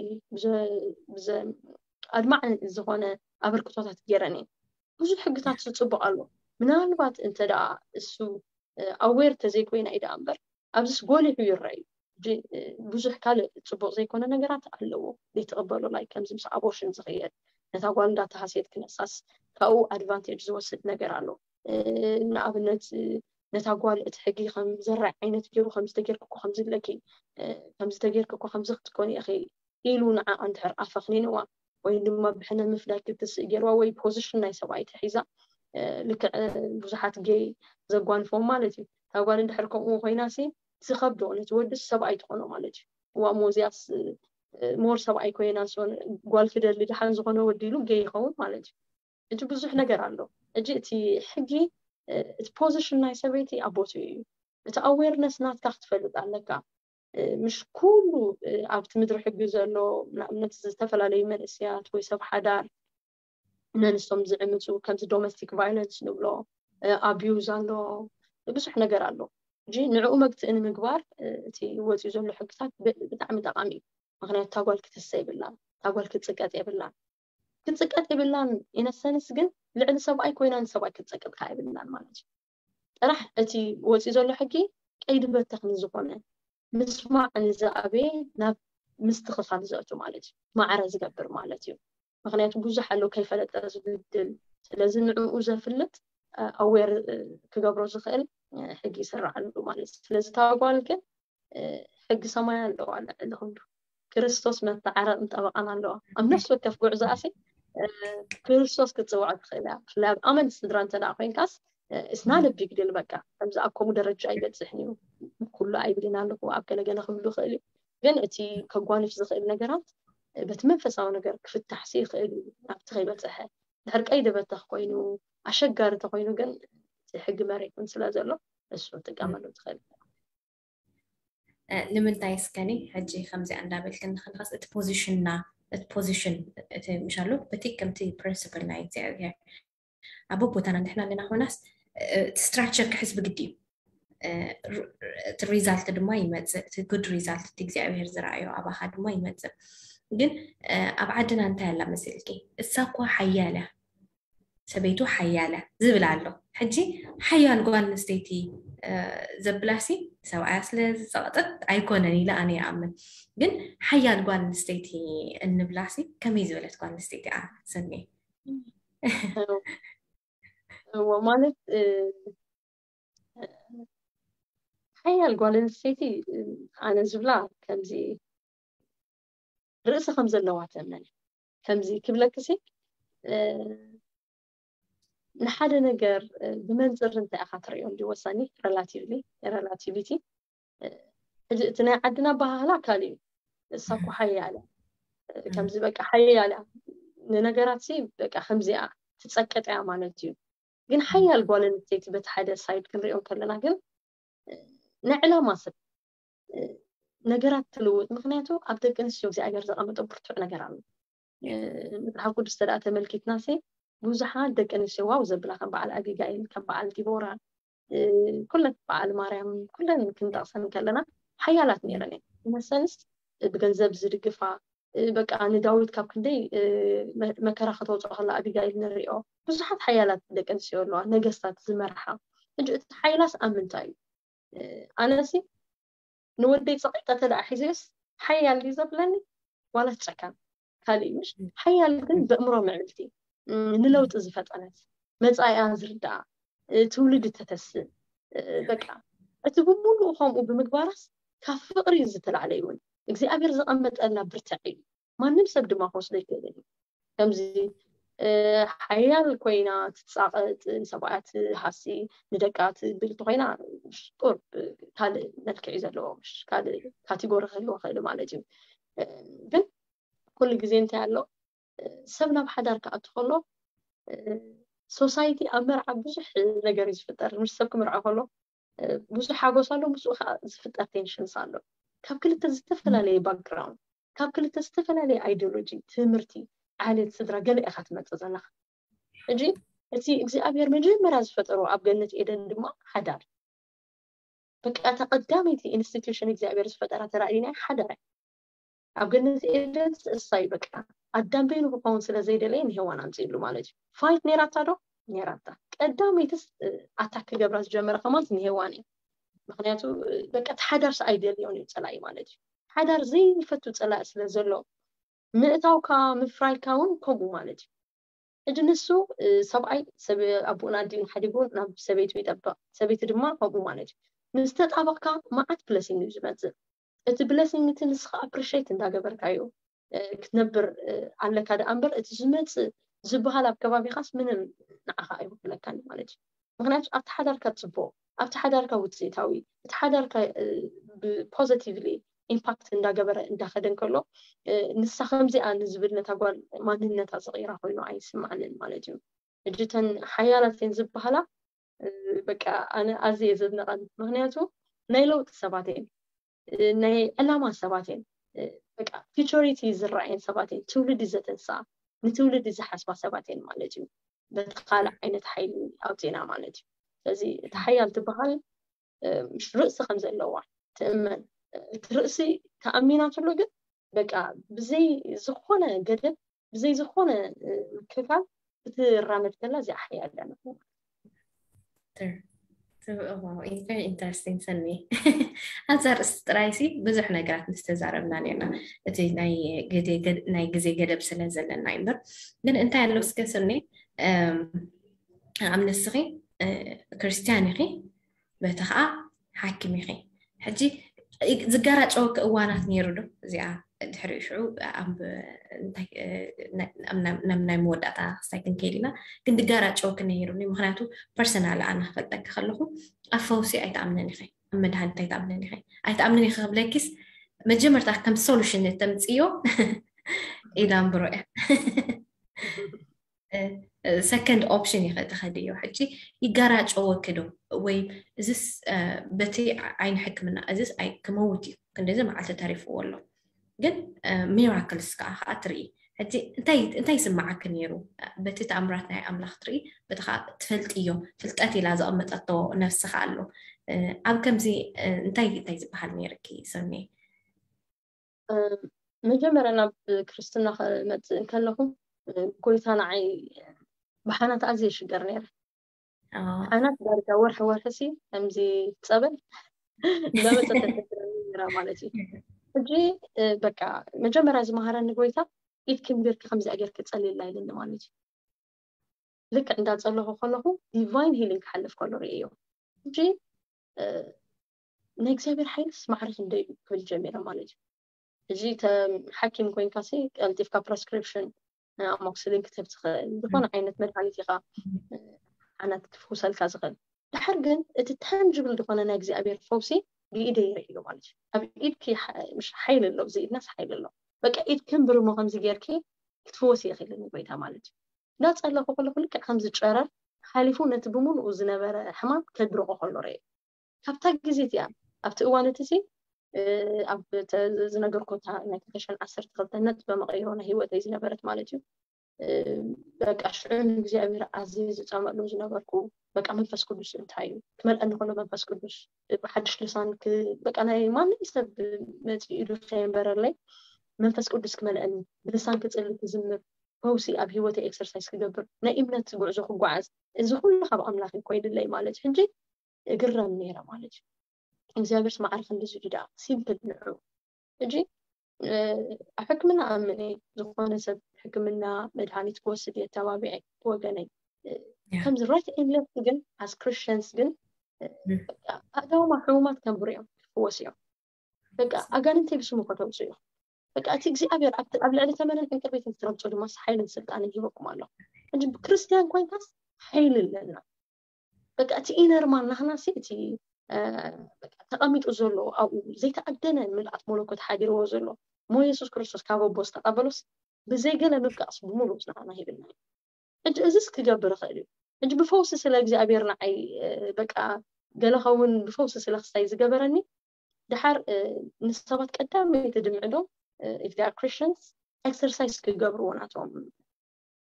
ኣድማዕ ዝኾነ ኣበርክቶታት ገይረን እየን። ብዙሕ ሕግታት ዝፅቡቕ ኣሎ። ምናልባት እንተ ደኣ እሱ ኣዌር ተዘይኮይና እዩ ደኣ እምበር ኣብዚስ ጎሊሑ ይረአ እዩ። ብዙሕ ካልእ ፅቡቕ ዘይኮነ ነገራት ኣለዎ ዘይትቕበሎ ላይ ከምዚ ምስ ኣቦርሽን ዝኽየድ ነታ ጓል እንዳተሃስየት ክነሳስ ካብኡ ኣድቫንቴጅ ዝወስድ ነገር ኣሎ። ንኣብነት ነታ ጓል እቲ ሕጊ ከም ዘራይ ዓይነት ገይሩ ከምዚ ተጌርክኮ ከምዚ ኣለኪ ከምዚ ተጌርክኮ ከምዚ ክትኮኒ ኢኺ ኢሉ ንዓ እንድሕር ኣፈኽኒንዋ ወይ ድማ ብሕነ ምፍዳይ ክትስእ ገይርዋ ወይ ፖዚሽን ናይ ሰብኣይ ተሒዛ ልክዕ ብዙሓት ጌይ ዘጓንፎም ማለት እዩ። እታ ጓል እንድሕር ከምኡ ኮይና ሲ ዝኸብዶ ነቲ ወድስ ሰብኣይ ትኾኖ ማለት እዩ። እዋ ሞዚያስ ሞር ሰብኣይ ኮይና ጓል ክደሊ ድሓን ዝኾነ ወዲ ኢሉ ጌይ ይኸውን ማለት እዩ። እጂ ብዙሕ ነገር ኣሎ። እጂ እቲ ሕጊ እቲ ፖዚሽን ናይ ሰበይቲ ኣብ ቦትኡ እዩ። እቲ ኣዌርነስ ናትካ ክትፈልጥ ኣለካ። ምሽ ኩሉ ኣብቲ ምድሪ ሕጊ ዘሎ ንኣብነት ዝተፈላለዩ መንእስያት ወይ ሰብ ሓዳር ነንስቶም ዝዕምፁ ከምዚ ዶሜስቲክ ቫይለንስ ንብሎ ኣቢዩዝ ኣሎ፣ ብዙሕ ነገር ኣሎ። እጂ ንዕኡ መግትኢ ንምግባር እቲ ወፂኡ ዘሎ ሕግታት ብጣዕሚ ጠቃሚ እዩ። ምክንያቱ እታ ጓል ክትሰ የብላን፣ እታ ጓል ክትፅቀጥ የብላን። ክትፅቀጥ የብላን ኢነሰንስ ግን ልዕሊ ሰብኣይ ኮይና ንሰብኣይ ክትፀቅጥ ከዓ የብላን ማለት እዩ። ጥራሕ እቲ ወፂኡ ዘሎ ሕጊ ቀይዲ በተኽ ንዝኾነ ምስማዕ ንዝኣበየ ናብ ምስትኽኻል ዘእቱ ማለት እዩ። ማዕረ ዝገብር ማለት እዩ። ምክንያቱ ብዙሕ ኣሎ ከይፈለጠ ዝብድል። ስለዚ ንዕኡ ዘፍልጥ ኣዌር ክገብሮ ዝኽእል ሕጊ ይስራዓሉ ማለት እዩ። ስለዚ እታ ጓል ግን ሕጊ ሰማይ ኣለዋ ልዕሊ ኩሉ። ክርስቶስ መተዓረቕን ጠበቃን ኣለዋ። ኣብ ነፍሲ ወከፍ ጉዕዞኣሲ ክርስቶስ ክትፅውዖ ትኽእል እያ። ብፍላይ ኣብ ኣመንቲ ስድራ እንተ ደኣ ኮይንካስ it's not a big deal። በቃ ከምዚ ኣብ ከምኡ ደረጃ ኣይበፅሕን እዩ። ኩሉ ኣይብልን ኣለኹ ኣብ ገለገለ ክብሉ ይኽእል እዩ። ግን እቲ ከጓንፍ ዝኽእል ነገራት በቲ መንፈሳዊ ነገር ክፍታሕሲ ይኽእል እዩ። ናብቲ ከይበፅሐ ድሕር ቀይዲ በተኽ ኮይኑ ኣሸጋሪ ተኮይኑ ግን እቲ ሕጊ መሬትን ስለ ዘሎ እሱ ትጥቀመሉ ትኽእል። ንምንታይ እስከኒ ሕጂ ከምዚኣ እንዳበልክን ንክንኸስ እቲ ፖዚሽንና እቲ ፖዚሽን እቲ ምሻሉ በቲ ከምቲ ፕሪንስፕል ናይ እግዚኣብሔር ኣብ ቦታና ንሕና ኣለና ኮናስ እቲ ስትራክቸር ክሕዝ ብግዲ እዩ። እቲ ሪዛልት ድማ ይመፅእ። እቲ ጉድ ሪዛልት እቲ እግዚኣብሔር ዝረኣዮ ኣባኻ ድማ ይመፅእ። ግን ኣብ ዓድና እንታይ ኣላ መሲልኪ? እሳ እኮ ሓያል እያ ሰበይቱ ሓያል እያ ዝብል ኣሎ። ሕጂ ሓያል ጓል ኣንስተይቲ ዘብላሲ ሰብኣያ ስለ ዝፀቕጥት ኣይኮነን ኢለ ኣነ ይኣምን። ግን ሓያል ጓል ኣንስተይቲ እንብላሲ ከመይ ዝበለት ጓል ኣንስተይቲ እያ ሰኒ? ማለት ሓያል ጓል ኣንስተይቲ ኣነ ዝብላ ከምዚ ርእሲ ከም ዘለዋ ተመን ከምዚ ክብለክሲ ንሓደ ነገር ብመንፅር እንታይ ኢኻ ትሪኦ እንዲ ወሳኒ ሬላቲቭሊ ሬላቲቪቲ ሕጂ እቲ ናይ ዓድና ኣበሃህላ ካልእ እዩ። እሳ እኮ ሓያል ከምዚ በቃ ሓያል እያ ንነገራት ሲ በቃ ከምዚኣ ትፀቅጥ እያ ማለት እዩ። ግን ሓያል ጓል ኣንስተይቲ በቲ ሓደ ሳይድ ክንሪኦ ከለና ግን ናይ ዕላማ ሰብ ነገራት ትልውጥ። ምክንያቱ ኣብ ደቂ ኣንስትዮ እግዚኣብሔር ዘቐመጠ ብርቱዕ ነገር ኣሎ። መፅሓፍ ቅዱስ ተደኣ ተመልኪትና ሲ ብዙሓት ደቂ ኣንስትዮ ዋው ዘብላ ከም በዓል ኣቢጋይል ከም በዓል ዲቦራ ኩለን በዓል ማርያም ኩለን ክንጠቕሰን ከለና ሓያላት ነይረን እየን። መሰንስ ብገንዘብ ዝድግፋ በቃ ንዳዊት ካብ ክንደይ መከራ ከተውፅኦ ከላ ኣቢጋይል ንሪኦ። ብዙሓት ሓያላት ደቂ ኣንስትዮ ኣለዋ ነገስታት ዝመርሓ። ሕጂ እቲ ሓይላስ ኣብ ምንታይ እዩ? ኣነሲ ንወደይ ፀቂጠ ተደኣ ሒዘዮስ ሓያል ድዩ ዘብለኒ ዋላ ጨካን ካልእ ምሽ ሓያል ግን በእምሮ ምዕብልቲ ንለውጢ ዝፈጠነት መፃኢኣ ዝርዳኣ ትውልድ ተተስእ በቃ እቲ ብምሉኡ ከምኡ ብምግባራስ ካብ ፍቅሪ ዝተላዕለ ይውን እግዚኣብሔር ዘቐመጠላ ብርትዕ እዩ። ማንም ሰብ ድማ ክወስዶ ይክእልን እዩ። ከምዚ ሓያል ኮይና ትፃቐጥ ንሰብኣያ ትሃሲ ንደቃ ትብል እንተኮይና ቁርብ ካልእ መልክዕ እዩ ዘለዎ ካልእ ካቴጎሪ ክህልዎ ክእል ማለት እዩ። ግን ኩሉ ግዜ እንታይ ኣሎ ሰብ ናብ ሓዳር ክኣቱ ከሎ ሶሳይቲ ኣብ መርዓ ብዙሕ ነገር እዩ ዝፍጠር። ምስ ሰብ ክምርዖ ከሎ ብዙሕ ሓጎስ ኣሎ፣ ምስኡ ከዓ ዝፍጠር ቴንሽንስ ኣሎ። ካብ ክልተ ዝተፈላለየ ባክግራውንድ፣ ካብ ክልተ ዝተፈላለየ ኣይዲዮሎጂ፣ ትምህርቲ፣ ዓሌት፣ ስድራ ገለ ኢኻ ትመፅእ ዘለኻ። ሕጂ እቲ እግዚኣብሔር መጀመርያ ዝፈጠሮ ኣብ ገነት ኤደን ድማ ሓዳር፣ በቃ እታ ቀዳመይቲ ኢንስቲትዩሽን እግዚኣብሔር ዝፈጠራ ተራእዩና ሓዳር እያ። ኣብ ገነት ኤደን እሳ እዩ በቃ ኣዳም በይኑ ክኸውን ስለ ዘይደለየ ንሄዋን ኣምፅእሉ ማለት እዩ። ፋይት ነይራታ ዶ? ነይራታ። ቀዳመይትስ ኣታክ ክገብራ ዝጀመረ ከማን ንሄዋን እዩ። ምክንያቱ በቃ እቲ ሓዳርስ ኣይደልዮን እዩ ፀላኢ ማለት እዩ። ሓዳር ዘይፈቱ ፀላኢ ስለ ዘሎ ምእታውካ ምፍራይካ እውን ከምኡ ማለት እዩ። ሕጂ ንሱ ሰብኣይ ሰብ ኣቦኡን ኣዲኡን ሓዲጉ ናብ ሰበይቱ ይጠብቕ፣ ሰበይቲ ድማ ከምኡ ማለት እዩ። ምስ ተጣበቕካ መዓት ብለሲንግ እዩ ዝመፅእ። እቲ ብለሲንግ እቲ ንስኻ ኣፕሪሼት እንዳገበርካዮ ክትነብር ኣለካ ደኣ እምበር እቲ ዝመፅእ ዝበሃል ኣብ ከባቢኻስ ምንም ንዓኻ ኣይውክለካን ማለት እዩ። ምክንያቱ ኣብቲ ሓዳርካ ፅቡቕ፣ ኣብቲ ሓዳርካ ውፅኢታዊ፣ እቲ ሓዳርካ ብፖዘቲቭሊ ኢምፓክት እንዳገበረ እንዳኸደ እንከሎ ንሳ ከምዚኣ ንዝብል ነታ ጓል ማንነታ ዝቕይራ ኮይኑ ኣይስምዓንን ማለት እዩ። ሕጂ እተን ሓያላት እየን ዝበሃላ በቃ ኣነ ኣዝየ ዘድንቐን። ምክንያቱ ናይ ለውጢ ሰባት እየን፣ ናይ ዕላማ ሰባት እየን፣ በቃ ፊቸሪቲ ዝረኣየን ሰባት እየን፣ ትውልዲ ዘተንስኣ ንትውልዲ ዝሓስባ ሰባት እየን ማለት እዩ። በቲ ካልእ ዓይነት ሓይሊ ኣውፂና ማለት እዩ። ስለዚ እቲ ሓያል ትበሃል ምሽ ርእሲ ከም ዘለዋ ትእመን። እቲ ርእሲ ተኣሚናትሉ ግን በቃ ብዘይ ዝኾነ ገደብ ብዘይ ዝኾነ ምክልካል ክትራመድ ከላ እዚኣ ሓያል እያ። ኢንተረስቲንግ ሰኒ። ኣብዛ ርእሲ ጥራይሲ ብዙሕ ነገራት ምስ ተዛረብና ነርና፣ እቲ ናይ ግዜ ገደብ ስለ ዘለና እዩ እምበር። ግን እንታይ ኣሎ እስከ ሰኒ፣ ኣብ ንስኺ ክርስትያን ኢኺ፣ በቲ ከዓ ሓኪም ኢኺ። ሕጂ ዝጋራጨወኪ እዋናት ነይሩ ዶ? እዚኣ ድሕሪኡ ሽዑ ናብ ናይ መወዳእታ ክስታይ ክንከይድ ኢና። ግን ድጋራጨወኪ ነይሩ፣ ምክንያቱ ፐርሰናል ኣነ ክፈልጠኪ ከለኹ ኣብ ፈውሲ ኣይትኣምንን ኢኺ፣ ኣብ መድሃኒት ኣይትኣምንን ኢኺ። ኣይትኣምንን ኢኺ ክብለኪስ መጀመርታ ከም ሶሉሽን እተምፅዮ ኢዳንብሮ እያ። ሰከንድ ኦፕሽን ኢኸ ትኸድዮ። ሕጂ ይጋራጨወኪ ዶ ወይ እዚስ በቲ ዓይኒ ሕክምና እዚስ ኣይ ክመውት እዩ፣ ክንደዚ መዓልቲ ተሪፍዎ ኣሎ፣ ግን ሚራክልስ ከዓ ከዓ ትርኢ። ሕጂ እንታይ እንታይ ይስምዓኪ ነይሩ? በቲ ተኣምራት ናይ ኣምላኽ ትርኢ፣ በቲ ከዓ ትፈልጥዮ፣ ፍልጠት ኢላ ዘቐመጠቶ ነፍሲ ከዓ ኣሎ። ኣብ ከምዚ እንታይ እንታይ ዝበሃል ነይርኪ ሰኒ? መጀመርያ ናብ ክርስትና ክመፅእ እንከለኹ ጎይታ ንዓይ ብሓናት ኣዝየ ይሽገር ነይረ። ሓናት ዳርጋ ወርሒ ወርሒ ሲ ከምዚ ጸበል እንዳመፀት ተቸግረኒ ነይራ ማለት እዩ። ሕጂ በቃ መጀመርያ ዝመሃረኒ ጎይታ ኢድኪ ንቢርኪ ከምዚኣ ጌርኪ ጸልይላ ኢልኒ ማለት እዩ። ልክዕ እንዳጸለኹ ከለኹ ዲቫይን ሂሊንግ ክሓልፍ ከሎ ርእዮ። ሕጂ ናይ እግዚኣብሔር ሓይልስ ማዕረ ክንደይ እዩ ክብል ጀሚረ ማለት እዩ። ሕጂ ሓኪም ኮይንካ ሲ ቀልጢፍካ ፕረስክሪፕሽን ኣሞክስሊን ክትህብ ትኽእል፣ ዝኾነ ዓይነት መድሃኒት ኢኻ ሓናት ክፍውሰልካ ዝኽእል። ድሓር ግን እቲ ታንጅብል ዝኾነ ናይ እግዚኣብሔር ፈውሲ ብኢደ ይርኢ እዩ ማለት እዩ። ኣብ ኢድኪ ሓይሊ ኣሎ፣ እዚ ኢድናስ ሓይሊ ኣሎ። በቃ ኢድ ክንብርሞ ከምዚ ጌርኪ ክትፍወስ ይኽእል ንጎይታ ማለት እዩ። እንዳጸለኹ ከለኹ ልክዕ ከምዚ ጨረር ሓሊፉ ነቲ ብምሉኡ ዝነበረ ሕማም ከድርቆ ከሎ ርኤ። ካብታ ግዜ እቲኣ ኣብቲ እዋን እቲ ሲ ኣብ ዝነገርኮታ ናይ ክልተ ሽሕን ዓሰርተ ክልተ ነጥበ መቐይሮ ናይ ህይወተይ ዝነበረት ማለት እዩ። በቃ ሽዑ ንእግዚኣብሔር ኣዝየ ዝፃመሉ ዝነበርኩ በቃ መንፈስ ቅዱስ እንታይ እዩ ክመልአኒ ከሎ መንፈስ ቅዱስ ብሓድሽ ልሳን በቃ ናይ ማንም ሰብ መፂኡ ኢሉ ከየንበረለይ መንፈስ ቅዱስ ክመልአኒ ብልሳን ክፅሊ ክዝምር ፈውሲ ኣብ ህይወተይ ኤክሰርሳይዝ ክገብር ናይ እምነት ጉዕዞ ክጓዓዝ እዚ ኩሉ ካብ ኣምላኽ ኮይኑ ድለይ ማለት ሕጂ እግረም ነይረ ማለት እዩ። እግዚኣብሔር ስማዕሪ ክንዲ ዝድዳ ሲምፕል ንዑ ሕጂ ኣብ ሕክምና ኣምን እየ ዝኾነ ሰብ ሕክምና መድሃኒት ክወስድ እየ ተባቢዐ ብወገነይ ከምዚ ራይት ኤንድ ሌፍት ግን ኣስ ክርስቲያንስ ግን ኣእዳውማ ሕሙማት ከንብሩ እዮም ክፍወስ እዮም በቃ ኣጋንንተይ ብስሙ ከተውፅኡ እዮም በቃ እቲ እግዚኣብሔር ኣብ ልዕሊ ተመንን ዕንቅርቤትን ትረግፁ ድማ ሓይልን ስልጣንን ሂበኩም ኣሎ እንጂ ብክርስትያን ኮይንካስ ሓይሊ ኣለና በቃ እቲ ኢነርማን ናህናሲ እቲ ተቐሚጡ ዘሎ ኣብኡ ዘይተኣደነ ምልኣት መለኮት ሓዲርዎ ዘሎ ሞ የሱስ ክርስቶስ ካብ ኣቦ ዝተቐበሎስ ብዘይገለ ምብቃቕስ ብምሉእ ናህና ሂብና እዩ ሕጂ እዚስ ክገብር ይኽእል እዩ። ሕጂ ብፈውሲ ስለ እግዚኣብሔር ንዓይ በቃ ገለ ኸውን ብፈውሲ ስለ ክስታይ ዝገበረኒ፣ ድሓር ንሰባት ቀዳመይቲ ድምዕዶም፣ if they are Christians, exercise ክገብርዎ ናቶም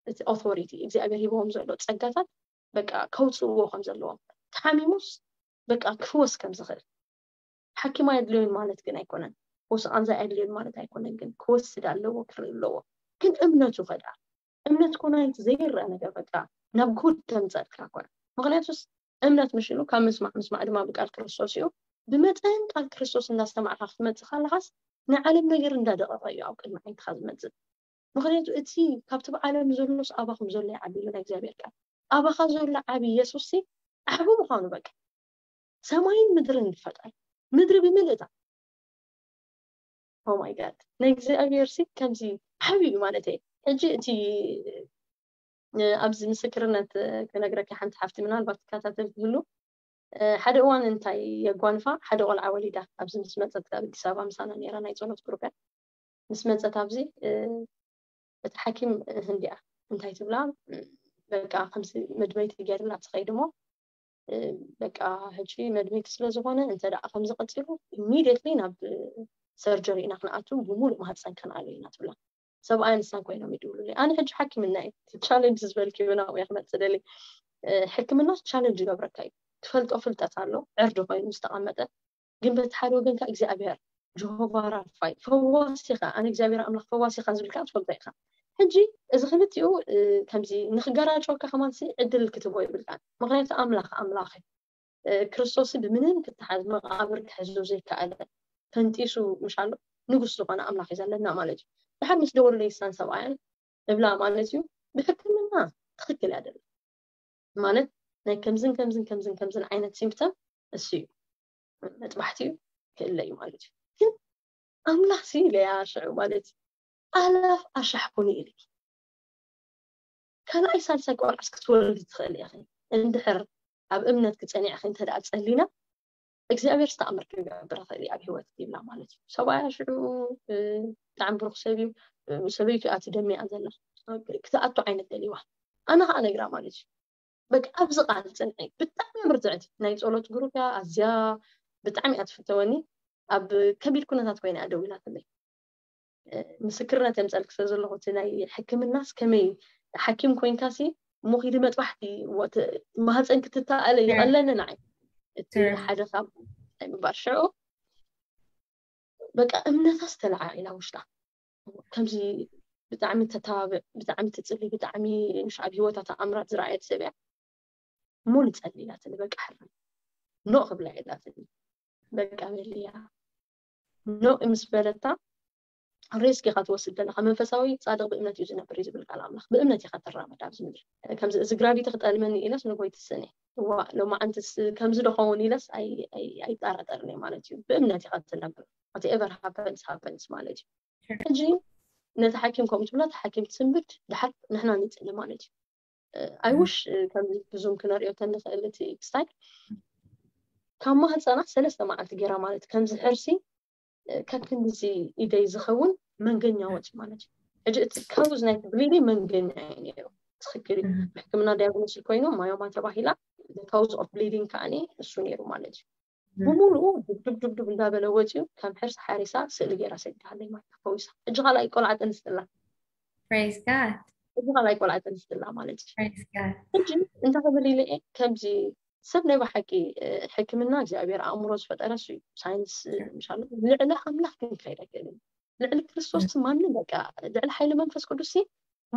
እቲ authority እግዚኣብሔር ሂቦም ዘሎ ጸጋታት በቃ ከውፅዎ ከም ዘለዎም። ተሓሚሙስ በቃ ክፍወስ ከም ዝኽእል። ሓኪም ኣየድልዮን ማለት ግን ኣይኮነን። ወስቓንዛ ኣየድልዮን ማለት ኣይኮነን። ግን ክወስድ ኣለዎ፣ ክርኢ ኣለዎ። ግን እምነቱ ከዳ እምነት ኮናይት ዘይረአ ነገር በቃ ናብ ጉድ ተምፀልካ ኮነ። ምክንያቱስ እምነት ምሽሉ ካብ ምስማዕ፣ ምስማዕ ድማ ብቃል ክርስቶስ እዩ። ብመጠን ቃል ክርስቶስ እንዳስተማዕካ ክትመፅእ ከለካስ ናይ ዓለም ነገር እንዳደቐቐ እዩ ኣብ ቅድሚ ዓይንትካ ዝመፅእ። ምክንያቱ እቲ ካብቲ ብዓለም ዘሎስ ኣባኹም ዘሎ ይዓቢ እዩ ናይ እግዚኣብሔር ቃል። ኣባኻ ዘሎ ዓቢ ኢየሱስ ሲ ዓቢ ምዃኑ በቃ ሰማይን ምድርን ዝፈጠረ ምድሪ ብምልእታ። Oh my God፣ ናይ እግዚኣብሔር ሲ ከምዚ ዓቢ እዩ ማለት እዩ። ሕጂ እቲ ኣብዚ ምስክርነት ክነግረካ ሓንቲ ሓፍቲ ምናልባት ትከታተል ትህሉ ሓደ እዋን እንታይ የጓንፋ ሓደ ቆልዓ ወሊዳ ኣብዚ ምስ መፀት ካብ ኣዲስ ኣበባ ምሳና ነራ ናይ ፀሎት ግሩፕ ምስ መፀት ኣብዚ እቲ ሓኪም ህንዲያ እንታይ ትብላ በቃ ከምዚ መድመይቲ ገይርላ ትኸይድ እሞ በቃ ሕጂ መድመይቲ ስለ ዝኾነ እንተ ደኣ ከምዚ ቀፂሉ immediately ናብ surgery ኢና ክንኣቱ ብሙሉእ ማህፀን ከነኣሉ ኢና ትብላ። ሰብኣይ ንሳን ኮይኖም ይድውሉለይ ኣነ ሕጂ ሓኪምና እዩ challenge ዝበልክዮ ናብኡ እየ ክመፅእ ደሊ ሕክምና challenge ይገብረካ እዩ ትፈልጦ ፍልጠት ኣሎ ዕርዲ ኮይኑ ዝተቐመጠ ግን በቲ ሓደ ወገን ከዓ እግዚኣብሔር ጀሆቫ ራፋይ ፈዋሲኻ ኣነ እግዚኣብሔር ኣምላኽ ፈዋሲኻ ዝብልካ ትፈልጦ ኢኻ ሕጂ እዚ ክልቲኡ ከምዚ ንክገራጨወካ ከማንሲ ዕድል ክትቦ ይብልካ ምክንያቱ ኣምላኽ ኣምላኽ ክርስቶስ ብምንም ክተሓዝ መቃብር ክሕዞ ዘይከኣለ ፈንጢሱ ምሻሎ ንጉስ ዝኾነ ኣምላኽ እዩ ዘለና ማለት እዩ ድሓር ምስ ደወሉ ለይሳን ሰብኣያን እብላ ማለት እዩ ብሕክምና ትኽክል ያደለ ማለት ናይ ከምዝን ከምዝን ከምዝን ከምዝን ዓይነት symptom እሱ እዩ መጥባሕቲ እዩ ክእለ እዩ ማለት እዩ ግን ኣምላኽ ሲ ኢለያ ሽዑ ማለት እዩ ኣላፍ ኣሻሕኩኒ ኢልኪ ካልኣይ ሳልሳይ ቆልዓስ ክትወልዲ ትኽእል ኢኺ እንድሕር ኣብ እምነት ክፀኒዕኺ እንተ ደኣ ፀሊና እግዚኣብሔር ዝተኣምር ክገብር ይኽእል እዩ ኣብ ህይወት ይብላ ማለት እዩ ሰብኣያ ሽዑ ብጣዕሚ ብሩክ ሰብ እዩ ሰበይቱ እያ ትደሚያ ዘላ ክትኣቱ ዓይነት ደልዋ ኣነ ከዓ ነግራ ማለት እዩ በቃ ኣብዚ ቃል ፅንዒ ብጣዕሚ ምርትዕቲ ናይ ፀሎት ግሩፕ እያ ኣዝያ ብጣዕሚ እያ ትፍተወኒ ኣብ ከቢድ ኩነታት ኮይና እያ ደዊላትለይ ምስክርነት የምፀልክ ስለ ዘለኹ እቲ ናይ ሕክምናስ ከመይ ሓኪም ኮይንካሲ እሞ ኪዲ መጥባሕቲ ማህፀን ክትተኣለ ይቐለኒ ንዓይ እቲ ሓደ ካብ ናይ ምባል ሽዑ በቃ እምነታ ዝተለዓዒላ ውሽጣ ከምዚ ብጣዕሚ ተተባብዕ ብጣዕሚ ትፅሊ ብጣዕሚ ምሽ ኣብ ህይወታ ተኣምራት ዝረኣየት ሰብ እያ እሞ ንፀሊ ኢላትኒ በቃ ሕራይ ኖ ክብላ ኢላትኒ በቃ በልያ ኖ ምስ በለታ ሬስክ ኢኻ ትወስድ ዘለካ መንፈሳዊ ፃድቅ ብእምነት እዩ ዝነብር እዩ ዝብል ቃል ኣምላኽ ብእምነት ኢኻ ትራመድ ኣብዚ ምድሪ ከምዚ እዚ ግራቪቲ ክጠልመኒ ኢለስ ንጎይ ትስእነ ዋ ሎማዓንትስ ከምዚ ዶ ኸውን ኢለስ ኣይጠራጠርን እየ ማለት እዩ ብእምነት ኢኻ ትነብር whatever happens happens ማለት እዩ ሕጂ ነቲ ሓኪም ከምኡ ትብላ እቲ ሓኪም ትስንብድ ድሓር ንሕና ንፅሊ ማለት እዩ ኣይውሽ ከም ብዙም ክነሪኦ ተንኽእል እቲ ክስታይ ካብ ማህፀና ሰለስተ መዓልቲ ገይራ ማለት ከምዚ ሕርሲ ከክንድዚ ኢደይ ዝኸውን መንገኛ ወፂ ማለት እዩ ሕጂ እቲ ካውዝ ናይ ብሊዲ መንገኛ እዩ ነይሩ ትኽክል እዩ ብሕክምና ዲያግኖስ ኮይኑ ማዮማ ተባሂላ ካውዝ ኦፍ ብሊዲንግ ከዓኒ እሱ ነይሩ ማለት እዩ ብምሉኡ ዱብዱብ ዱብዱብ እንዳበለ ወፂኡ ከም ሕርሲ ሓሪሳ ስእሊ ገይራ ሰዲሃለይ ማለት ፈዊሳ እጂ ካልኣይ ቆልዓ ጠንስትላ Praise God እጂ ካልኣይ ቆልዓ ጠንስትላ ማለት እዩ Praise God ሕጂ እንታይ ክብል ኢለ እየ ከምዚ ሰብ ናይ ብሓቂ ሕክምና እግዚኣብሔር ኣእምሮ ዝፈጠረ እሱ እዩ ሳይንስ ምሻሉ ልዕሊ ኣምላኽ ግን ክኸይድ ኣይክእልን ልዕሊ ክርስቶስ ማንም በቃ ልዕሊ ሓይሊ መንፈስ ቅዱስ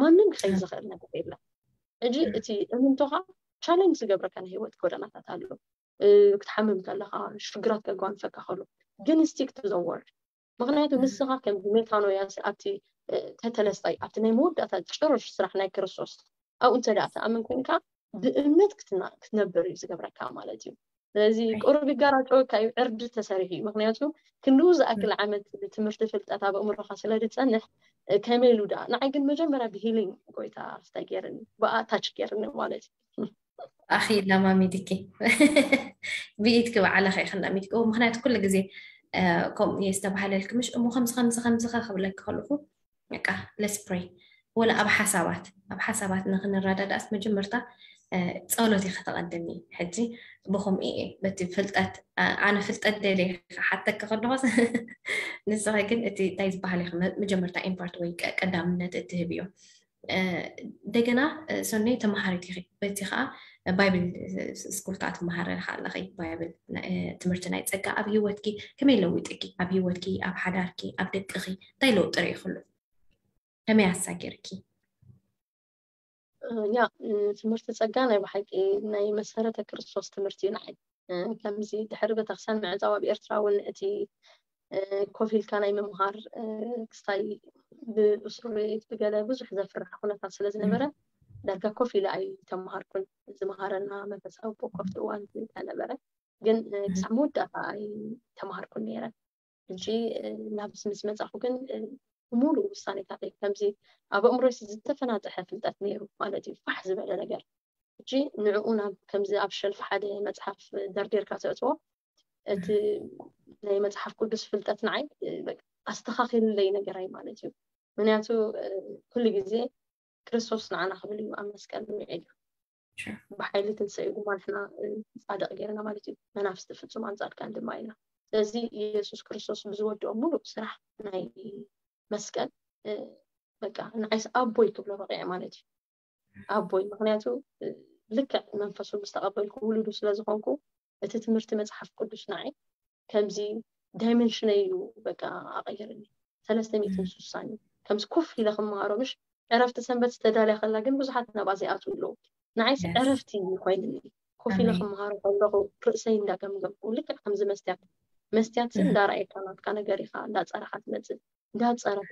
ማንም ክኸይድ ዝኽእል ነገር የለን ሕጂ እቲ እምንቶኻ ቻለንጅ ዝገብረካ ናይ ህይወት ጎደናታት ኣሎ ክትሓምም ከለካ ሽግራት ከጓንፈካ ከሎ ግን stick to the word ምክንያቱ ንስኻ ከም ሜታኖያ ኣብቲ ተተለስታይ ኣብቲ ናይ መወዳእታ ጭርሽ ስራሕ ናይ ክርስቶስ ኣብኡ እንተ ደኣ ትኣምን ኮንካ ብእምነት ክትነብር እዩ ዝገብረካ ማለት እዩ ስለዚ ቁሩብ ይጋራጨወካ እዩ ዕርዲ ተሰሪሑ እዩ ምክንያቱ ክንድኡ ዝኣክል ዓመት ትምህርቲ ፍልጠት ኣብ ኣእምሮካ ስለ ዝፀንሕ ከመይ ኢሉ ደኣ ንዓይ ግን መጀመርያ ብሂሊንግ ጎይታ ስታይ ገይርኒ ብኣታች ገይርኒ ማለት እዩ ኣኺ ለማሚድኪ ብኢድኪ ባዕልኻ ኢኺ ለሚድክዎ ምክንያቱ ኩሉ ግዜ ከምኡ እየ ዝተባሃለልኪ ምሽ እሞ ከምዚ ከምዚ ከምዚኻ ክብለኪ ከለኹ በቃ let's pray ወላ ኣብ ሓሳባት ኣብ ሓሳባት ንክንረዳዳእስ መጀመርታ እ፣ ጸሎት ኢኻ ተቐድሚ። ሕጂ ብኹም እየ በቲ ፍልጠት እ፣ ኣነ ፍልጠት ደልየ ክሓተኪ ከለኹስ ንስኺ ግን እቲ እንታይ ዝበሃል ኢኺ መ- መጀመርታ ኢምፓርት ወይ ቀ- ቀዳምነት እትህብ እዩ። እ፣ እንደገና እ፣ ሰኖይ ተመሃሪት ኢኺ። በቲ ከዓ ባይብል እ፣ ስኩል ከዓ ትመሃሪ ኢኻ ኣለኺ። ባይብል እ፣ ትምህርቲ ናይ ጸጋ ኣብ ህይወትኪ ከመይ ለዊጥኪ? ኣብ ህይወትኪ፣ ኣብ ሓዳርኪ፣ ኣብ ደቅኺ እንታይ ለውጢ ርኢኽሉ? ከመይ ኣሳጊርኪ? ያ ትምህርቲ ጸጋ ናይ ብሓቂ ናይ መሰረተ ክርስቶስ ትምህርቲ እዩ ንዓይ። ከምዚ ድሕሪ ቤተክርስትያን ምዕጻው ኣብ ኤርትራ እውን እቲ ኮፍ ኢልካ ናይ ምምሃር ክስታይ ብእሱር ቤት ብገለ ብዙሕ ዘፍርሕ ኩነታት ስለ ዝነበረ ዳርጋ ኮፍ ኢለ ኣይተምሃርኩን። ዝመሃረና መንፈሳዊ ኣቦ ከፍቲ እዋን ስለነበረ ግን ክሳብ መወዳእታ ኣይተምሃርኩን ነይረ። ሕጂ ናብዚ ምስ መጻኹ ግን ሙሉእ ውሳኔታተይ ከምዚ ኣብ ኣእምሮይ ዝተፈናጠሐ ፍልጠት ነይሩ ማለት እዩ፣ ፋሕ ዝበለ ነገር። ሕጂ ንዕኡ ናብ ከምዚ ኣብ ሸልፍ ሓደ መጽሓፍ ደርዲርካ ተእትዎ እቲ ናይ መጽሓፍ ቅዱስ ፍልጠት ንዓይ ኣስተኻኺልለይ ነገራይ ማለት እዩ። ምክንያቱ ኩሉ ግዜ ክርስቶስ ንዓና ክብል እዩ ኣብ መስቀል ውዒሉ። ብሓይሊ ትንሳኤኡ ድማ ንሕና ፃድቕ ገይርና ማለት እዩ። መናፍስቲ ፍጹማን ፃድቃን ድማ ኢና። ስለዚ ኢየሱስ ክርስቶስ ብዝወድኦ ሙሉእ ስራሕ ናይ መስቀል በቃ ንዓይስ ኣቦይ ክብሎ በቂዐ ማለት እዩ። ኣቦይ ምክንያቱ ልክዕ መንፈሱ ምስ ተቐበልኩ ውሉዱ ስለ ዝኾንኩ እቲ ትምህርቲ መፅሓፍ ቅዱስ ንዓይ ከምዚ ዳይመንሽነይ እዩ በቃ ኣቐይርኒ። ሰለስተ ሚእትን ስሳን እዩ ከምዚ ኮፍ ኢለ ክመሃሮ ምሽ ዕረፍቲ ሰንበት ዝተዳልያ ከላ ግን ብዙሓት ናብኣ ዘይኣትዉ ኣለዉ። ንዓይስ ዕረፍቲ እዩ ኮይንኒ። ኮፍ ኢለ ክመሃሮ ከለኹ ርእሰይ እንዳገምገምኩ ልክዕ ከምዚ መስትያት መስትያት እንዳረኣየካ ናትካ ነገር ኢኻ እንዳፀረኻ ትመፅእ እንዳፀረኹ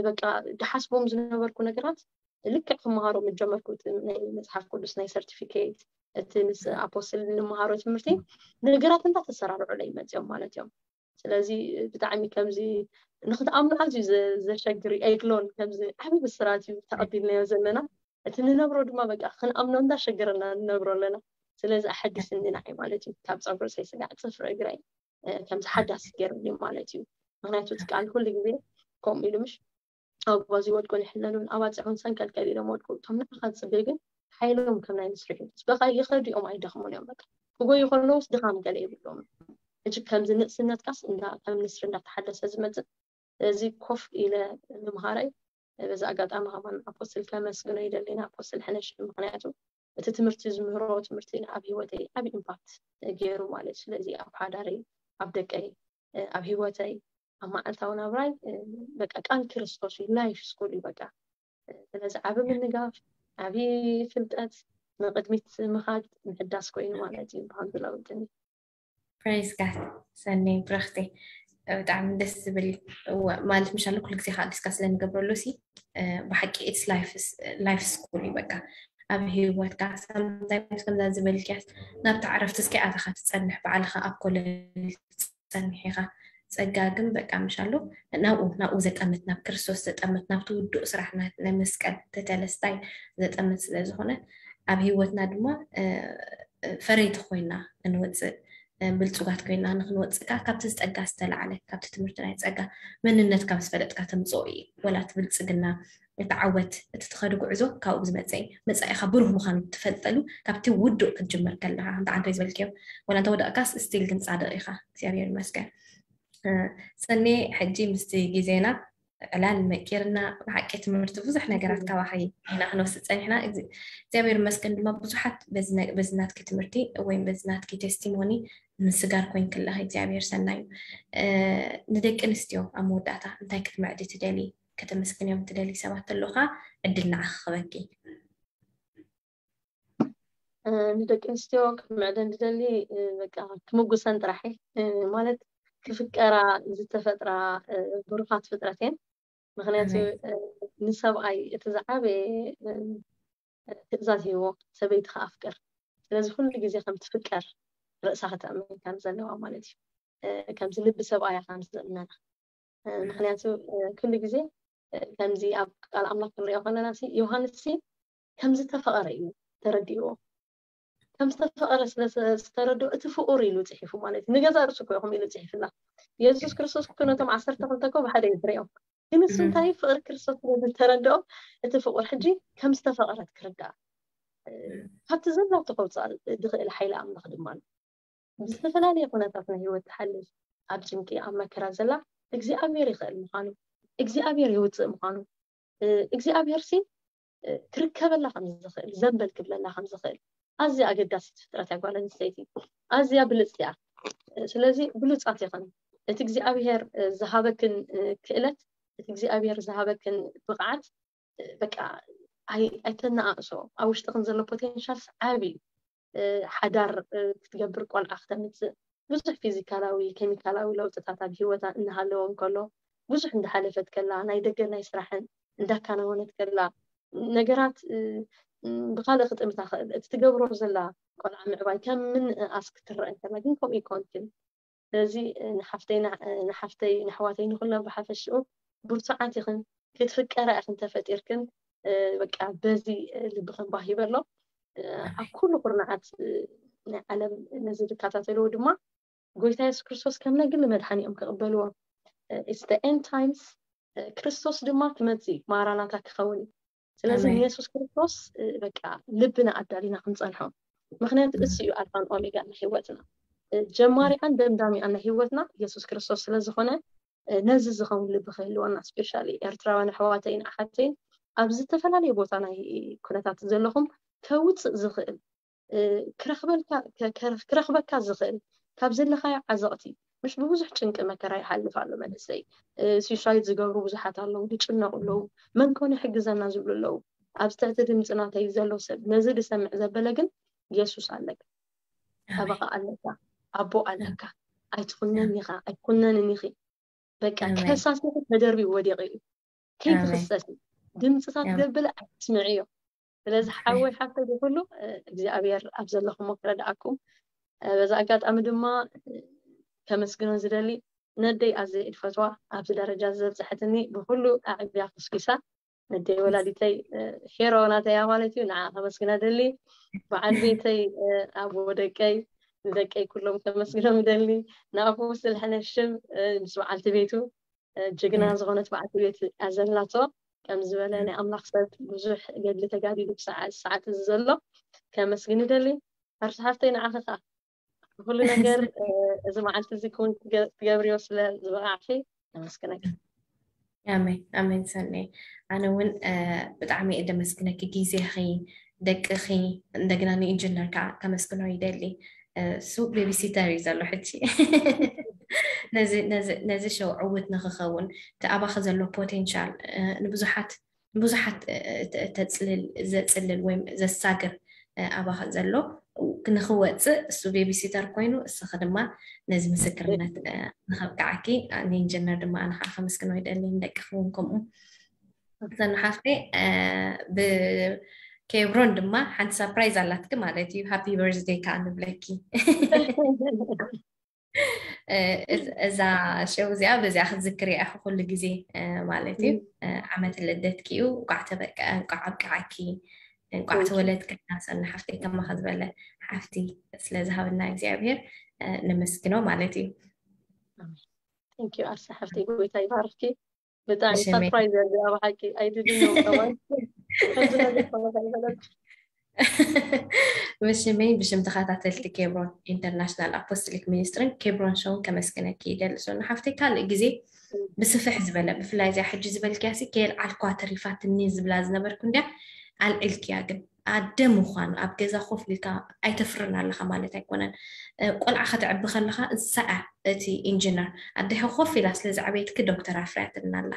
በቃ ድሓስቦም ዝነበርኩ ነገራት ልክዕ ክመሃሮ ምጀመርኩ ናይ መፅሓፍ ቅዱስ ናይ ሰርቲፊኬት እቲ ምስ ኣፖስትል እንመሃሮ ትምህርቲ ነገራት እንዳተሰራርዑለይ መፅኦም ማለት እዮም። ስለዚ ብጣዕሚ ከምዚ ንክትኣምኑ ኣዝዩ ዘሸግር እዩ ኣይክሎን ከምዚ ዓብዪ ብስራት እዩ ተቐቢልናዮ ዘለና። እቲ ንነብሮ ድማ በቃ ክንኣምኖ እንዳሸገረና ንነብሮ ኣለና። ስለዚ ኣሐዲስኒ ንዓይ ማለት እዩ ካብ ፀጉሪ ርእሰይ ስጋዕ ፅፍሪ እግረይ ከምዚ ሓዳስ ገይሩኒ ማለት እዩ። ምክንያቱ እቲ ቃል ኩሉ ግዜ ከምኡ ኢሉ ምሽ ኣጓዚ ወድቁ ይሕለሉን ኣባፅሑን ሰንከልከል ኢሎም ወድቁ እቶም ንዓኻ ዝፅበዩ ግን ሓይሎም ከም ናይ ንስሪ እዩ። በቃ ይኸዱ እዮም ኣይደኽሙን እዮም። በቃ ክጎዩ ከለውስ ድኻም ገለ ይብሎም። ሕጂ ከምዚ ንእስነትካስ እንዳ ከም ንስሪ እንዳተሓደሰ ዝመፅእ እዚ ኮፍ ኢለ ምምሃረይ በዚ ኣጋጣሚ ከማን ኣፖስትል ከመስግኖ ይደሊ ንኣፖስትል ሕነሽ ምክንያቱ እቲ ትምህርቲ ዝምህሮ ትምህርቲ ኣብ ሂወተይ ዓብ ኢምፓክት ገይሩ ማለት እዩ። ስለዚ ኣብ ሓዳረይ ኣብ ደቀይ ኣብ ሂወተይ ኣብ መዓልታዊ ናብራይ በቃ ቃል ክርስቶስ እዩ ላይፍ ስኩል እዩ በቃ ስለዚ ዓብ ምንጋፍ ዓብ ፍልጠት ንቅድሚት ምኻድ ምሕዳስ ኮይኑ ማለት እዩ ብሃም ዝለውጥኒ። ፕሬዝ ጋድ ሰኒ ብረኽቲ ብጣዕሚ ደስ ዝብል ማለት ምሻሉ ኩሉ ግዜ ከዓ ዲስካስ ስለንገብረሉ ሲ ብሓቂ ኢትስ ላይፍ ስኩል እዩ በቃ ኣብ ህይወትካ ሳምታይምስ ከምዛ ዝበልክያስ ናብቲ ዕረፍቲ እስኪ ኣተኻ ትፀንሕ ባዕልኻ ኣብ ኮለል ትፀንሕ ኢኻ ጸጋ ግን በቃ ምሻሉ ናብኡ ናብኡ ዘጠምት ናብ ክርስቶስ ዘጠምት ናብቲ ውዱእ ስራሕ ናይ መስቀል ተተለስታይ ዘጠምት ስለ ዝኾነ ኣብ ህይወትና ድማ ፈረይቲ ኮይና ክንወፅእ ብልፁጋት ኮይና ንክንወፅእ ከዓ ካብቲ ዝፀጋ ዝተላዓለ ካብቲ ትምህርቲ ናይ ፀጋ መንነት ካብ ዝፈለጥካ ተምፅኦ እዩ ወላ እቲ ብልፅግና እቲ ዓወት እቲ ትኸዱ ጉዕዞ ካብኡ ዝመፀ እዩ መፃኢካ ብሩህ ምዃኑ ትፈልጠሉ ካብቲ ውዱእ ክትጅምር ከለካ እንተ ዓንተይ ዝበልክዮ ወላ እንተ ወደቅካስ ስቲል ግን ፃድቅ ኢካ እግዚኣብሔር ይመስገን ሰኔ ሕጂ ምስቲ ግዜና ዕላል መቂርና ብሓቂ ትምህርቲ ብዙሕ ነገራት ካባኺ ኢና ክንወስድ ፀኒሕና እግዚኣብሔር መስገን ድማ ብዙሓት በዚ ናትኪ ትምህርቲ ወይም በዚ ናትኪ ቴስቲሞኒ ምስጋር ኮይን ክለኺ እግዚኣብሔር ሰናዩ ንደቂ ኣንስትዮ ኣብ መወዳእታ እንታይ ክትምዕዲ ትደሊ ከተመስግንዮም ትደሊ ሰባት ተሎካ ዕድል ንዓኺ ክበኪ ንደቂ ኣንስትዮ ክምዕደን ዝደሊ በቃ ክምጉሰን ጥራሕ ማለት ክፍቀራ ዝተፈጥራ ብሩኻት ፍጥረት እየን ምክንያቱ ንሰብኣይ እቲ ዝዓበየ ትእዛዝ ሂዎ ሰበይትኻ ኣፍቅር ስለዚ ኩሉ ግዜ ከም ትፍቀር ርእሳ ከተእምን ከም ዘለዋ ማለት እዩ ከምዚ ልቢ ሰብኣያ ከም ዝእመና ምክንያቱ ኩሉ ግዜ ከምዚ ኣብ ቃል ኣምላክ ክንሪኦ ከለና ዮሃንስ ከምዝተፈቐረ እዩ ተረዲእዎ ከምዝተፈቐረ ስለዝተረድኦ እቲ ፍቁር ኢሉ ፅሒፉ ማለት እዩ ንገዛ ርእሱ ኮ ይኹም ኢሉ ፅሒፍላ የሱስ ክርስቶስ ነቶም ዓሰርተ ክልተ ኮ ብሓደ እዩ ዝሪኦም ግን እሱ እንታይ ፍቕሪ ክርስቶስ ስለ ዝተረድኦ እቲ ፍቑር ሕጂ ከም ዝተፈቐረት ክርዳእ ካብቲ ዘላቶ ከውፅኣ ዝኽእል ሓይሊ ኣምላኽ ድማ ኣሎ። ብዝተፈላለየ ኩነታት ናይ ህይወት ትሓልፍ ኣብ ጭንቂ ኣብ መከራ ዘላ እግዚኣብሔር ይኽእል ምዃኑ እግዚኣብሔር የውፅእ ምዃኑ እግዚኣብሔር ሲ ክርከበላ ከም ዝኽእል ዘንበል ክብለላ ከም ዝኽእል ኣዝያ ኣገዳሲት ፍጥረት እያ ጓል ኣንስተይቲ። ኣዝያ ብልፅቲ እያ። ስለዚ ብሉፃት ኢኽን። እቲ እግዚኣብሔር ዝሃበክን ክእለት እቲ እግዚኣብሔር ዝሃበክን ብቕዓት በቃ ኣይተነኣእሶ። ኣብ ውሽጥኽን ዘሎ ፖቴንሻልስ ዓብዪ እዩ። ሓዳር ክትገብር ቆልዓ ክተምፅእ ብዙሕ ፊዚካላዊ ኬሚካላዊ ለውጥታት ኣብ ህይወታ እናሃለወ እንከሎ ብዙሕ እንዳሓለፈት ከላ ናይ ደገ ናይ ስራሕን እንዳካነወነት ከላ ነገራት ብካልእ ክጥምታ ክእል እቲ ትገብሮ ዘላ ቆልዓ ምዕባይ ከም ምንእኣስ ክትረአ እንከላ ግን ከምኡ ይኮንክን። ስለዚ ንሓፍተይ ንሓፍተይ ንኣሕዋተይ ንኩለን ብሓፈሽኡ ብርቱዓት ኢኽን ክትፍቀራ ኢኽን ተፈጢርክን በቃ በዚ ልብኽን ባህ ይበሎ። ኣብ ኩሉ ኩርናዓት ናይ ዓለም ነዚ ዝከታተልዎ ድማ ጎይታ የሱስ ክርስቶስ ከም ናይ ግሊ መድሓኒኦም ክቕበልዎ it's the end times ክርስቶስ ድማ ክመጽእ እዩ ማራናታ ክኸውን እዩ። ስለዚ ንየሱስ ክርስቶስ በቃ ልብና ኣዳሊና ክንጸንሖ ምክንያቱ እሱ እዩ ኣልፋን ኦሜጋ ናይ ህይወትና ጀማሪኣን ደምዳሚኣን ናይ ህይወትና የሱስ ክርስቶስ ስለዝኾነ ነዚ ዝኸውን ልቢ ክህልወና ስፔሻሊ ኤርትራውያን ኣሕዋተይን ኣሓተይን ኣብ ዝተፈላለየ ቦታ ናይ ኩነታት ዘለኹም ከውፅእ ዝኽእል ክረኽበልካ ክረኽበካ ዝኽእል ካብ ዘለኻዮ ዓዘቕቲ ምሽ ብብዙሕ ጭንቂ መከራ ይሓልፍ ኣሎ መንእሰይ ሱሳይድ ዝገብሩ ብዙሓት ኣለዉ ዝጭነቑ ኣለዉ መን ኮነ ይሕግዘና ዝብሉ ኣለዉ ኣብዚ ትሕቲ ድምፂ ናተይ ዘሎ ሰብ ነዚ ዝሰምዕ ዘበለ ግን የሱስ ኣለካ ጠበቓ ኣለካ ኣቦ ኣለካ ኣይትኹነን ኢኻ ኣይኩነንን ኢኺ በቃ ከሳሲ ተደርቢኡ ወዲቑ እዩ ከይትኽሰሲ ድምፅታት ዘበለ ኣይትስምዕዮ ስለዚ ሓወይ ሓፍተይ ብኩሉ እግዚኣብሔር ኣብ ዘለኹሞ ክረድኣኩም በዛ ኣጋጣሚ ድማ ከመስግኖ ዝደሊ ነደይ ኣዘ እድፈትዋ ኣብዚ ደረጃ ዘብፅሐትኒ ብኩሉ ኣዕብያ ኩስኪሳ ነደይ ወላዲተይ ሄሮ ናተያ ማለት እዩ ንዓ ከመስግና ደሊ በዓል ቤተይ ኣቦ ደቀይ ንደቀይ ኩሎም ከመስግኖም ደሊ ንኣፉ ስልሐነ ሽም ምስ በዓልቲ ቤቱ ጅግና ዝኾነት በዓልቲ ቤት ኣዘላቶ ከም ዝበለ ናይ ኣምላኽ ሰብ ብዙሕ ገድሊ ተጋዲሉ ብሰዓት ሰዓት እዚ ዘሎ ከመስግን ይደሊ ኣርሲ ሓፍተይ ንዓኺ ከዓ ኩሉ ነገር እዚ መዓልቲ እዚ ክውን ትገብርዮ ስለ ዝበቃዕኪ ነመስግነኪ ኣሜን ኣሜን ሰኒ ኣነ እውን ብጣዕሚ እየ ደመስግነኪ ግዜኺ ደቅኺ እንደገና ንኢንጂነር ከዓ ከመስግኖ ይደሊ እሱ ቤቢሲተር እዩ ዘሎ ሕጂ ነዚ ሸው ዕውት ንክኸውን እቲ ኣባኺ ዘሎ ፖቴንሻል ንብዙሓት ንብዙሓት ተፅልል ዘፅልል ወይ ዘሳግር ኣባኺ ዘሎ ንክወፅእ እሱ ቤቢሲተር ኮይኑ እስኺ ድማ ነዚ ምስክርነት ንከብቅዓኪ ንኢንጀነር ድማ ኣነ ከዓ ከመስግኖ ይደሊ ንደቅኺ እውን ከምኡ ዘንሓፍቲ ብኬብሮን ድማ ሓንቲ ሳፕራይዝ ኣላትኪ ማለት እዩ ሃፒ በርዝደይ ከዓ ንብለኪ እዛ ሸው እዚኣ በዚኣ ክትዝክር እያ ኩሉ ግዜ ማለት እዩ ዓመት ልደትኪ እዩ እንቋዕ ተበቀ እንቋዕ ኣብቅዓኪ እንቋዕ ተወለድክና ሰኒ ሓፍተይ ከማኸ ዝበለ ሓፍቲ ስለዝሃበና እግዚኣብሔር ነመስግኖ ማለት እዩ Thank you ኣርሳ ሓፍተይ ጎይታ ይባርክኪ ብጣዕሚ ሰርፕራይዝ እያ እዚኣ ብሓቂ ኣይድድነው ከማን ብሽመይ ብሽም ተኸታተልቲ ኬብሮን ኢንተርናሽናል ኣፖስትሊክ ሚኒስትርን ኬብሮን ሾውን ከመስግነኪ ይደሊ ሶኒ ሓፍተይ ካልእ ግዜ ብስፍሕ ዝበለ ብፍላይ እዚኣ ሕጂ ዝበልክያ ሲ ከየልዓልኳ ተሪፋትኒ ዝብላ ዝነበርኩ እንድያ ኣልዒልክያ ግን ኣደ ምዃን ኣብ ገዛ ኮፍ ኢልካ ኣይተፍርን ኣለኻ ማለት ኣይኮነን ቆልዓ ከተዕቢ ከለኻ እሳ እቲ ኢንጂነር ኣደኻ ኮፍ ኢላ ስለ ዝዓበየትኪ ዶክተር ኣፍርያትልና ኣላ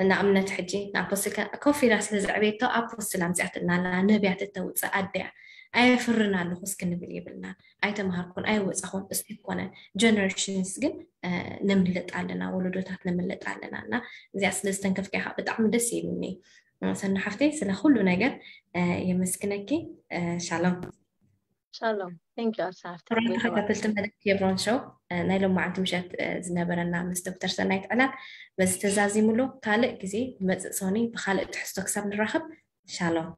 ንኣብነት ሕጂ ንኣፖስትል ኮፍ ኢላ ስለ ዘዕበየቶ ኣፖስትል ኣምፅኣትልና ኣላ ነብያት እተውፅእ ኣደያ ኣየፍርን ኣለኹስ ክንብል የብልናን ኣይተምሃርኩን ኣይወፃኹን እሱ ይኮነን ጀነሬሽንስ ግን ንምልጥ ኣለና ወለዶታት ንምልጥ ኣለና እና እዚኣ ስለ ዝተንከፍካ ኢኻ ብጣዕሚ ደስ ይብልኒ ሰኒ ሓፍተይ ስለ ኩሉ ነገር የመስግነኪ ሻሎም ሻሎም ቴንክ ዩ ኣርሳ ሃፍቲ ትብሪ ተኸታተልቲ መደብ ኬብሮን ሾው ናይ ሎማዓንቲ ምሸት ዝነበረና ምስ ዶክተር ሰናይት ዕላል በዚ ተዛዚሙሉ ካልእ ግዜ ዝመፅእ ሶኒ ብካልእ ትሕዝቶ ክሳብ ንራኸብ ሻሎም